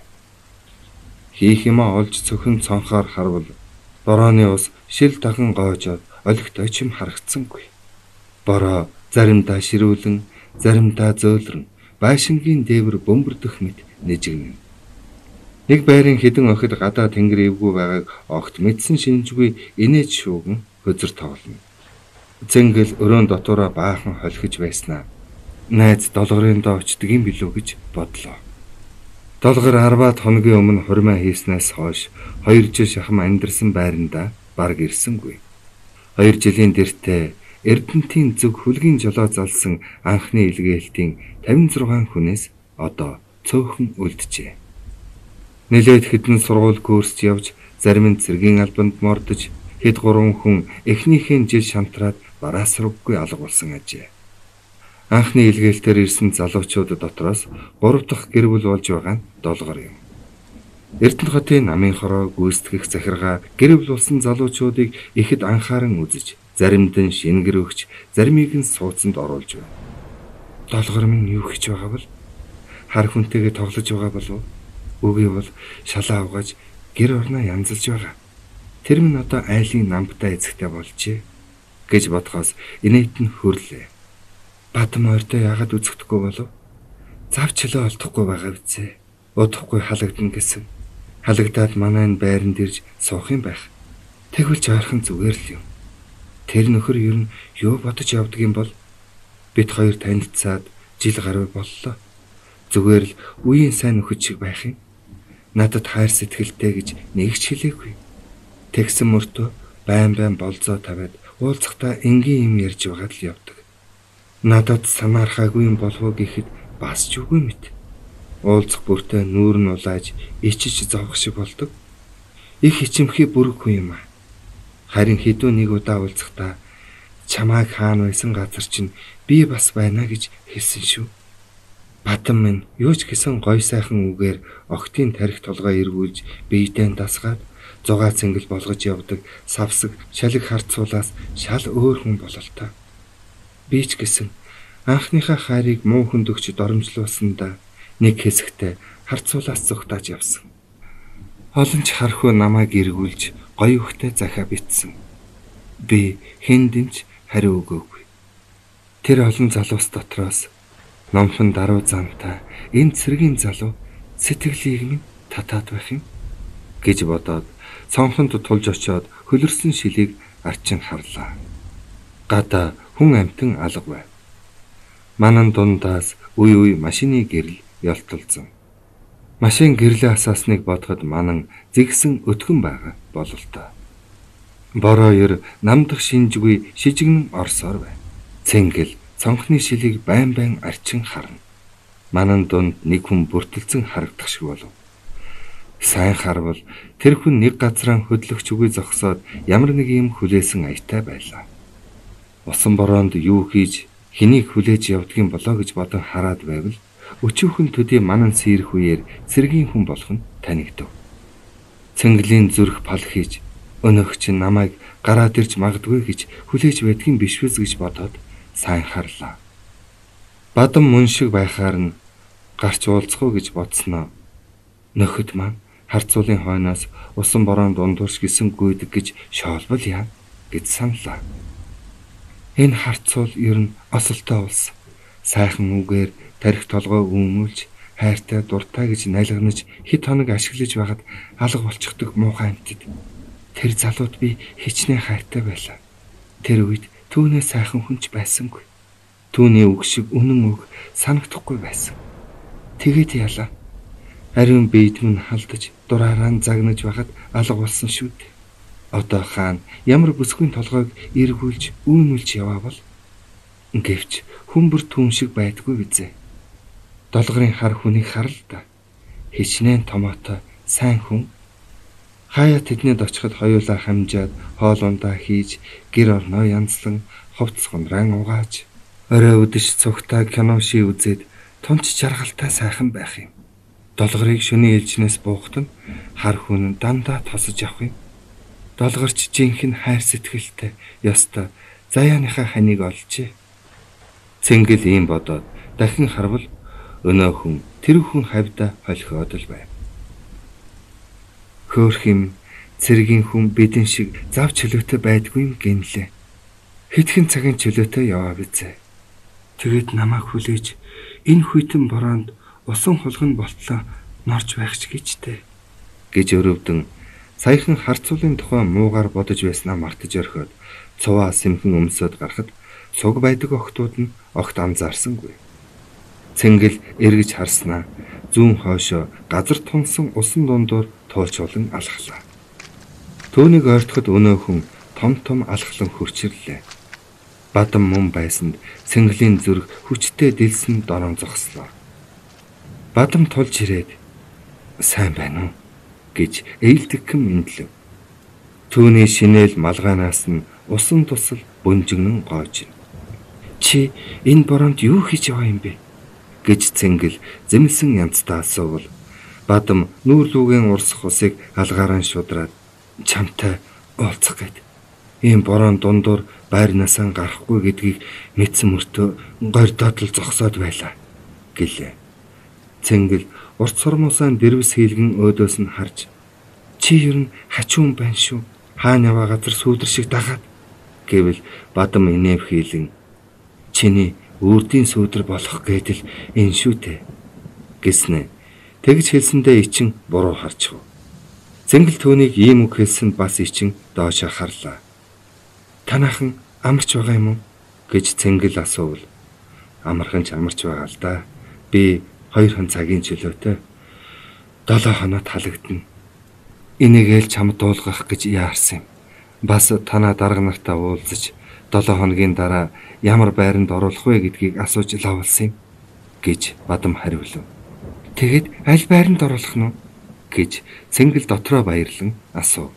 Хийх юмаа олж цөхөн цонхоор харвал борооны ус шил дахин гоожоод олигт очим харагдсангүй. Бороо заримдаа ширүүлэн, заримдаа зөөлрөн байшингийн дээвэр бөмбөрдөх мэт нэжигнэ. Нэг байрын хідэн охид гадаа тэнгэр эвгүй байгааг огт мэдсэн шинжгүй инээж шууган хөзөр тоглоно. Цэнгэл өрөөнд дотоороо баахан холхиж байснаа найз долгорын доо очдөг юм билүү гэж бодлоо. Долгор 10 хоногийн өмнө хурмаа хийснээс хойш 2 жил шахам амьдарсан байрандаа барг ирсэнгүй. 2 жилийн дэртээ Эрдэнтийн зөв хүлгийн жолоо залсан анхны илгээлтийн 56 хүнээс одоо цөөхөн үлджээ. Нэлээд хэдэн сургууль курст явж зарим нь цэргийн албанд мордож хэд 3 хүн эхнийхэн жил шантраад бараасраггүй алга болсон ажээ. Анхны илгээлтээр ирсэн залуучууд дотроос 3 дахь гэр бүл болж байгаа нь долгор юм. Эрдэнэт хотын намын хороо гүйцэтгэх захиргаа гэр бүл болсон залуучуудыг ихэд анхааран үзэж, заримд нь шингэр өгч, заримыг нь суудсанд оруулж байна. Долгор минь юу хийж байгаа бол? Хар хүнтэйгээ тоглож байгаа болов? Үгүй бол шалаа угааж гэр орноо янзалж байгаа. Тэр минь одоо айлын намтай эзэгтэй болжээ гэж бодхоос инээт нь хөрлөө. Бадам ойртой яагаад үзэхдэггүй болов? Завчлаа олдохгүй байгаа үсэ. Удахгүй халагдана гэсэн. Халагдаад манай энэ байранд ирж суух юм байх. Тэгвэл жаархан зүгээр л юм. Тэр нөхөр ер нь юу бодож явдаг юм бол? Бид хоёр танилцаад жил гаруй боллоо. Зүгээр л үеийн сайн нөхөд шиг байх юм. Надад хайр сэтгэлтэй гэж нэг ч хэлээгүй. Тэгсэн мөртөө байн болзоо тавиад уулзахдаа энгийн юм ярьж байгаад л явдаг. Надад санаархаагүй юм болов гэхэд бас ч үгүй мэт. Уулзах бүртээ нүүр нь улааж ичиж зовх шиг болдог. Их ичимхий бүргүй юм аа. Харин хэдүү нэг удаа уулзахдаа чамайг хаана байсан газар чинь би бас байна гэж хэлсэн шүү. Бадам минь юу ч гэсэн гой сайхан үгээр охтын тарих толгой эргүүлж биедээ дасгаад зугаа цэнгэл болгож явдаг савсаг шалиг харцуулаас шал өөр хүн бололтой. Би ч гэсэн анхныхаа хайрыг муу хүнд өгч доромжлуулсандаа нэг хэсэгтээ харцуулаас зүгтааж явсан. Олон ч хархуу намайг эргүүлж гоё хөхтэй захаа битсэн. Би хэндэнч хариу өгөөгүй. Тэр олон залуус дотроос номхон даруй зантай энэ цэргийн залуу сэтгэлийг минь татаад байх юм гэж бодоод цонхонд тулж очиод хөлөрсөн шилийг арчин харлаа. Гадаа хүн амтан алга байв. Манан дундаас үе машины гэрэл ялталзан. Машин гэрлээ асаасныг бодоход манан зэгсэн өтгөн байгаа бололтой. Борооёр намдах шинжгүй шижигнэн орсоор байв. Цэнгэл цонхны шилийг байн арчин харна. Манан дунд нэг хүн бүртэлцэн харагдах шиг болов. Сайн харвал тэр хүн нэг газраа хөдлөгч үгүй зогсоод ямар нэг юм хүлээсэн аятай байлаа. Усан бороонд юу хийж хэнийг хүлээж явдгийн болоо гэж бодон хараад байвал өчүүхэн төдий манан сэрэх үеэр цэргийн хүн болох нь танигдав. Цэнгэлийн зүрх пал хийж өнөөгч намайг гараад ирж магадгүй гэж хүлээж байдгийн биш биз гэж бодоод сайн харлаа. Бадам мөн шиг байхаар нь гарч уулзах уу гэж бодсноо. Нөхөд маань харцуулын хойноос усан бороонд дундуурч гисэн гүйдэг гэж шоолбол яа гэж саналаа. Энэ харцуул ер нь осолтой улс. Сайхан үгээр тарих толгой үүмүүлж хайртай дуртай гэж найлганаж хэд хоног ашиглаж байхад алга болчихдог муухай амьтад. Тэр залууд би хичнээн хайртай байлаа. Тэр үед түүнээ сайхан хүнч байсангүй. Түүний үг шиг үнэн үг санагдахгүй байсан. Тэгээд яалаа. Ариун биед минь халдаж дураараа загнаж байхад алга болсон шүү дээ. Одоо хаана ямар бүсгүй толгойг эргүүлж үүмүүлж яваа бол гэвч хүмбэр түн шиг байдгүй бизээ. Долгорын хар хүнийг харал да. Хичнээн томоотой сайн хүн. Хаяа тэднийд очиход хоёулаа хамжаад хоол ундаа хийж гэр орноо янзлан ховц хунраан угааж орой өдөш цугтаа кино ший үзээд тунч жаргалтай сайхан байх юм. Долгорыг шөнийн ээлжнээс буухад нь хар хүн дандаа тосож явах юм. Долгорч жинхэнэ хайр сэтгэлтэй ёстой заяаныхаа ханийг олжээ. Цэнгэл ийм бодоод дахин харвал өнөө хүн тэр хүн хавьда холхиод л байв. Хөөх юм цэргийн хүн бидэн шиг зав чөлөөтэй байдгүй юм гинлээ. Хэдхэн цагийн чөлөөтэй яваа бизээ. Тэгээд намайг хүлээж энэ хүйтэн бороонд усан хулган болтлоо норж байх ч гэжтэй гэж өрөвдөн саяхан харцуулын тухай муугар бодож байснаа мартаж орхиод цуваа сэмхэн өмсөд гарахад суг байдаг охтууд нь огт анзаарсангүй. Цэнгэл эргэж харснаа зүүн хойшоо газар тунсан усан дундуур туулчулан алхлаа. Түүнийг ойртоход өнөө хүн том алхлан хурчирлээ. Бадам мөн байсанд цэнгэлийн зүрх хүчтэй дэлсэн дорон зогслоо. Бадам тулж ирээд сайн байна уу гэж ээлдэгхэн мэдлэв. Түүний шинээл малгайнаас нь усан тусал бөнжигнэн гоож. Чи энэ бороонд юу хийж яваа юм бэ гэж цэнгэл зэмлсэн янзтай асуувал бадам нүүр лүүгийн урсах усыг алгаараа шудраад чамтай уулзах гээд ийм борон дундуур байрнаасаа гарахгүй гэдгийг мэдсэн мөртөө гордоод л зогсоод байлаа гэлээ. Цэнгэл урт сурмуусаа дэрвс хийлгэн өөдөөс нь харж чи ер нь хачуун байна шүү. Хаана яваа газар сүүдэр шиг дагаад гэвэл бадам инэв хийлэн чиний үрдийн сүүдэр болох гэдэл энэ шүү дээ гэснэ. Тэгж хэлсэндээ ичин буруу харчихв. Цэнгэл түүнийг ийм үг хэлсэнд бас ичин доошоо харлаа. Танаахан амарч байгаа юм уу гэж цэнгэл асуувал амархан ч амарч байгаа л да. Би 2 цагийн чөлөөтэй 7 хоноод халагдана. Энийгээл чамд дуулгах гэж яарсан юм. Бас танаа дарга нартаа уулзаж 7 хоногийн дараа ямар байранд оруулах вэ гэдгийг асууж лавлсан юм гэж бадам хариулв. Тэгэд аль байранд оруулах нь гэж цэнгэл дотроо баярлан асуув.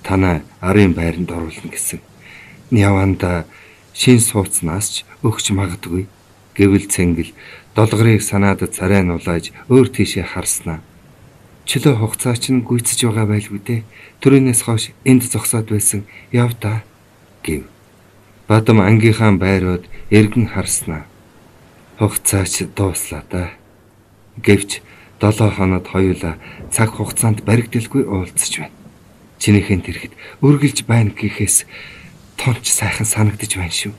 Танаа арын байранд оруулна гэсэн. Яванда шин сууцнаас ч өгч магадгүй гэвэл цэнгэл долгорыг санаад царай нулааж өөр тийшээ харснаа. Чөлөө хугацаа чинь гүйцэж байгаа байлгүй дээ. Төрөнөөс хойш энд зогсоод байсан яв та гэв. Бадам ангийнхаа байрууд эргэн харснаа. Хугацаа ч дууслаа да. Гэвч 7 хоноод хоёулаа цаг хугацаанд баригдaltaгүй уулзч байна. Чинийхэн тэрхэд үргэлж байна гэхээс тонч сайхан санагдаж байна шүү.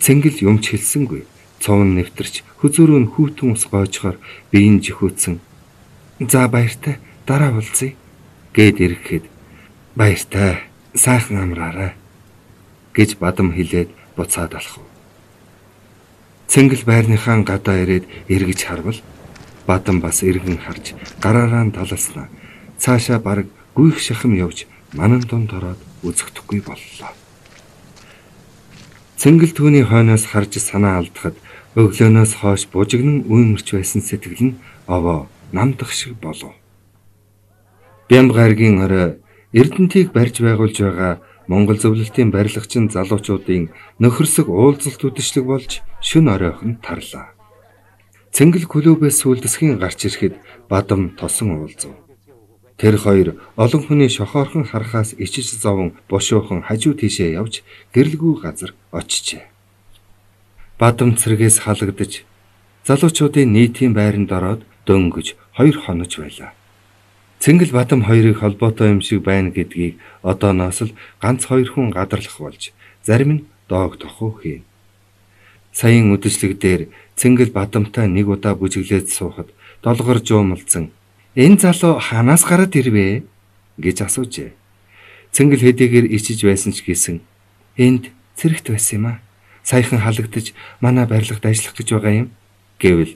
Цэнгэл юмч хэлсэнгүй. Цовн нэвтэрч хүзүүрөө нь хүүтэн ус гоожохоор биеийн жихүүцэн за баяртай дараа уулзъя гэд ирэхэд баяртай сайхан амраарай гэж бадам хэлээд буцаад алхав. Цэнгэл байрныхаа гадаа ирээд эргэж харвал бадам бас эргэн харж гараараа талалснаа. Цаашаа бараг гүйх шахам явж манан дунд ороод үзэгдэхгүй боллоо. Цэнгэл түүний хойноос харж санаа алдахад өглөөнөөс хойш бужигнан үймэрч байсан сэтгэл нь овоо намдах шиг болов. Бямб гаргийн орой Эрдэнтийг барьж байгуулж байгаа Монгол зөвлөлтийн барилгачин залуучуудын нөхөрсөг уулзалт үдэшлэг болж шөнө оройхон тарлаа. Цэнгэл клубээс сүлдэсгийн гарч ирэхэд Бадам тосон уулзав. Тэр хоёр олон хүний шохоорхон харахаас ичиж зовон бушуухан хажуу тийшээ явж гэрэлгүй газар очижээ. Бадам цэргээс халагдаж залуучуудын нийтийн байранд ороод дөнгөж 2 хонож байлаа. Цэнгэл Бадам хоёрыг холбоотой юм шиг байна гэдгийг одооноос л ганц 2 хүн гадарлах болж зарим нь доог тохуу хийн. Саяын үдэшлэг дээр Цэнгэл Бадамтай нэг удаа бүжиглээд суухад долгор жуумалцсан "Энэ залуу ханаас гараад ирвэ?" гэж асуужээ. Цэнгэл хэдийгээр ичиж байсан ч гэсэн "Энд цэрэгт байсан юм а. Саяхан халагдаж манай барилгад ажиллах гэж байгаа юм" гэвэл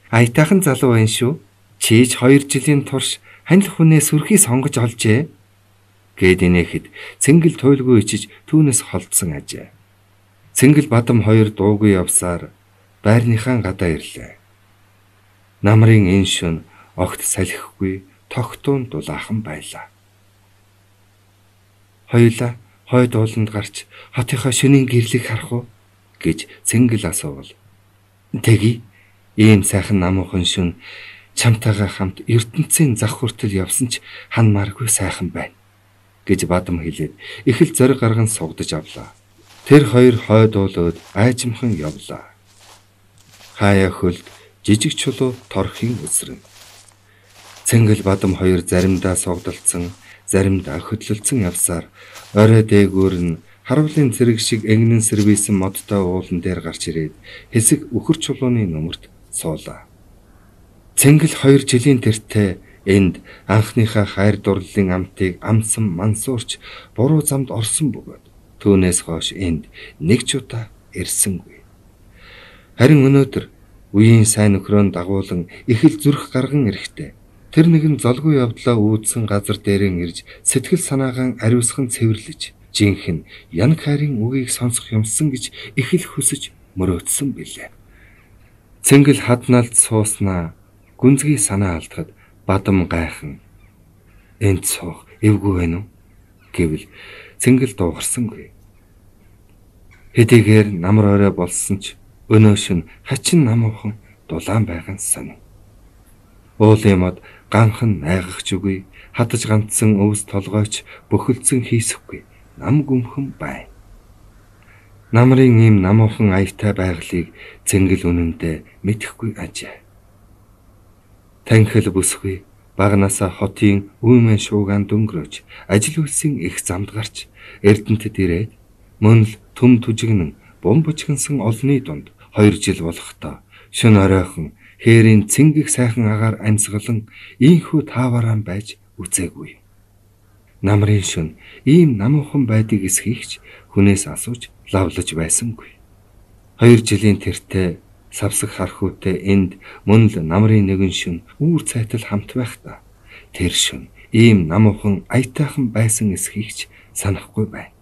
"Аятайхан залуу байна шүү. Чийж 2 жилийн турш ханил хүнээ сүрхий сонгож олжээ" гэд инээхэд Цэнгэл туйлгүй ичиж түүнээс холдсон ажээ. Цэнгэл Бадам хоёр дуугүй явсаар байрныхаа гадаа ирлээ. Намрын энэ шөнө огт салхихгүй тогтуун дулаахан байлаа. Хоёулаа хойд ууланд гарч хотынхоо шөнийн гэрлийг харах уу гэж Цэнгэл асуувал "Тэгье. Ийм сайхан намуухан шөнө чамтайгаа хамт ертөнцийн зах хүртэл явсан ч ханмааргүй сайхан байна" гэж Бадам хэлээд их л зориг гарган сугдаж авлаа. Тэр хоёр хойд уулууд айжмхан явлаа. Хаяа хөлд жижиг чулуу торхийн өсрөн. Цэнгэл Бадам хоёр заримдаа сугдалцсан, заримдаа хөдлөлцөн явсаар орой дээгүүр нь харуулын цэрэг шиг энгэн сэрвийсэн модтой уулан дээр гарч ирээд хэсэг үхэр чулууны нөмөрт суулаа. Цэнгэл 2 жилийн тэртээ энд анхныхаа хайр дурлалын амтыг амсан мансуурч буруу замд орсон бөгөөд түүнээс хойш энд нэг ч удаа ирсэнгүй. Харин өнөөдөр үеийн сайн нөхрөөнд дагуулan их л зүрх гарган ирэхдээ тэр нэгэн золгүй явдлаа үүдсэн газар дээрэн ирж сэтгэл санаагаан ариусхан цэвэрлэж жинхэнэ янг хайрын үгийг сонсох юмсан гэж их л хүсэж мөрөөдсөн билээ. Цэнгэл хадналд сууснаа гүнзгий санаа алдахад Бадам гайхан "Энд суух эвгүй байна уу?" гэвэл Цэнгэл дуугарсангүй. Хэдийгээр намар орой болсон ч өнөө шөнө хачин намуухан дулаан байгаа сонь. Уулын мод ганхан найгахч үгүй, хадаж ганцсан өвс толгойч бөхөлдсөн хийсэхгүй нам гүмхэн байна. Намрын ийм намуухан аятай байгалыг Цэнгэл үнэндээ мэдэхгүй ажээ. Танхил бүсгүй багнасаа хотын үүмэн шуугаан дөнгөрөөж ажил үйлсийн их замд гарч Эрдэнэтэд ирээд мөн л төм түжигнэн бум бужигнсан олны дунд 2 жил болохдоо шөнө оройхон хээрийн цэнгэг сайхан агаар амьсгалан ийхүү тааварaan байж үзээгүй. Намрын шөнө ийм намуухан байдгийг эсхийгч хүнээс асууж лавлаж байсангүй. 2 жилийн тэртээ савсаг хархуутай энд мөн л намрын нэгэн шөнө үүр цайтал хамт байхдаа тэр шөнө ийм намуухан аятайхан байсан эсхийгч санахгүй байна.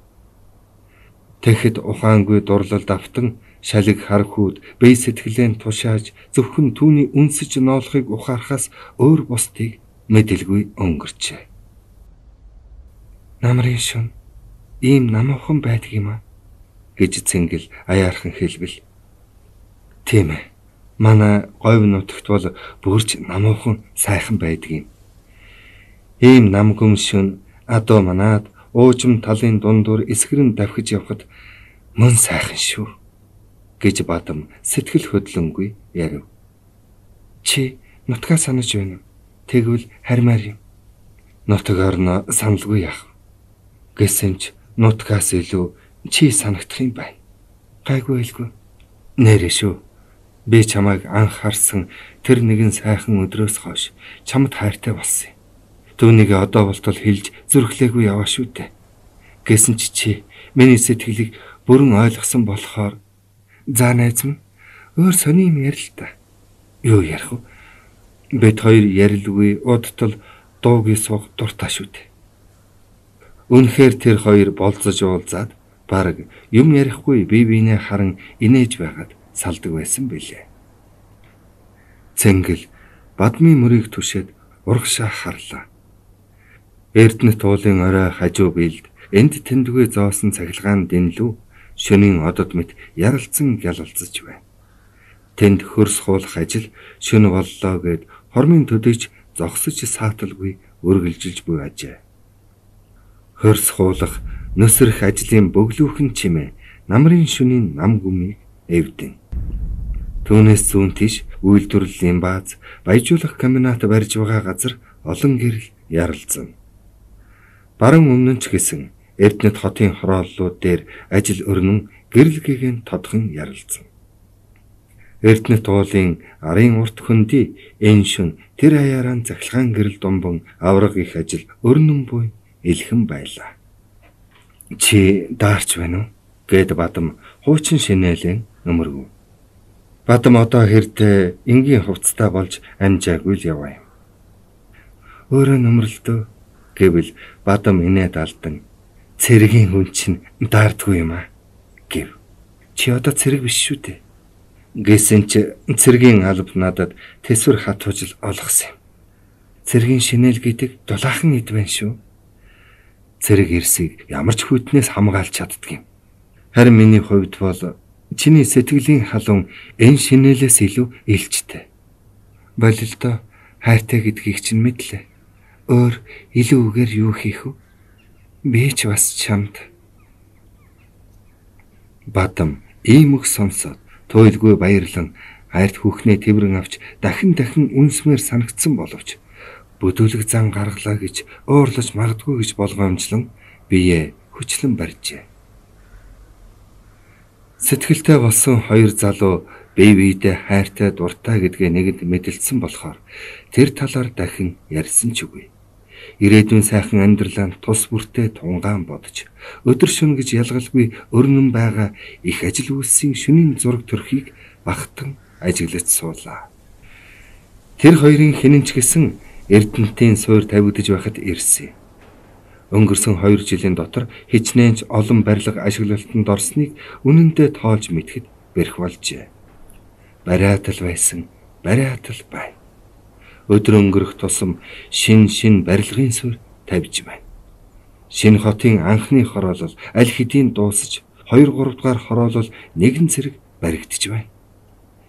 Тэгэхэд ухаангүй дурлалд автан шалиг хар хүүд бие сэтгэлээ тушааж зөвхөн түүний үнсэж ноолохыг ухаарахаас өөр бусдыг мэдэлгүй өнгөрчээ. Намрын шөнө ийм намуухан байдаг юм а гэж Цэнгэл аяархан хэлбэл "Тийм ээ. Манай говь нутагт бол бүрч намуухан сайхан байдаг юм. Ийм нам гүмшүн адуу манаад уужим талын дундуур эсгэрэн давхиж явхад мөн сайхан шүү" гэж Бадам сэтгэл хөдлөнгүй ярив. "Чи нутгаа санаж байна уу? Тэгвэл хармаар юм. Нутаг орно саналгүй яах. Гэсэн ч нутгаас илүү чи санагдах юм байна. Гайгүй хэлгүй. Нэрэ шүү. Би чамайг анх харсан тэр нэгэн сайхан өдрөөс хойш чамд хайртай болсон юм. Түүнийг одоо болтол хэлж зүрхлээгүй яваа шүү дээ. Гэсэн чи миний сэтгэлийг бүрэн ойлгосон болохоор за найз минь өөр сони юм ярил та. Юу ярих вэ? Бид хоёр ярилгүй удтал дуугийн суух дуртай шүү дээ." Үнэхээр тэр хоёр болцож уулзаад бараг юм ярихгүй бие биенээ харан инээж байгаад салдаг байсан билээ. Цэнгэл Бадмын мөрийг түшээд урагшаа харлаа. Эрдэнэт уулын орой хажуу биелд энд тэндгүй зоосон цахилгаан дэнлүү шөнийн одод мэт яралцсан гялалцаж байна. Тэнд хөрс хуулах ажил шөнө боллоо гэд хормын төдийч зогсож сааталгүй үргэлжилж буй ажээ. Хөрс хуулах нөсрөх ажлын бөглүүхэн чимээ намрын шөнийн нам гүмийг эвдэн. Түүнээс зүүн тийш үйлдвэрлэлийн бааз, баяжуулах комбинат барьж байгаа газар олон гэрэл яралзсан. Баруун өмнө ч гэсэн Эрдэнэт хотын хорооллууд дээр ажил өрнөн гэрэлгээгэн тодхон яралзсан. Эрдэнэт уулын арын урт хөндөй энэ шөнө тэр хаяараа захилгаан гэрэл думбан авраг их ажил өрнөн буй илхэн байлаа. Чи даарч байна уу? Гэд Бадам хуучин шинэлэн нөмөргөв. Бадам одоо хэрдээ энгийн хувцастай болж амжаагүй л яваа юм. Өөрөө нөмрөлдөө гэвэл Бадам инээд алдан цэргийн хүн чинь даардгүй юм аа гэв. Чи одоо цэрэг биш шүү дээ. Гэсэн чи цэргийн алба надад тэсвэр хатуужил олгосон юм. Цэргийн шинэл гэдэг дулаахан эд байна шүү. Цэрэг ирсийг ямар ч хүйтнээс хамгаалж чаддаг юм. Харин миний хувьд бол чиний сэтгэлийн халуун энэ шинэлээс илүү илчтэй. Болилдоо хайртай гэдгийг чинь мэдлээ. Өөр илүү үгээр юу хийх вэ? Би ч бас чамд. Бадам ийм үг сонсоод туйлгүй баярлан хайрт хүүхнээ тэврэн авч дахин үнсмээр санагдсан боловч бүдүүлэг зан гаргалаа гэж уурлаж магадгүй гэж болгоомжлон биеэ хүчлэн барьжээ. Сэтгэлтэй болсон хоёр залуу бие биедээ хайртай дуртай гэдгээ нэгэнд мэдэлсэн болохоор тэр талаар дахин ярьсан ч үгүй. Ирээдүйн сайхан амьдралаа тус бүртээ тунгаан бодож өдөр шөнө гэж ялгалгүй өрнөн байгаа их ажил үйлсийн шөнийн зураг төрхийг багтан ажиглаж суулаа. Тэр хоёрын хинэн ч гэсэн Эрдэнэтийн суур тавигдж байхад ирсэн. Өнгөрсөн 2 жилийн дотор хичнээн ч олон барилга ашиглалтанд орсныг үнэндээ тоолж мэдхэд бэрх болжээ. Бариатал байсан, бариатал бай. Өдөр өнгөрөх тусам шин барилгын суурь тавьж байна. Шинэ хотын анхны хороолол аль хэдийн дуусаж 2-3 дугаар хороолол нэгэн зэрэг баригдж байна.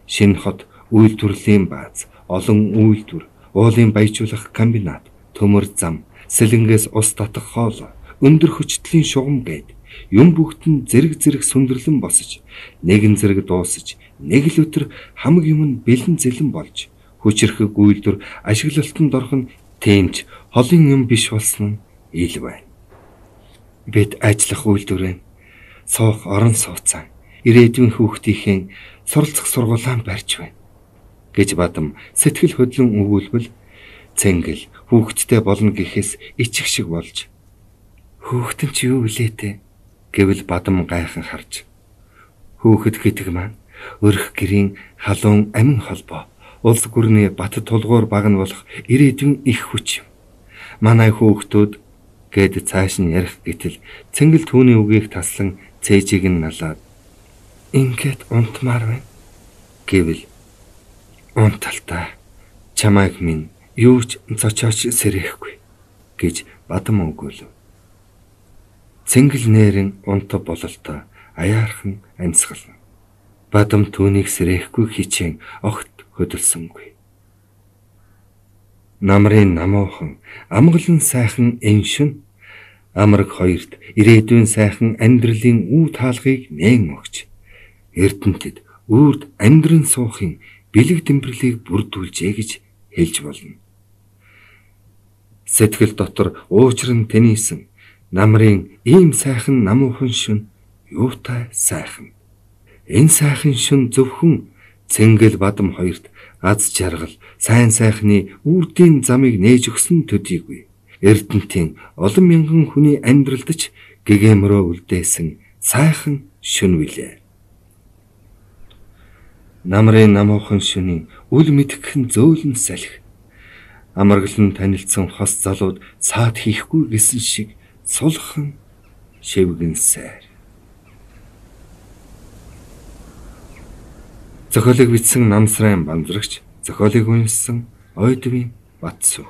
Шинэ хот үйлдвэрлэлийн бааз, олон үйлдвэр, уулын баяжуулах комбинат, төмөр зам, сэлэнгээс ус татах хоол, өндөр хүчтлийн шугам гээд юм бүгд нь зэрэг сүндэрлэн босож, нэгэн зэрэг дуусаж, нэг л өдөр хамаг юм нь бэлэн зэлэн болж, хүчрхэг үйлдвэр ашиглалтанд орох нь тэмч холын юм биш болсон нь ил байна. Бид ажиллах үйлдвэрэн суух орон сууцаа, ирээдүйн хүүхдийнхээ суралцах сургуулаан барьж байна гэж Бадам сэтгэл хөдлөн өгүүлбэл цэнгэл хүүхдтэй болно гэхээс ичих шиг болж хүүхдэн чи юу гэлээ те гэвэл Бадам гайхан харж хүүхэд гэдэг маань өрх гэрийн халуун амин холбоо улс гүрний бат тулгуур баг нь болох ирээдүйн их хүч юм. Манай хүүхдүүд гэд цааш нь ярих гэтэл цэнгэл түүний үгийг таслан цээжийг нь налаад ингээд унтмаар байна гэвэл унталтаа чамайг минь юу ч цочооч сэрэхгүй гэж Бадам өгөөлөв. Цэнгэл нэрэн унтав бололтой аяархан амьсгална. Бадам түүнийг сэрэхгүй хичээн огт хөдөлсөнгүй. Намрын намуухан амгалан сайхан энэ шөнө амраг хоёрт ирээдүйн сайхан амьдралын үе таалгыг нээн өгч Эрдэнэтэд үрд амьдран суухын бэлэг тэмдэглэлийг бүрдүүлжээ гэж хэлж болно. Сэтгэл дотор уучран тэнийсэн намрын ийм сайхан намуухан шөнө юутай сайхан. Энэ сайхан шөнө зөвхөн Цэнгэл Бадам хоёрт аз жаргал, сайн сайхны үрдийн замыг нээж өгсөн төдийгүй. Эрдэнэтийн олон мянган хүний амьдралд ч гэгээмрөө үлдээсэн сайхан шөнө билээ. Намрын намуухан шөнийн үл мэдхэн зөөлөн салхи. Амаргалан танилцсан хос залууд саад хийхгүй гэсэн шиг сулхан шивгэн сайр. Зохиолыг бичсэн Намсрын Банзрагч, зохиолыг уншсан Ойдвийн Батсү.